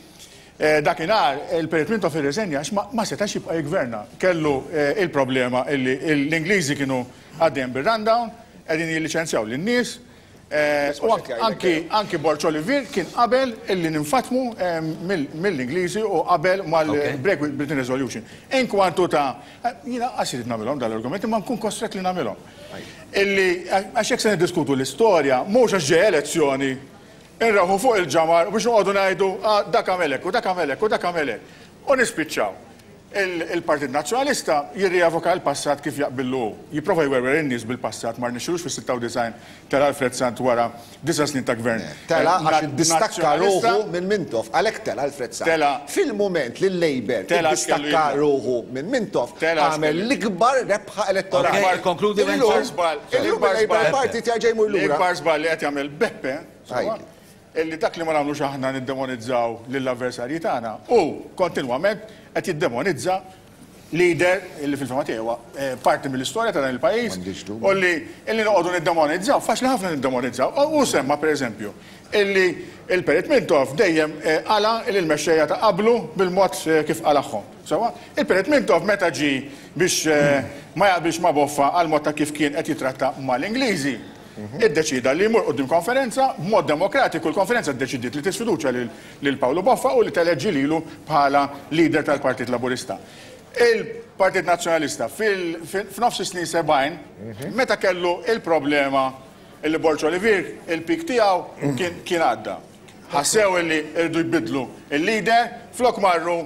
Dakinhar il-Perit Mintoff irriżenja għax ma setax jibqa' jiggverna. Kellu il-problema illi l-Ingliżi kienu għaddejjin bir-rundown, qegħdin jilliċenzjaw lin-nies, u anki anki Borg Olivier kien qabel illi ninfatmu mill-Ingliżi u qabel mal-Break with Britain Resolution. Inkwantu ta' jiena qas irid nagħmilhom dal-argumenti imma nkun kostrett li nagħmilhom. Illi għax jekk se niddiskutu l-istorja mhux għax ġejja elezzjoni Inrawħu fuq il-ġamar biex noqogħdu ngħidu, ah, dak għamel hekk u dak għamel hekk u dak għamel hekk. U nispiċċaw. Il-Partit Nazzjonalista jirrievoka l-passat kif jaqbillu hu. Jipprova jwerwer in-nies bil-passat, ma rnexxilux fis-96 tela' Alfred Sant wara disa' snin ta' gvern Tela' għax iddistakka ruħu minn Mintoff, għalhekk tela' Alfred Sant. Fil-mument li l-Labour iddistakka ruħu minn Mintoff, għamel l-ikbar rebħa elettorali. Illum il-Labour Party jerġa' jmur lura. L-ikbar żball li qed jagħmel Beppe, sewwa, illi dak li ma nagħmlux aħna niddemonizzaw lill-avversarji tagħna, hu kontinwament qed jiddemonizza leader illi fil-fehma tiegħi huwa parti mill-istorja ta' dan il-pajjiż u li illi noqogħdu niddemonizzaw, faċli ħafna niddemonizzaw. Hu semma pereżempju illi il-Perit Mintoff dejjem qala' lill-mexxejja ta' qablu bil-mod kif qalagħhom. Sewwa? Il-Perit Mintoff meta ġie biex ma jaqbilx ma' Boffa għall-mod ta' kif kien qed jittratta mal-Ingliżi, iddeċieda li jmur quddiem konferenza, b'mod demokratiku l-konferenza ddeċidiet li tisfiduċja lil Pawlu Boffa u li teleġġi lilu bħala leader tal-Partit Laburista. Il-Partit Nazzjonalista f'nofs is-snin 70 meta kellu il-problema illi Borg Olivier il-peak tiegħu kien għadda. Ħassew illi rridu jbiddlu il-leader flok marru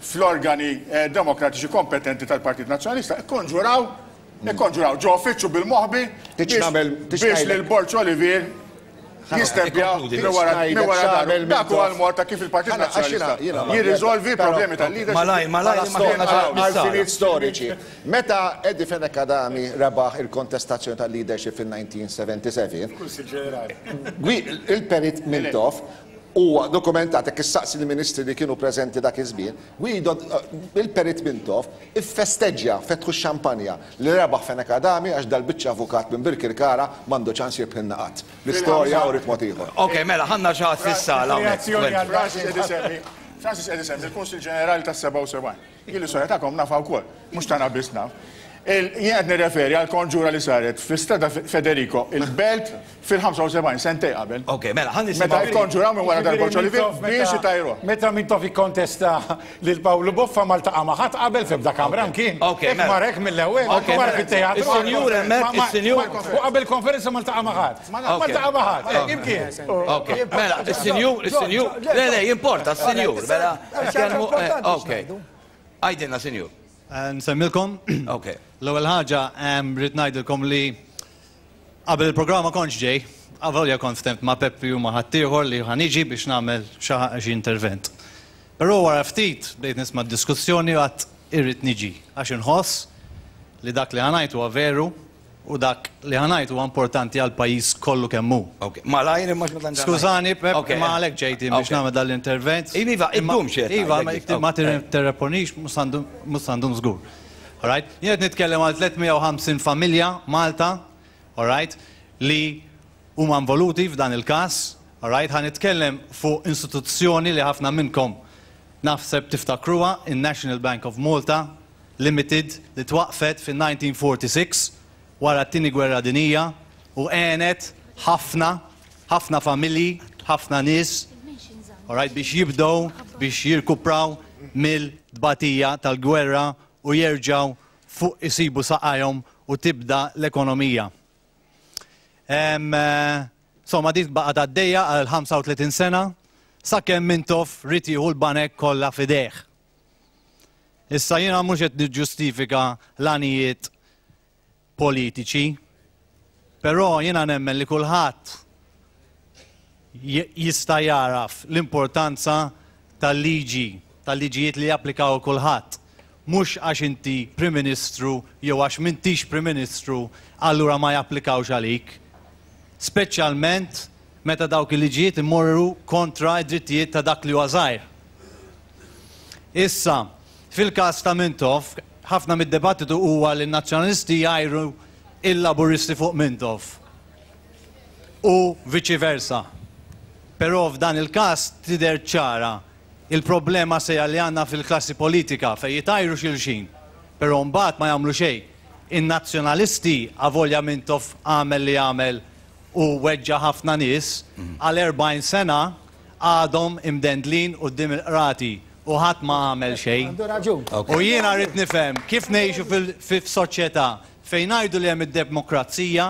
fl-organi demokratiċi kompetenti tal-Partit Nazzjonalista ikkonġuraw Ikkonġuraw ġo uffiċċju bil-moħbi biex lil Borg Olivier jisteppja minn wara dahru. Dak huwa l-mod ta' kif il-Partit Nazzjonalista jirriżolvi problemi tal-leadership. Malajr, malajr, Għal storiċi. Meta Eddie Fenech Adami rebaħ il-kontestazzjoni tal-leadership fil-1977, il-Perit Mintoff huwa dokumentat jekk issaqsi l-ministri li kienu preżenti dak iż-żmien, Guido, il-Perit Mintoff iffesteġġja, fetħu x-xampanja, li rebaħ Fenech Adami għax dal-biċċa avukat minn Birkirkara m'għandu ċans jirbħilna qatt. L-istorja uriet mod ieħor. Ok, mela, ħa xi ħadd fis-sala hawnhekk. Francis qed isemmi l-Kunsill Ġenerali tas-77. Jien l-istorja tagħkom nafha wkoll, mhux tagħna biss naf. Jien qed nirreferi għall-konġura li saret fi Strada Federico, il-Belt, fil-75, sentejn qabel. Ok, mela, ħa nisimgħu. Meta kkonġuraw minn wara dar Borg Olivier biex itajruh. Meta Mintoff ikkontesta lil Pawlu Boffa ma ltaqa' ma' ħadd qabel f'ebda kamra mkien. Ok, Hekk mela. mar hekk mill-ewwel, Ok, mar mela. fit-teatru. Is-sinjur hemmhekk, is-sinjur. U qabel konferenza ma ltaqa' ma' ħadd. Ma ltaqa' ma' ħadd, hekk imkien. Ok, mela, is-sinjur, is-sinjur. Le, le, jimporta, s-sinjur, mela. Nitkellmu, ok. Għidilna, sinjur. Nsemmilkom. Ok. L-ewwel ħaġa rrid ngħidilkom li qabel il-programm ma kontx ġej, avolja kont ftemt ma' Peppi u ma' ħaddieħor li ħa niġi biex nagħmel xi intervent. Però wara ftit bdejt nisma' d-diskussjoni u għedt irrid niġi għax inħoss li dak li ħa ngħid huwa veru u dak li ħa ngħid huwa importanti għall-pajjiż kollu kemm hu. Ok, malajr imma x'ma tantx. Skużani, Pep, imma għalhekk ġejt jien biex nagħmel dan l-intervent. Iva, iddum xi qed Iva, ngħidlek. ma tirreponix mhux sa ndum żgur. All right? Jien qed nitkellem għal 350 familja Malta, all right, li huma involuti f'dan il-każ, all right? Ħa nitkellem fuq istituzzjoni li ħafna minnkom naħseb tiftakruha, in-National Bank of Malta Limited li twaqqfet fin-1946 wara t-Tieni Gwerra Dinjija u għenet ħafna, ħafna familji, ħafna nies, all right, biex jibdew biex jirkupraw mill-tbatija tal-gwerra u jerġgħu fuq isibu saqajhom u tibda l-ekonomija. Insomma, dik baqgħet għaddejja għal 35 sena sakemm Mintoff ried jieħu l-banek kollha f'idejh. Issa jiena mhux qed niġġustifika l-għanijiet politiċi, però jiena nemmen li kulħadd jista' jagħraf l-importanza tal-liġi, tal-liġijiet li japplikaw għal kulħadd. Mhux għax inti Prim Ministru jew għax m'intix Prim Ministru allura ma japplikawx għalik. Speċjalment meta dawk il-liġijiet imorru kontra d-drittijiet ta' dak li huwa żgħir. Issa, fil-każ ta' Mintoff, ħafna mid-dibattitu huwa li n-Nazzjonalisti jgħajru l-Laburisti fuq Mintoff u viċi versa. Però f'dan il-każ tidher ċara il-problema seja li għandna fil-klassi politika fejn jitgħajru xulxin, però mbagħad ma jagħmlu xejn. In-Nazzjonalisti, avolja Mintoff għamel li għamel u weġġa' ħafna nies, għal 40 sena għadhom imdendlin quddiem il-qrati u ħadd ma għamel xejn. U jiena rrid nifhem kif ngħixu f'soċjetà fejn ngħidu li hemm id-demokrazija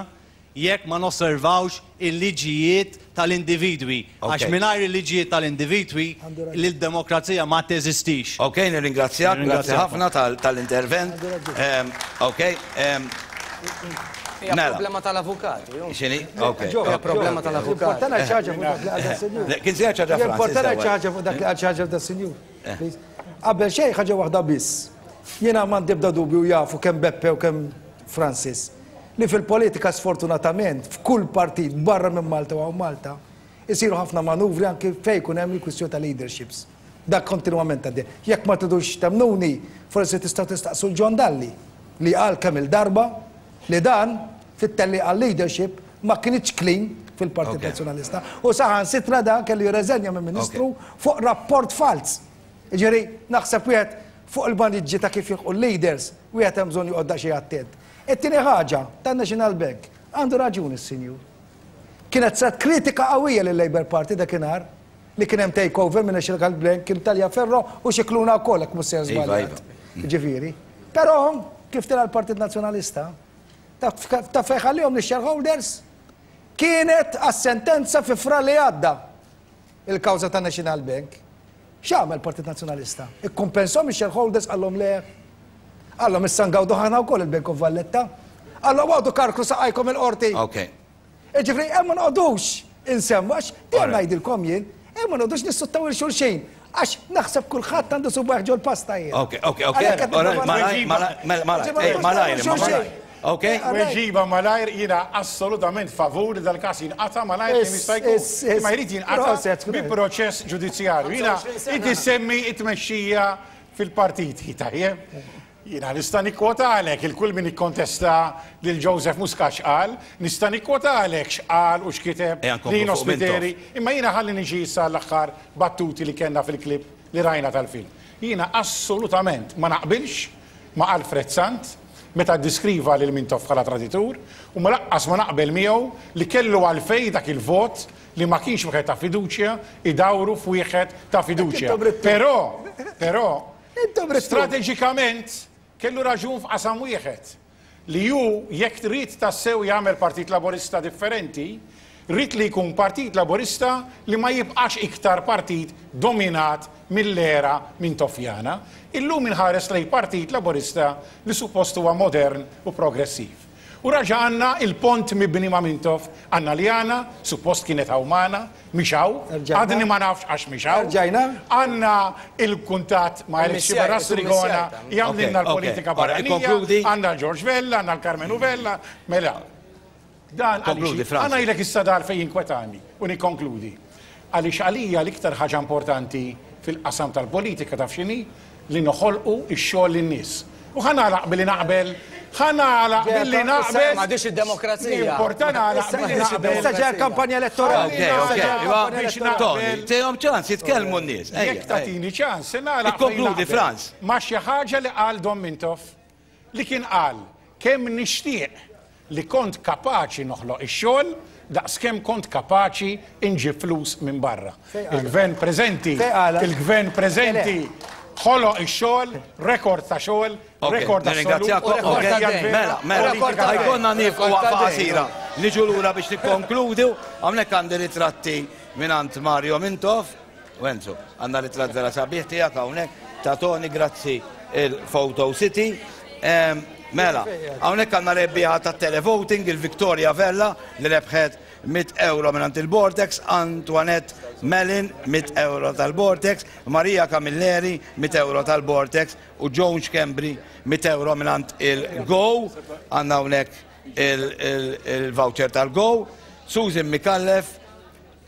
jekk ma nosservawx il-liġijiet tal-individwi. Għax mingħajr il-liġijiet tal-individwi l-demokrazija ma teżistix. Ok, nirringrazzjak, grazzi ħafna tal-intervent. Ok. Hija Mela. problema tal-avukati. X'inhi? Ok. Hija problema tal-avukati. Jimporta ngħid xi ħaġa fuq dak li qal das-sinjur. Le, Kien se jgħid xi ħaġa Francis. Jimporta ngħid xi l-ewwel. ħaġa fuq dak li qal xi ħaġa das-sinjur. Eh. Please. Qabel xejn ħaġa waħda biss. Jiena m'għandi ebda dubju jafu kemm Beppe u kemm Francis li fil-politika sfortunatament f'kull partit barra minn Malta u hawn Malta isiru ħafna manuvri anki fejn jkun hemm il-kwistjoni ta' leaderships. Dak kontinwament għaddej. Jekk ma tridux temmnuni, forsi tistgħu tistaqsu 'l John Dalli li qal kemm-il darba li dan fit-tellieqa għal-leadership ma kinitx clean fil-Partit Nazzjonalista u saħansitra dan kellu jirreżenja minn Ministru fuq rapport falz. Jiġifieri naħseb wieħed fuq il-maniġġi ta' kif jilħqu l-leaders wieħed hemm bżonn joqgħod daqsxejn attent. It-tieni ħaġa tan-National Bank, għandu raġun is-sinjur. Kienet saret kritika qawwija lil-Labour Party dakinhar li kien hemm takeover minn National Bank kien Taliaferro u Scicluna wkoll jekk mhux sejjer Iva, żbaljat. iva. Ġifieri. Però kif tela' l-Partit Nazzjonalista, taf taf fejn ħallihom lix-shareholders? Kienet għas-sentenza fi Frar li għadda il-kawża ta' National Bank. X'għamel il-Partit Nazzjonalista? Ikkumpensahom ix-shareholders qallhom le. Qallhom issa ngawdu aħna wkoll il-Bank of Valletta. Qallhom għodu karkru saqajkom il-qorti. Okay. Jiġifieri hemm ma noqogħdux insemmu għax dejjem ngħidilkom jien, hemm ma noqogħdux nissuttaw il xulxin għax naħseb kulħadd għandu subgħajh ġol-pasta jien. Ok, ok, ok. Malajr, malajr, malajr, malajr. Ok? Weġiba malajr jiena assolutament favur li dal-każ jinqata' malajr kemm jista' jkun. Imma jrid jinqata' bi proċess ġudizzjarju. Jiena inti ssemmi t-tmexxija fil-partiti, tajjeb? Jiena nista' nikkwotalek il kull min ikkontesta lil Joseph Muscat x'qal, nista' nikkwotalek x'qal u x'kiteb Lino Spiteri, imma jiena ħalli niġi issa għall-aħħar battuti li kellna fil-clip li rajna tal-film. Jiena assolutament ma naqbilx ma' Alfred Sant meta ddiskriva lil Mintoff bħala traditur u ma laqqas ma naqbel miegħu li kellu għalfejn dak il-vot li ma kienx wieħed ta' fiduċja idawru f'wieħed ta' fiduċja. Però, però, Strateġikament kellu raġun f'qasam wieħed, li hu jekk ried tassew jagħmel Partit Laburista differenti, ried li jkun Partit Laburista li ma jibqax iktar partit dominat mill-era Mintoffjana. Illum inħares lejn Partit Laburista li suppost huwa modern u progressiv. U raġa' għandna il-pont mibni ma' Mintoff, għandna Liana, suppost kienet hawn magħna, mhix hawn, għadni ma nafx għax mhix hawn. Għandna il-kuntatt ma' Eric Sciberras Trigona jagħmlilna l-politika barranija, għandna l-George Vella, għandna l-Karmenu Vella, mela. Dan għaliex, ħa ngħidlek issa dar fejn jinkwetani u nikkonkludi. Għaliex għalija l-iktar ħaġa importanti fil-qasam tal-politika taf x'inhi? Li noħolqu x-xogħol lin-nies. U ħa nagħlaq billi naqbel, ħa nagħlaq billi naqbel. M'għadhiex id-demokrazija. Importa nagħlaq billi naqbel. Issa ġejja l-kampanja elettorali. Ok, ok. Biex naqbel. Tihom ċans jitkellmu n-nies. Jekk tagħtini ċans, se nagħlaq. Ikkonkludi, Franz. Ma' xi ħaġa li qal Dom Mintoff li kien qal kemm nixtieq li kont kapaċi noħloq ix-xogħol daqskemm kont kapaċi inġib flus minn barra. Il-Gvern preżenti, il-Gvern preżenti. Ħoloq ix-xogħol, rekord ta' xogħol, rekord assolut. Nirringrazzjakom. Mela, mela, ħa jkollna nieqfu waqfa qasira. Niġu lura biex nikkonkludu. Hawnhekk għandi ritratti mingħand Mario Mintoff. Wenzu, għandna ritratt vera sabiħ tiegħek hawnhekk ta' Tony, grazzi il-Photo City. Mela, hawnhekk għandna rebbieħa ta' televoting il-Victoria Vella li rebħet 100 euro mingħand il-Vortex, Antoinette Mellin 100 euro tal-Vortex, Maria Camilleri 100 euro tal-Vortex u Joan Schembri 100 euro mingħand il-Go. Għandna hawnhekk il-voucher tal-Go. Susan Micallef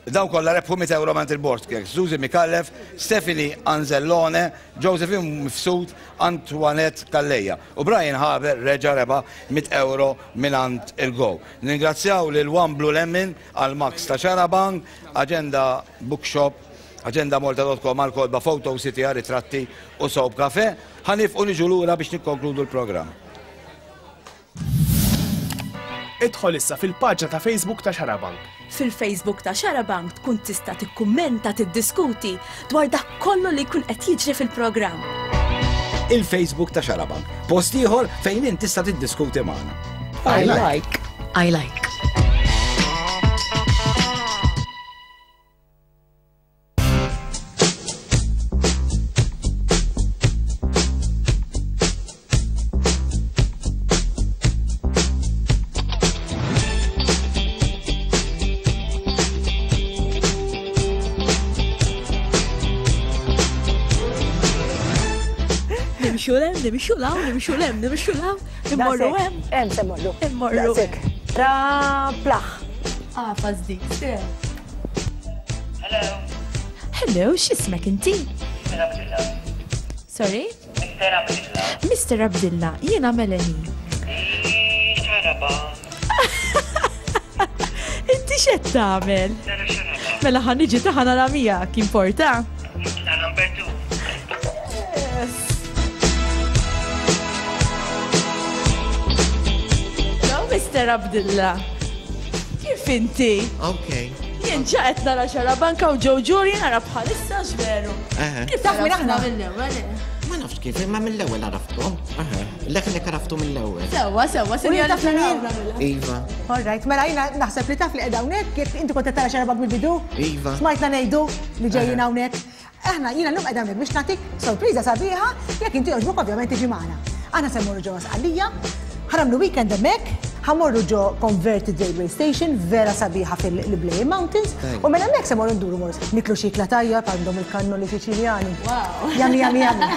Dawn kollha rebħu 100 ewro mingħand il-Bortkeks, Suzy Micallef, Stephanie Anzellone, Josephine Mifsud, Antoinette Calleja u Brian Haber reġa' rebaħ 100 ewro mingħand il-Go. Nirringrazzjaw lil One Blue Lemon għall-Max ta' Xarabank, Agenda Bookshop, agendamolta.com għall-kotba Photo City għar-ritratti u Soap Cafe. Ħa niefqu niġu lura biex nikkonkludu l-programm. Idħol issa fil-paġna ta' Facebook ta' Xarabank. Fil-Facebook ta' Xarabank tkun tista' tikkummenta, tiddiskuti dwar dak kollu li jkun qed jiġri fil-programm. Il-Facebook ta' Xarabank, post ieħor fejn int tista' tiddiskuti magħna. I like. I like. Nimxu lem, nimxu law, nimxu lem, nimxu law, immorru hemm. Hemm se mmorru. Immorru. Ra plaħ. Għafas dik, se. Hello. Hello, x'ismek inti? Mr. Abdilla. Sorry? Mr. Abdilla. Mr. Abdilla, jiena Melanie. Xaraba. Inti x'qed tagħmel? Mela ħa niġi ta' ħa nara miegħek, importa? Nitla' number 2. Yes. Hello, Mr. Abdilla. Kif inti? Okay. Jien ġa qed nara xarabanka u Joe Jury nara bħalissa x'veru. Kif taf minn aħna? Mill-ewwel. Eh? Ma nafx kif, imma mill-ewwel għaraftkom. Leħnek għaraftu mill-ewwel. Sewwa, sewwa, sinjora taf minn jien? Iva. All right, mela jiena naħseb li taf li qiegħda hawnhekk, jekk inti kont qed tara xarabank mill-bidu. Iva. Smajtna ngħidu li ġejjin hawnhekk. Aħna jiena llum qiegħda hawnhekk biex nagħtik sorpriża sabiħa jekk inti jogħġbok ovvjament tiġi magħna. Aħna se mmorru ġewwa Sqallija, ħa nagħmlu weekend hemmhekk, ħa mmorru ġo Converted Railway Station vera sabiħa fil-Iblei Mountains u minn hemmhekk se mmorru nduru morru niklu xi ikla tajjeb għandhom il-kannoli Siċiljani. Yummy, yummy, yummy.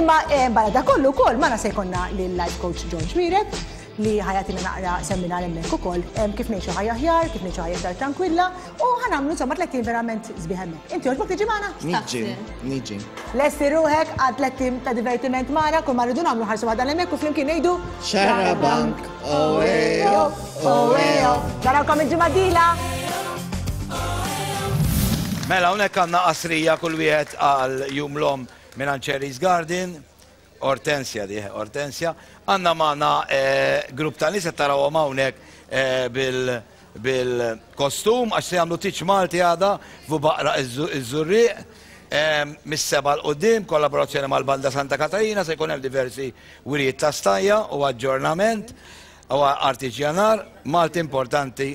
Imma eh, barra da kollu wkoll magħna se jkollna lil life coach John Xuereb li ħa jagħtina naqra seminar hemmhekk ukoll kif ngħixu ħajja aħjar, kif ngħixu ħajja iktar tranquilla u ħa nagħmlu insomma tlett ijiem verament sbieħ hemmhekk. Inti jogħġbok tiġi magħna? Niġi, niġi. Lesti ruħek għal tlett ijiem ta' divertiment magħna, kull ma rridu nagħmlu ħarsu waħda hemmhekk u flimkien ngħidu Xarabank, oejo, oejo. Narawkom il-ġimgħa d-dieħla! Mela hawnhekk għandna qasrija kull wieħed għal Jum l-Omm mingħand Cherry's Garden. Ortensja di, Ortensja. Għandna magħna grupp ta' nies qed tarawhom hawnhekk bil bil-kostum għax se jagħmlu tiċ Malti għada f'Bubaqra iż-Żurrieq mis-sebgħa 'l quddiem, kollaborazzjoni mal-Banda Santa Katarina se jkun hemm diversi wirjiet ta' stajja u aġġornament u artiġjanar Malti importanti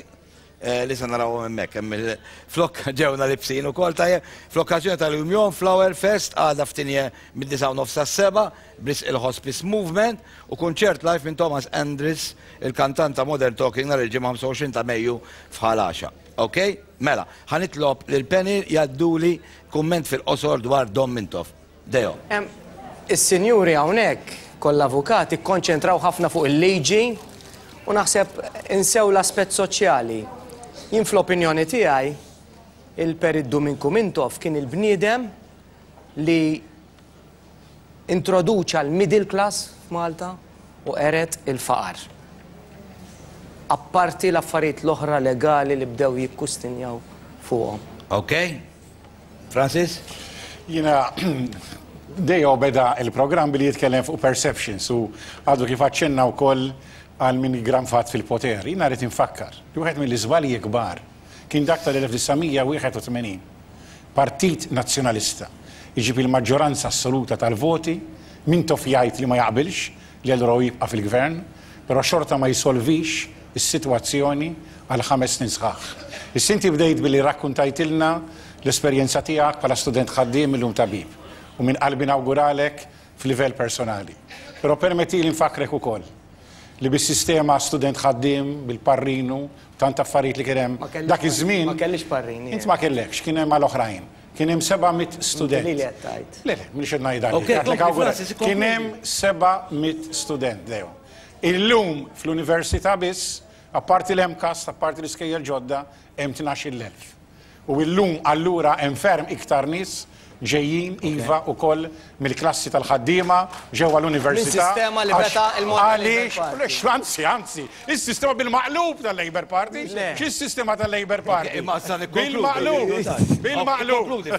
li se narawhom hemmhekk. Hemm il-flok ġewna libsin ukoll tajjeb. Fl-okkażjoni tal-Union Flower Fest għada f'Tinje mid-disgħa u nofs sas-sebgħa b'risq il-Hospice Movement u kunċert live minn Thomas Andris, il-kantant ta' Modern Talking nhar il-Ġimgħa 25 ta' Mejju f'Ħal Għaxaq. Ok? Mela, ħa nitlob lil Penny jgħadduli kumment fil-qosor dwar Dom Mintoff. Deo. Is-sinjuri hawnhekk, kollha avukati, kkonċentraw ħafna fuq il-liġi u naħseb insew l-aspett soċjali. Jien fl-opinjoni tiegħi, il-Perit Duminku Mintoff kien il-bniedem li introduċa l-middle class f'Malta u qered il-faqar. Apparti l-affarijiet l-oħra legali li bdew jikkustinjaw fuqhom. Ok. Francis? Jiena Deo beda il-programm billi jitkellem fuq perceptions u għadu kif aċċenna wkoll għal min iggranfat fil-poter. Jiena rrid infakkar li wieħed mill-iżbalji kbar kien dak tal-1981. Partit Nazzjonalista. Iġib il-maġġoranza assoluta tal-voti, Mintoff jgħid li ma jaqbilx li allura hu jibqa' fil-Gvern, però xorta ma jsolvix is-sitwazzjoni għal ħames snin sħaħ. Issa inti bdejt billi rrakkuntajtilna l-esperjenza tiegħek bħala student ħaddiem illum tabib u minn qalbi nawguralek f'livell personali. Però permettili nfakkrek ukoll li bis-sistema student ħaddiem, bil-parrinu, tant affarijiet li kien hemm dak iż-żmien. Ma kellix parrin. Int ma kellekx, kien hemm għal oħrajn. Kien hemm 700 student. Li qed tgħid. Le, le, mhux qed ngħid Ok, kompli, Kien hemm 700 student, Leo. Illum fl-università biss, apparti l-MCAST, apparti l-iskejjel ġodda, hemm 12,000. U illum allura hemm ferm iktar nies ġejjin iva wkoll mill-klassi tal-ħaddiema ġewwa l-università. Minn sistema li beta il-mod Għaliex, anzi, anzi, is-sistema bil-maqlub tal-Labour Party. X'is-sistema tal-Labour Party? Bil-maqlub, bil-maqlub.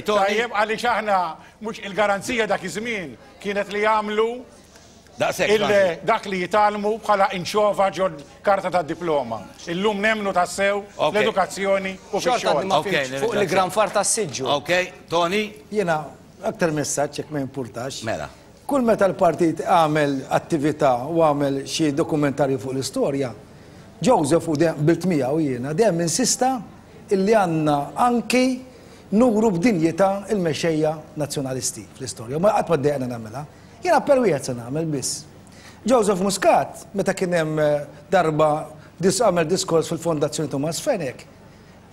Tajjeb għaliex aħna mhux il-garanzija dak iż-żmien kienet li jagħmlu Dak li jitgħallmu bħala inċova ġo karta ta' diploma. Illum nemmnu tassew fl-edukazzjoni u fix-xogħol. Fuq l-igranfar tas-siġġu. Ok, Tony? Jiena, aktar messaġġ jekk ma jimpurtax. Mela. Kull meta l-partit għamel attività u għamel xi dokumentarju fuq l-istorja, Joseph u dejjem qbilt miegħu jiena, dejjem insista illi għandna anki nuru b'dinjità l-mexxejja Nazzjonalisti fl-istorja. U ma qatt ma ddejjaqna nagħmilha. Jien appell wieħed se nagħmel biss. Joseph Muscat, meta kien hemm darba għamel diskors fil-Fondazzjoni Thomas Fenech,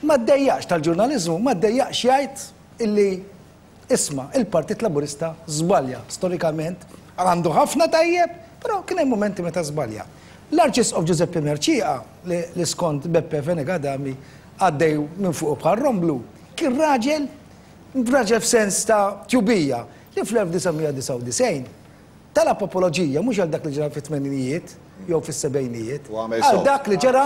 ma ddejjaqx tal-ġurnaliżmu, ma ddejjaqx jgħid illi isma' il-Partit Laburista żbalja storikament, għandu ħafna tajjeb, però kien hemm mumenti meta żbalja. L-Arċisqof Giuseppe Mercieca, li skont Beppe Fenech Adami għaddej minn fuqu bħal romblu, kien raġel, raġel f'sens ta' tjubija, li fl-1999 talab apoloġija mhux għal dak li ġara fit-tmeninijiet jew fis-sebgħinijiet, għal dak li ġara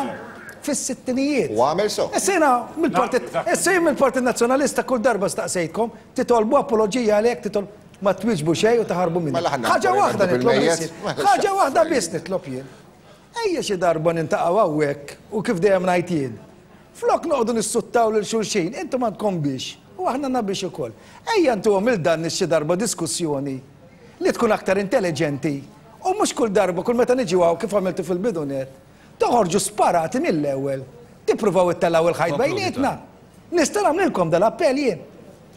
fis-sittinijiet. U għamel sew. Issa jiena mill-Partit, issa jien mill-Partit Nazzjonalista kull darba staqsejtkom, titolbu apoloġija għalhekk, titolbu, ma twieġbu xejn u taħarbu minni. Mela ħa Ħaġa waħda nitlob biss jien. Ħaġa waħda biss nitlob jien. Ejja xi darba nintaqgħu hawnhekk u kif dejjem ngħid jien, Flok noqogħdu nissuttaw lil xulxin, intom għandkom biex u aħna għandna biex ukoll. Ejja ntuhom lil dan nies xi darba diskussjoni li tkun aktar intelliġenti u mhux kull darba, kull meta niġu hawn kif għamiltu fil-bidu nett, toħorġu sparati mill-ewwel, tippruvaw ittellgħu il-ħajt bejnietna. Nista' nagħmlilkom dal-appell jien.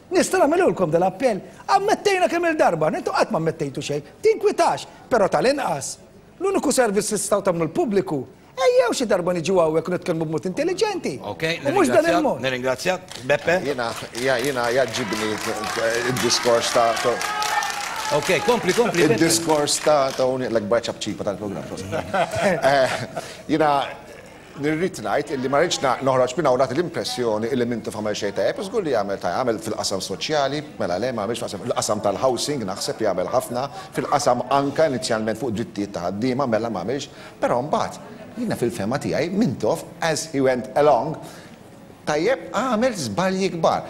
Nista' nagħmilulkom dal-appell. Ammettejna kemm-il darba, intom qatt ma ammettejtu xejn. Tinkwitax, però tal-inqas, l-uniku servizz li tistgħu tagħmlu l-pubbliku Ejjew xi darba niġu hawnhekk u nitkellmu b'mod intelliġenti. Ok, U mhux dan il-mod. Nirringrazzjak. Beppe? Jiena jiena jgħaġġibni d-diskors ta' Ok, kompli, kompli. Id-diskors ta' Tony l-akbar ċapċipa tal-programm. Jiena nirrid ngħid illi ma rridx noħroġ minn hawn nagħti l-impressjoni illi Mintoff għamel xejn tajjeb, żgur li għamel tajjeb, għamel fil-qasam soċjali, mela le ma għamilx fil-qasam tal-housing naħseb li għamel ħafna, fil-qasam anke inizjalment fuq drittijiet ta' ħaddiema mela ma għamilx, Però mbagħad, jiena fil-fehma tiegħi, Mintoff, as he went along, tajjeb, għamel żbalji kbar.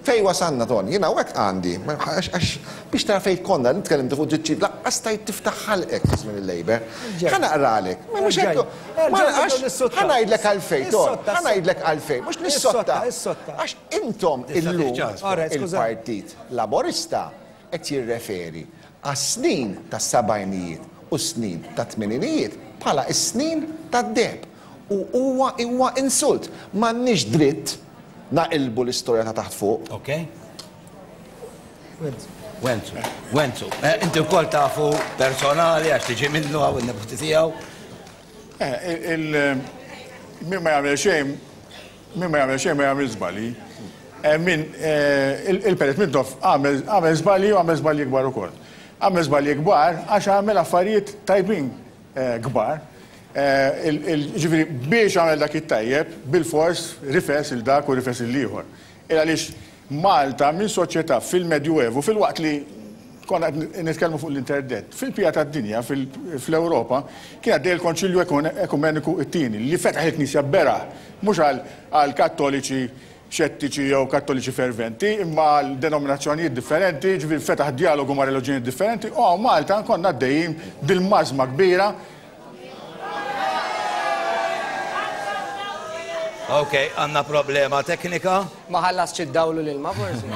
Fejn wasalna, Ton? Jiena hawnhekk għandi, għax biex tara fejn konna, li tkellimtu fuq drittijiet, lanqas stajt tiftaħ ħalqek fi żmien il-Labour. Ħa naqralek. Ma mhux hekk. Għax ħa ngħidlek għalfejn, Ton, ħa ngħidlek għalfejn, mhux nissotta. Għax intom illum il-Partit Laburista qed jirreferi għas-snin tas-sebgħinijiet u s-snin tat-tmeninijiet bħala s-snin tad-deheb u huwa huwa insult. M'għandniex dritt naqilbu l-istorja ta' taħt fuq. Ok. Wenzu. Wenzu. Eh, inti wkoll tafu personali għax tiġi minnu għaw in-neputi tiegħu. Eh, il min ma jagħmel xejn Min ma jagħmel xejn ma jagħmel żbalji. Eh, min eh, il-Perit Mintoff għamel żbalji u għamel żbalji kbar ukoll. Għamel żbalji kbar għax għamel affarijiet tajbin eh, kbar. Ġifieri biex għamel dak it-tajjeb, bil-fors rifes il dak u rifes il-ieħor. Il għaliex Malta minn soċjetà fil-Medjuevu, filwaqt li konna qed nitkellmu fuq l-interdett, fil-bqija tad-dinja, fl-Ewropa, kien għaddej il-Konċilju Ekumeniku t-Tieni li fetaħ il-Knisja beraħ, mhux għal Kattoliċi xettiċi jew Kattoliċi ferventi, imma għal denominazzjonijiet differenti, jiġifieri fetaħ djalogu ma' reliġjonijiet differenti, u hawn Malta konna għaddejjin bil-mażma kbira Ok, għandna problema teknika. Ma ħallasx id-dawl u l-ilma forsi?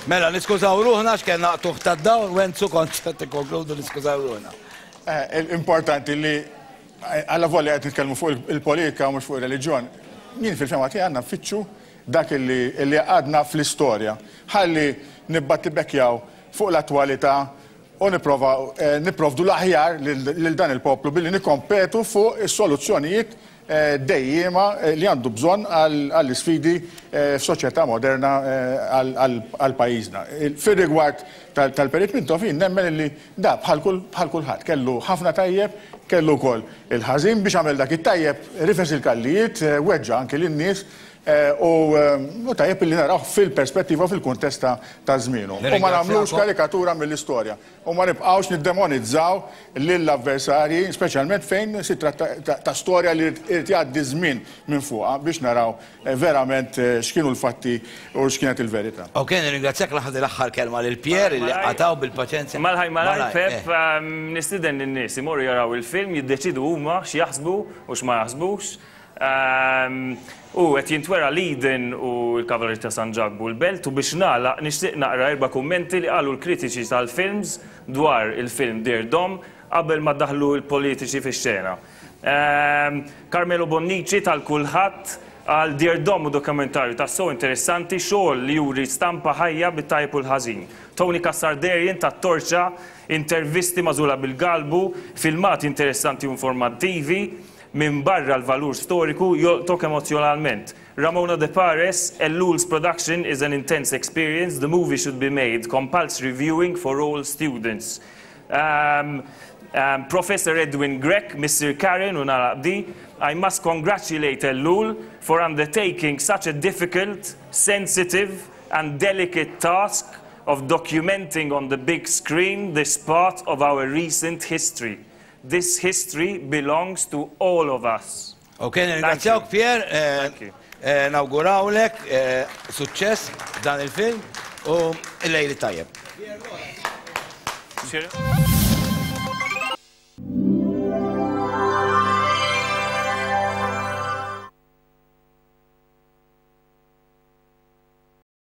Mela, niskużaw ruħna x'kellna qtugħ tad-dawl, Wenzu kont se tikkonkludu niskużaw ruħna. Eh, importanti li eh, alla volja qed nitkellmu fuq il-politika mhux fuq ir-reliġjon. Jien fil-fema tiegħi għandna nfittxu dak li għadna fl-istorja. Ħalli nibbattibekjaw fuq l-attwalità u nipprova eh, nipprovdu l-aħjar lil dan il-poplu billi nikkompetu fuq is-soluzzjonijiet dejjiema li għandu bżonn għall-isfidi f'soċjetà moderna għal pajjiżna. Fir-rigward tal-Perit Mintoff jien nemmen li da bħal kulħadd kellu ħafna tajjeb, kellu wkoll il-ħażin biex għamel dak it-tajjeb rifes il-kallijiet, weġġa' anki lin-nies u tajjeb li narawh fil-perspettiva u fil-kuntest ta' żmienu. U ma nagħmlux karikatura mill-istorja. U ma nibqgħux niddemonizzaw lill-avversarji, speċjalment fejn si tratta ta' storja li jrid jgħaddi ż-żmien minn fuqha biex naraw verament x'kienu l-fatti u x'kienet il-verità. Ok, nirringrazzjak naħdi l-aħħar kelma lil Pierre illi qatgħu bil-paċenzja. Malaj malaj Pep, nistieden lin-nies imorru jaraw il-film, jiddeċiedu huma x'jaħsbu u x'ma jaħsbux. U qed jintwera l-Eden u l-Kavallieri ta' San Ġakbu l-Belt u biex nagħlaq nixtieq naqra erba' kummenti li qalu l-kritiċi tal-films dwar il-film Dear Dom qabel ma daħlu l-politiċi fix-xena. Carmelo Bonnici tal-Kulħadd qal Dear Dom hu dokumentarju tassew interessanti, xogħol li juri stampa ħajja bit-tajjeb u l-ħażin. Tony Cassar Derian tat-Torċa, intervisti magħżula bil-galbu, filmati interessanti u informattivi, Minbarra l-valur storiku, jolqtok emozzjonalment. Ramona De Pares, Ellul's production is an intense experience, the movie should be made compulsory viewing for all students. Um, um, Professor Edwin Grech, Missier Karen u nagħlaq b'di, I must congratulate Ellul for undertaking such a difficult, sensitive and delicate task of documenting on the big screen this part of our recent history. This history belongs to all of us. Ok, nirringrazzjawk Pierre, eh, eh, nawgurawlek eh, suċċess f'dan il-film u il-lejl it-tajjeb.